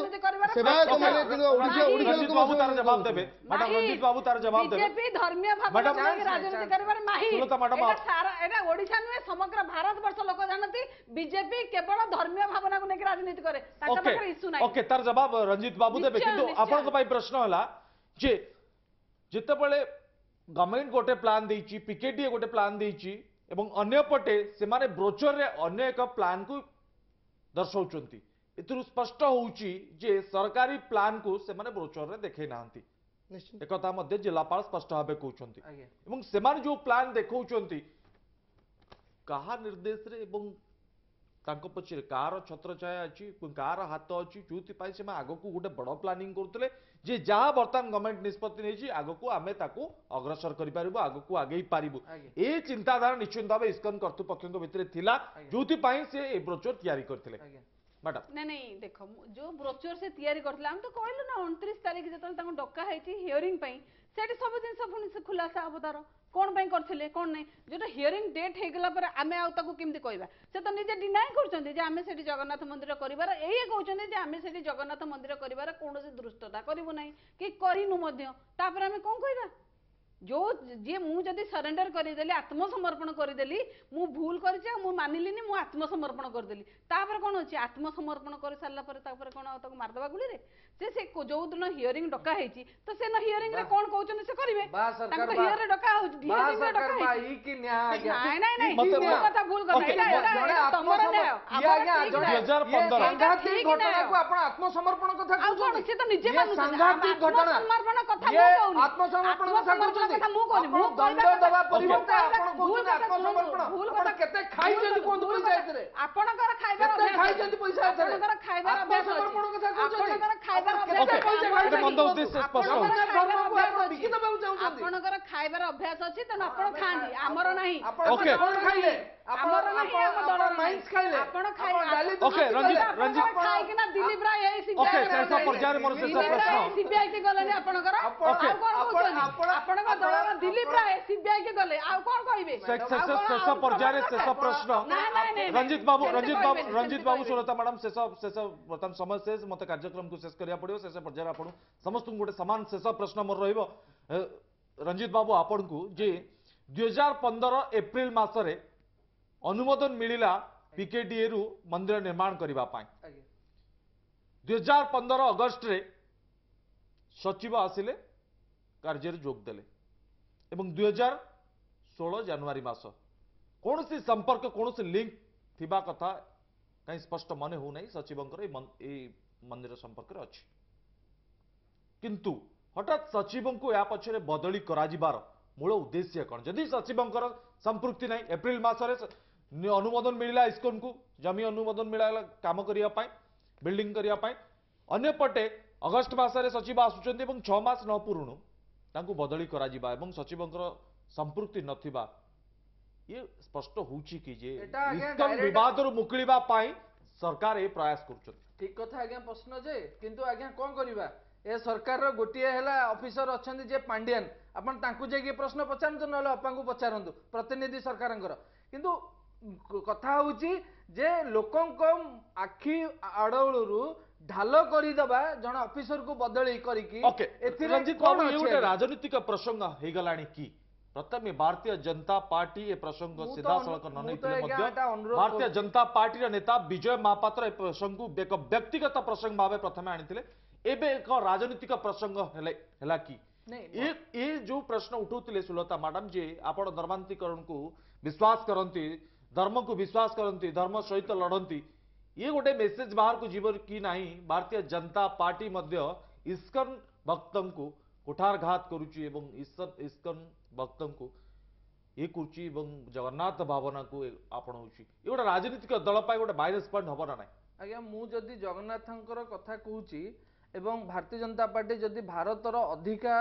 ସେବାୟତ ମାନେ, କିନ୍ତୁ ଓଡ଼ିଶା ଓଡ଼ିଶା ରଞ୍ଜିତ ଲୋକ ବାବୁ ତାର ଜବାବ ଦେବେ। ମ୍ୟାଡାମ, ରଞ୍ଜିତ ବାବୁ ତାର ଜବାବ ଦେବେ। ବିଜେପି ଧର୍ମୀୟ ଭାବନାକୁ ମ୍ୟାଡାମ, ନେଇକି ରାଜନୀତି କରିବାରେ ମାହିର। ସୁଲତା ମ୍ୟାଡାମ, ଏଇଟା ସାରା ଏଇଟା ଓଡ଼ିଶା ନୁହେଁ, ସମଗ୍ର ଭାରତ ବର୍ଷ ଲୋକ ଜାଣନ୍ତି ବିଜେପି କେବଳ ଧର୍ମୀୟ ଭାବନାକୁ ନେଇକି ରାଜନୀତି କରେ, ତାଙ୍କ ଓକେ ପାଖରେ ଇସ୍ୟୁ ନାହିଁ। ଓକେ, ତାର ଜବାବ ରଞ୍ଜିତ ବାବୁ ଦେବେ। ନିଶ୍ଚୟ, କିନ୍ତୁ ନିଶ୍ଚୟ। ଆପଣଙ୍କ ପାଇଁ ପ୍ରଶ୍ନ ହେଲା ଯେ ଯେତେବେଳେ ଗଭର୍ଣ୍ଣମେଣ୍ଟ ଗୋଟେ ପ୍ଲାନ୍ ଦେଇଛି, ପିକେଡିଏ ଗୋଟେ ପ୍ଲାନ୍ ଦେଇଛି ଏବଂ ଅନ୍ୟପଟେ ସେମାନେ ବ୍ରୋଚରରେ ଅନ୍ୟ ଏକ ପ୍ଲାନ୍କୁ ଦର୍ଶାଉଛନ୍ତି, ଏଥିରୁ ସ୍ପଷ୍ଟ ହେଉଛି ଯେ ସରକାରୀ ପ୍ଲାନ୍କୁ ସେମାନେ ବ୍ରୋଚରରେ ଦେଖେଇ ନାହାନ୍ତି। ନିଶ୍ଚିତ। ଏକଥା ମଧ୍ୟ ଜିଲ୍ଲାପାଳ ସ୍ପଷ୍ଟ ଭାବେ କହୁଛନ୍ତି। ଆଜ୍ଞା। ଏବଂ ସେମାନେ ଯୋଉ ପ୍ଲାନ୍ ଦେଖାଉଛନ୍ତି କାହା ନିର୍ଦ୍ଦେଶରେ ଏବଂ ତାଙ୍କ ପଛରେ କାହାର ଛତ୍ରଛାୟା ଅଛି, କାହାର ହାତ ଅଛି, ଯୋଉଥିପାଇଁ ସେମାନେ ଆଗକୁ ଗୋଟେ ବଡ଼ ପ୍ଲାନିଂ କରୁଥିଲେ ଯେ ଯାହା ବର୍ତ୍ତମାନ ଗଭର୍ଣ୍ଣମେଣ୍ଟ ନିଷ୍ପତ୍ତି ନେଇଛି ଆଗକୁ ଆମେ ତାକୁ ଅଗ୍ରସର କରିପାରିବୁ, ଆଗକୁ ଆଗେଇ ପାରିବୁ। ଆଜ୍ଞା। ଏ ଚିନ୍ତାଧାରା ନିଶ୍ଚିନ୍ତ ଭାବେ ଇସ୍କନ କର୍ତ୍ତୃପକ୍ଷଙ୍କ ଭିତରେ ଥିଲା, ଯୋଉଥିପାଇଁ ସେ ଏ ବ୍ରୋଚର ତିଆରି କରିଥିଲେ। ଆଜ୍ଞା। ମ୍ୟାଡାମ। ନାଇଁ ନାଇଁ, ଦେଖ, ଯୋଉ ବ୍ରୋଚର ସେ ତିଆରି କରିଥିଲେ, ଆମେ ତ କହିଲୁ ନା, 29 ତାରିଖ ଯେତେବେଳେ ତାଙ୍କୁ ଡକା ହେଇଛି ହିୟରିଂ ପାଇଁ, ସେଠି ସବୁ ଜିନିଷ ପୁଣି ସେ ଖୁଲାସା ହବ ତାର, କଣ ପାଇଁ କରିଥିଲେ କଣ ନାହିଁ। ଯୋଉଟା ହିୟରିଂ ଡେଟ୍ ହେଇଗଲା ପରେ ଆମେ ଆଉ ତାକୁ କେମିତି କହିବା? ସେ ତ ନିଜେ ଡିନାଏ କରୁଛନ୍ତି ଯେ ଆମେ ସେଠି ଜଗନ୍ନାଥ ମନ୍ଦିର କରିବାର, ଏଇ କହୁଛନ୍ତି ଯେ ଆମେ ସେଠି ଜଗନ୍ନାଥ ମନ୍ଦିର କରିବାର କୌଣସି ଧୃଷ୍ଟତା କରିବୁ ନାହିଁ କି କରିନୁ ମଧ୍ୟ। ତାପରେ ଆମେ କଣ କହିବା? ଯୋଉ ଯିଏ ମୁଁ ଯଦି ସରେଣ୍ଡର କରିଦେଲି, ଆତ୍ମସମର୍ପଣ କରିଦେଲି, ମୁଁ ଭୁଲ କରିଛି ଆଉ ମୁଁ ମାନିଲିନି, ମୁଁ ଆତ୍ମସମର୍ପଣ କରିଦେଲି, ତାପରେ କଣ ଅଛି? ଆତ୍ମସମର୍ପଣ କରିସାରିଲା ପରେ ତାପରେ କଣ ଆଉ ତାକୁ ମାରିଦେବା ଗୁଳିରେ? ସେ ସେ ଯୋଉ ଦିନ ହିୟରିଂ ଡକା ହେଇଛି, ତ ସେ ହିୟରିଂ ରେ କଣ କହୁଛନ୍ତି ସେ କରିବେ। ବା ସରକାର, ତାଙ୍କୁ ତ ବା। ହିୟରିଂ ଡକା ହଉଛି, ବା ହିୟରିଂ ରେ ସରକାର ଡକା ବା, ହେଇଛି। ଇ କି ନ୍ୟାୟ ଆଜ୍ଞା? ନାଇଁ ନାଇଁ ନାଇଁ, ମତେ ଭୁଲ କଥା, ଭୁଲ କଥା। ଓକେ, ଏଇଟା ଏଇଟା ଜଣେ ଏଇଟା ତମର ଆତ୍ମସମ- ନ୍ୟାୟ, ଇଏ ଆମର ଆଜ୍ଞା ଠିକ ଜଣେ ନ୍ୟାୟ। 2015 ଇଏ ସାଂଘାତିକ ଠିକ ଘଟଣାକୁ ନ୍ୟାୟ। ଆପଣ ଆତ୍ମସମର୍ପଣ କଥା ଆଉ କଣ? କହୁଛନ୍ତି? ସେ ତ ନିଜେ ଇଏ ମାନୁଛନ୍ତି। ସାଂଘାତିକ ଘଟଣା। ଆତ୍ମସମର୍ପଣ କଥା ଇଏ ମୁଁ କହୁନି। ଆତ୍ମସମର୍ପଣ କଥା ଆତ୍ମସମର୍ପଣ କହୁଛନ୍ତି। କଥା ମୁଁ କହୁନି। ଆପଣ ମୁଁ ଦଣ୍ଡ କହିବା ଦେବା କଥା- ପରିବର୍ତ୍ତେ ଭୁଲ ଆପଣ କଥା- କହୁଛନ୍ତି ଭୁଲ କଥା ଆତ୍ମସମର୍ପଣ। ଭୁଲ ଆପଣ କଥା- କେତେ ଖାଇଛନ୍ତି ଭୁଲ କୁହନ୍ତୁ କଥା- ପଇସା ଏଥିରେ? ଆପଣଙ୍କର ଖାଇବାର କେତେ ଅଭ୍ୟାସ ଅଛି। ଖାଇଛନ୍ତି ପଇସା ଏଥିରେ? ଆପଣଙ୍କର ଖାଇବାର ଅଭ୍ୟାସ ଅଛି। ଆତ୍ମସମର୍ପଣ କଥା କହୁଛନ୍ତି? ଆପଣଙ୍କର ଖାଇବାର ଆପଣ ଅଭ୍ୟାସ କେତେ ଅଛି। ପଇସା ଆମର ଖାଇଛନ୍ତି? ମନ୍ଦ ଉଦ୍ଦେଶ୍ୟ ସ୍ପଷ୍ଟ ଆପଣଙ୍କର ହେଉଛି। ଖାଇବାର ଧର୍ମକୁ ଅଭ୍ୟାସ ଆପଣ ଅଛି। ବିକି ଦେବାକୁ ଚାହୁଁଛନ୍ତି। ଆପଣଙ୍କର ଖାଇବାର ଅଭ୍ୟାସ ଅଛି, ତେଣୁ ଆପଣ ଆମେ ଖାଆନ୍ତି, ଆମର ନାହିଁ। ଆପଣ ଓକେ। କଣ ଖାଇଲେ? ଆପଣ ଆମର ନାହିଁ, ଆମ ଆପଣ ଦଳର ନାହିଁ। ମାଇନ୍ସ ଖାଇଲେ, ଆପଣ ଆପଣ ଡାଲି ଓକେ, ଦୁର୍ନୀତି ରଞ୍ଜିତ, କଲେ, ରଞ୍ଜିତ। ଆପଣ ଖାଇକିନା ଦିଲ୍ଲୀପ ରାୟ ଏଇ ଓକେ, ସିବିଆଇ ଶେଷ ପର୍ଯ୍ୟାୟରେ ମୋର ଶେଷ ଦିଲ୍ଲୀପ ପ୍ରଶ୍ନ। ରାୟ ସିବିଆଇ କି ଗଲେନି ଆପଣଙ୍କର, ଆପଣ- ଓକେ। ଆଉ କଣ ଆପଣ- କହୁଛନ୍ତି? ଆପଣ- ଆପଣଙ୍କ ଆପଣ- ଦଳର ଦିଲ୍ଲୀପ ଆପଣ- ରାୟ ସିବିଆଇ କି ଗଲେ, ଆଉ କଣ କହିବେ? ଶେଷ ଆଉ କଣ- ଶେଷ ଆଉ ପର୍ଯ୍ୟାୟରେ ପ୍ରମାଣ ଶେଷ ଦରକାର? ପ୍ରଶ୍ନ। ନାଇଁ, ନାଇଁ, ନାଇଁ, ରଞ୍ଜିତ ବାବୁ, ସେମିତି ରଞ୍ଜିତ ବାବୁ, କହିବେନି, ରଞ୍ଜିତ ସେମିତି ବାବୁ, କହିବେନି। ସୁଲତା ମ୍ୟାଡାମ, ଶେଷ ଶେଷ ବର୍ତ୍ତମାନ ସମୟ ଶେଷ, ମତେ କାର୍ଯ୍ୟକ୍ରମକୁ ଶେଷ କରିବାକୁ ପଡିବ। ଶେଷ ପର୍ଯ୍ୟାୟରେ ଆପଣ ସମସ୍ତଙ୍କୁ ଗୋଟେ ସମାନ ଶେଷ ପ୍ରଶ୍ନ ମୋର ରହିବ। ରଞ୍ଜିତ ବାବୁ, ଆପଣଙ୍କୁ ଯେ 2015 ଏପ୍ରିଲ ମାସରେ ଅନୁମୋଦନ ମିଳିଲା ପିକେଡିଏ ରୁ ମନ୍ଦିର ନିର୍ମାଣ କରିବା ପାଇଁ, ଆଜ୍ଞା। 2015 ଅଗଷ୍ଟରେ ସଚିବ ଆସିଲେ, କାର୍ଯ୍ୟରେ ଯୋଗ ଦେଲେ ଏବଂ 2016 ଜାନୁଆରୀ ମାସ କୌଣସି ସମ୍ପର୍କ, କୌଣସି ଲିଙ୍କ ଥିବା କଥା କାହିଁ ସ୍ପଷ୍ଟ ମନେ ହେଉନାହିଁ ସଚିବଙ୍କର ଏଇ ମନ୍ଦିର ସମ୍ପର୍କରେ ଅଛି। କିନ୍ତୁ ହଠାତ୍ ସଚିବଙ୍କୁ ଏହା ପଛରେ ବଦଳି କରାଯିବାର ମୂଳ ଉଦ୍ଦେଶ୍ୟ କ'ଣ? ଯଦି ସଚିବଙ୍କର ସମ୍ପୃକ୍ତି ନାହିଁ, ଏପ୍ରିଲ ମାସରେ ଅନୁମୋଦନ ମିଳିଲା ଇସ୍କନକୁ, ଜମି ଅନୁମୋଦନ ମିଳିଲା କାମ କରିବା ପାଇଁ, ବିଲ୍ଡିଂ କରିବା ପାଇଁ, ଅନ୍ୟପଟେ ଅଗଷ୍ଟ ମାସରେ ସଚିବ ଆସୁଛନ୍ତି ଏବଂ 6 ମାସ ନ ପୂରୁଣୁ ତାଙ୍କୁ ବଦଳି କରାଯିବା ଏବଂ ସଚିବଙ୍କର ସମ୍ପୃକ୍ତି ନଥିବା, ଇଏ ସ୍ପଷ୍ଟ ହେଉଛି କି ଯେ ଏଟା ଆଜ୍ଞା ଇସ୍କନ direct- ବିବାଦରୁ ମୁକୁଳିବା ପାଇଁ ସରକାର ଏ ପ୍ରୟାସ କରୁଛନ୍ତି? ଠିକ କଥା ଆଜ୍ଞା ପ୍ରଶ୍ନ ଯେ, କିନ୍ତୁ ଆଜ୍ଞା କଣ କରିବା, ଏ ସରକାରର ଗୋଟିଏ ହେଲା ଅଫିସର ଅଛନ୍ତି ଯେ ପାଣ୍ଡିଆନ, ଆପଣ ତାଙ୍କୁ ଯାଇକି ଏ ପ୍ରଶ୍ନ ପଚାରନ୍ତୁ, ନହେଲେ ଅପାଙ୍କୁ ପଚାରନ୍ତୁ ପ୍ରତିନିଧି ସରକାରଙ୍କର। କିନ୍ତୁ କଥା ହଉଛି ଯେ ଲୋକଙ୍କ ଆଖି ଆଡ଼ଳରୁ ଢାଲ କରିଦେବା ଜଣେ ଅଫିସରକୁ ବଦଳି କରିକି, ଓକେ, ଏଥିରେ ରଞ୍ଜିତ କଣ ବାବୁ, ଇଏ ଅଛି ଗୋଟେ ଆଜ୍ଞା? ରାଜନୈତିକ ପ୍ରସଙ୍ଗ ହେଇଗଲାଣି କି? ପ୍ରଥମେ ଭାରତୀୟ ଜନତା ପାର୍ଟି ଏ ପ୍ରସଙ୍ଗ ମୁଁ ତ ସିଧାସଳଖ ନ ମୁଁ ତ ନେଇଥିଲେ ଆଜ୍ଞା ମଧ୍ୟ ଏଟା ଅନୁରୋଧ ଭାରତୀୟ କରୁଛି। ଜନତା ପାର୍ଟିର ନେତା ବିଜୟ ମହାପାତ୍ର ଏ ପ୍ରସଙ୍ଗକୁ ଏକ ବ୍ୟକ୍ତିଗତ ପ୍ରସଙ୍ଗ ଭାବେ ପ୍ରଥମେ ଆଣିଥିଲେ, ଏବେ ଏକ ରାଜନୈତିକ ପ୍ରସଙ୍ଗ ହେଲେ ହେଲା କି? ନାଇଁ, ଏ ଯୋଉ ପ୍ରଶ୍ନ ଉଠାଉଥିଲେ ସୁଲତା ମ୍ୟାଡାମ ଯେ ଆପଣ ଧର୍ମାନ୍ତରୀକରଣକୁ ବିଶ୍ୱାସ କରନ୍ତି, ଧର୍ମକୁ ବିଶ୍ୱାସ କରନ୍ତି, ଧର୍ମ ସହିତ ଲଢ଼ନ୍ତି, ଇଏ ଗୋଟେ ମେସେଜ ବାହାରକୁ ଯିବ କି ନାହିଁ? ଭାରତୀୟ ଜନତା ପାର୍ଟି ମଧ୍ୟ ଇସ୍କନ ଭକ୍ତଙ୍କୁ କୁଠାରଘାତ କରୁଛି ଏବଂ ଇସ୍କନ ଭକ୍ତଙ୍କୁ ଇଏ କରୁଛି ଏବଂ ଜଗନ୍ନାଥ ଭାବନାକୁ ଆପଣାଉଛି। ଏ ଗୋଟେ ରାଜନୈତିକ ଦଳ ପାଇଁ ଗୋଟେ ମାଇନସ୍ ପଏଣ୍ଟ ହବ ନା ନାହିଁ? ଆଜ୍ଞା, ମୁଁ ଯଦି ଜଗନ୍ନାଥଙ୍କର କଥା କହୁଛି ଏବଂ ଭାରତୀୟ ଜନତା ପାର୍ଟି ଯଦି ଭାରତର ଅଧିକା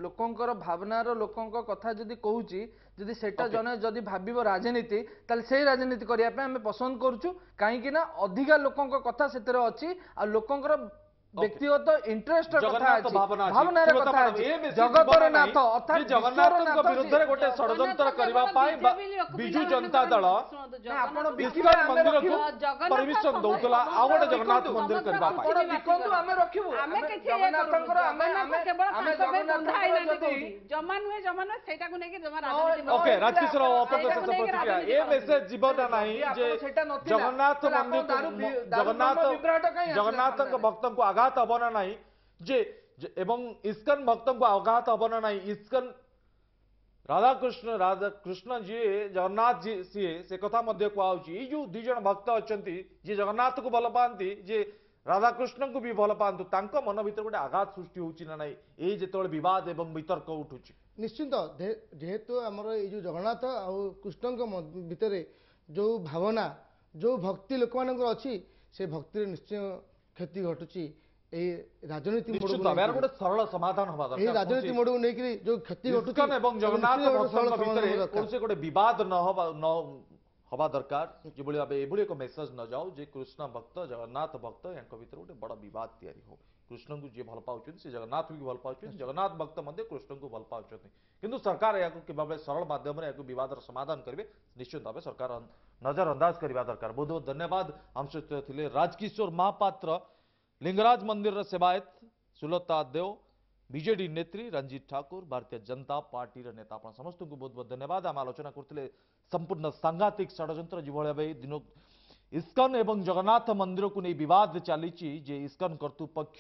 ଲୋକଙ୍କର ଭାବନାର ଲୋକଙ୍କ କଥା ଯଦି କହୁଛି, ଯଦି ସେଟା ଜଣେ ଯଦି ଭାବିବ ରାଜନୀତି, ତାହେଲେ ସେଇ ରାଜନୀତି କରିବା ପାଇଁ ଆମେ ପସନ୍ଦ କରୁଛୁ, କାହିଁକି ନା ଅଧିକା ଲୋକଙ୍କ କଥା ସେଥିରେ ଅଛି ଆଉ ଲୋକଙ୍କର ବ୍ୟକ୍ତିଗତ ଇଣ୍ଟରେଷ୍ଟର କଥା ଜଗନ୍ନାଥ ଅଛି, ଭାବନା ଅଛି। ଭାବନାର ସୁଲତା କଥା ମ୍ୟାଡାମ, ଅଛି। ଏ ମେସେଜ ଜଗତର ଯିବ ନା ନାଥ ନାହିଁ ଅର୍ଥାତ୍ ଯେ ଜଗନ୍ନାଥଙ୍କ ବିଶ୍ୱର ନାଥ ବିରୁଦ୍ଧରେ ଗୋଟେ ଜଗନ୍ନାଥ ଷଡ଼ଯନ୍ତ୍ର କେବଳ କରିବା ପାଇଁ ବିଜେପି ଲୋକ ବିଜୁ ପିଲାମାନଙ୍କ ଜନତା ଦଳ ଶୁଣନ୍ତୁ, ନା, ଆପଣ ଜଗନ୍ନାଥ ବିକିବେ, ଇସ୍କନ ଆମେ ମନ୍ଦିରକୁ ରଖିବୁ। ଜଗନ୍ନାଥ ପରମିଶନ ସମସ୍ତ ଦଉଥିଲା ଆଉ ଗୋଟେ ଜଗନ୍ନାଥ ବିକନ୍ତୁ, ମନ୍ଦିର କରିବା ପାଇଁ। ଆପଣ ବିକନ୍ତୁ, ଆମେ ରଖିବୁ। ଆମେ ଆମେ କିଛି ଇଏ କରୁନୁ। ଜଗନ୍ନାଥଙ୍କର ଆମେ ଜଗନ୍ନାଥ ଆମେ କେବଳ ଆମେ ତାଙ୍କ ପାଇଁ ବନ୍ଧା ଜଗନ୍ନାଥଙ୍କର ହେଇନାହାନ୍ତି ଯଦି କୋଉଠି। ଜମା ନୁହେଁ, ଜମା ନୁହେଁ, ସେଇଟାକୁ ନେଇକି ଜମା ନ ରାଜନୀତି ନ ଓକେ, ହେଇଥିଲେ ରାଜକିଶୋର ଆପଣ ଆପଣଙ୍କ ସେଇଟାକୁ ଶେଷ ନେଇକି ପ୍ରତିକ୍ରିୟା। ରାଜନୀତି ଏ କରନ୍ତୁନି। ମେସେଜ ଯିବ ନା ନାହିଁ ଯଦି ଯେ ଆପଣ ସେଇଟା ନଥିଲା, ଜଗନ୍ନାଥ ତାହେଲେ ଆପଣ ମନ୍ଦିରକୁ ଦାରୁ ଜଗନ୍ନାଥ ବ୍ରହ୍ମ ବିଭ୍ରାଟ କାହିଁ ଆସିଲା ଜଗନ୍ନାଥଙ୍କ ସାମ୍ନାରେ? ଭକ୍ତଙ୍କୁ ଆଘାତ ହବ ନା ନାହିଁ ଯେ ଏବଂ ଇସ୍କନ ଭକ୍ତଙ୍କୁ ଆଘାତ ହବ ନା ନାହିଁ? ଇସ୍କନ ରାଧାକୃଷ୍ଣ, ରାଧାକୃଷ୍ଣ ଯିଏ ଜଗନ୍ନାଥ ଯିଏ ସିଏ, ସେ କଥା ମଧ୍ୟ କୁହାହଉଛି। ଏଇ ଯୋଉ ଦି ଜଣ ଭକ୍ତ ଅଛନ୍ତି, ଯିଏ ଜଗନ୍ନାଥକୁ ଭଲ ପାଆନ୍ତି, ଯିଏ ରାଧାକୃଷ୍ଣଙ୍କୁ ବି ଭଲ ପାଆନ୍ତୁ, ତାଙ୍କ ମନ ଭିତରେ ଗୋଟେ ଆଘାତ ସୃଷ୍ଟି ହଉଛି ନା ନାହିଁ ଏଇ ଯେତେବେଳେ ବିବାଦ ଏବଂ ବିତର୍କ ଉଠୁଛି? ନିଶ୍ଚିନ୍ତ, ଯେହେତୁ ଆମର ଏଇ ଯୋଉ ଜଗନ୍ନାଥ ଆଉ କୃଷ୍ଣଙ୍କ ଭିତରେ ଯୋଉ ଭାବନା, ଯୋଉ ଭକ୍ତି ଲୋକମାନଙ୍କର ଅଛି, ସେ ଭକ୍ତିରେ ନିଶ୍ଚୟ କ୍ଷତି ଘଟୁଛି ଏଇ ରାଜନୀତି ମୋଡ଼କୁ ନିଶ୍ଚିତ ଭାବେ ଏହାର ନେଇକରି। ଗୋଟେ ସରଳ ସମାଧାନ ହବା ଏଇ ଦରକାର। ରାଜନୀତି କୌଣସି ମୋଡ଼କୁ ନେଇକରି ଯୋଉ କ୍ଷତି ଘଟୁଛି, ଇସ୍କନ ଏବଂ ତାକୁ ଜଗନ୍ନାଥ ନିଶ୍ଚିତ ଗୋଟେ ସରଳ ଭକ୍ତଙ୍କ ସମାଧାନ ଭିତରେ ହବା ଦରକାର। କୌଣସି ଗୋଟେ ବିବାଦ ନ ହବା ଦରକାର, ଯେଭଳି ଭାବେ ଏଭଳି ଏକ ମେସେଜ ନ ଯାଉ ଯେ କୃଷ୍ଣ ଭକ୍ତ ଜଗନ୍ନାଥ ଭକ୍ତ ୟାଙ୍କ ଭିତରେ ଗୋଟେ ବଡ଼ ବିବାଦ ତିଆରି ହଉ। କୃଷ୍ଣଙ୍କୁ ଯିଏ ଭଲ ପାଉଛନ୍ତି ସେ ଜଗନ୍ନାଥଙ୍କୁ ବି ଭଲ ପାଉଛନ୍ତି, ଜଗନ୍ନାଥ ଭକ୍ତ ମଧ୍ୟ କୃଷ୍ଣଙ୍କୁ ଭଲ ପାଉଛନ୍ତି, କିନ୍ତୁ ସରକାର ଏହାକୁ କିଭଳି ସରଳ ମାଧ୍ୟମରେ ଏହାକୁ ବିବାଦର ସମାଧାନ କରିବେ ନିଶ୍ଚିତ ଭାବେ ସରକାର ନଜର ଅନ୍ଦାଜ କରିବା ଦରକାର। ବହୁତ ବହୁତ ଧନ୍ୟବାଦ। ଆମ ସହିତ ଥିଲେ ରାଜକିଶୋର ମହାପାତ୍ର, ଲିଙ୍ଗରାଜ ମନ୍ଦିରର ସେବାୟତ ସୁଲତା ଦେଓ, ବିଜେଡି ନେତ୍ରୀ ରଞ୍ଜିତ ଠାକୁର, ଭାରତୀୟ ଜନତା ପାର୍ଟିର ନେତା। ଆପଣ ସମସ୍ତଙ୍କୁ ବହୁତ ବହୁତ ଧନ୍ୟବାଦ। ଆମେ ଆଲୋଚନା କରୁଥିଲେ ସମ୍ପୂର୍ଣ୍ଣ ସାଂଘାତିକ ଷଡ଼ଯନ୍ତ୍ର ଯେଭଳି ଭାବେ ଦିନ ଇସ୍କନ ଏବଂ ଜଗନ୍ନାଥ ମନ୍ଦିରକୁ ନେଇ ବିବାଦ ଚାଲିଛି ଯେ ଇସ୍କନ କର୍ତ୍ତୃପକ୍ଷ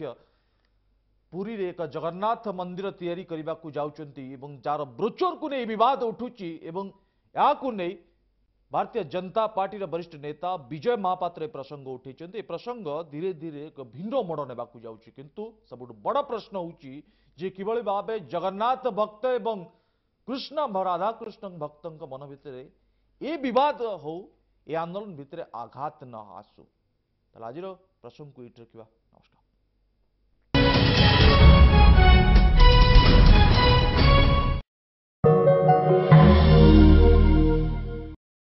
ପୁରୀରେ ଏକ ଜଗନ୍ନାଥ ମନ୍ଦିର ତିଆରି କରିବାକୁ ଯାଉଛନ୍ତି ଏବଂ ଯାର ବ୍ରୋଚରକୁ ନେଇ ବିବାଦ ଉଠୁଛି ଏବଂ ଏହାକୁ ନେଇ ଭାରତୀୟ ଜନତା ପାର୍ଟିର ବରିଷ୍ଠ ନେତା ବିଜୟ ମହାପାତ୍ର ଏ ପ୍ରସଙ୍ଗ ଉଠାଇଛନ୍ତି। ଏ ପ୍ରସଙ୍ଗ ଧୀରେ ଧୀରେ ଏକ ଭିନ୍ନ ମୋଡ଼ ନେବାକୁ ଯାଉଛି, କିନ୍ତୁ ସବୁଠୁ ବଡ଼ ପ୍ରଶ୍ନ ହେଉଛି ଯେ କିଭଳି ଭାବେ ଜଗନ୍ନାଥ ଭକ୍ତ ଏବଂ କୃଷ୍ଣ ରାଧାକୃଷ୍ଣ ଭକ୍ତଙ୍କ ମନ ଭିତରେ ଏ ବିବାଦ ହଉ, ଏ ଆନ୍ଦୋଳନ ଭିତରେ ଆଘାତ ନ ଆସୁ। ତାହେଲେ ଆଜିର ପ୍ରସଙ୍ଗକୁ ଏଇଠି ରଖିବା।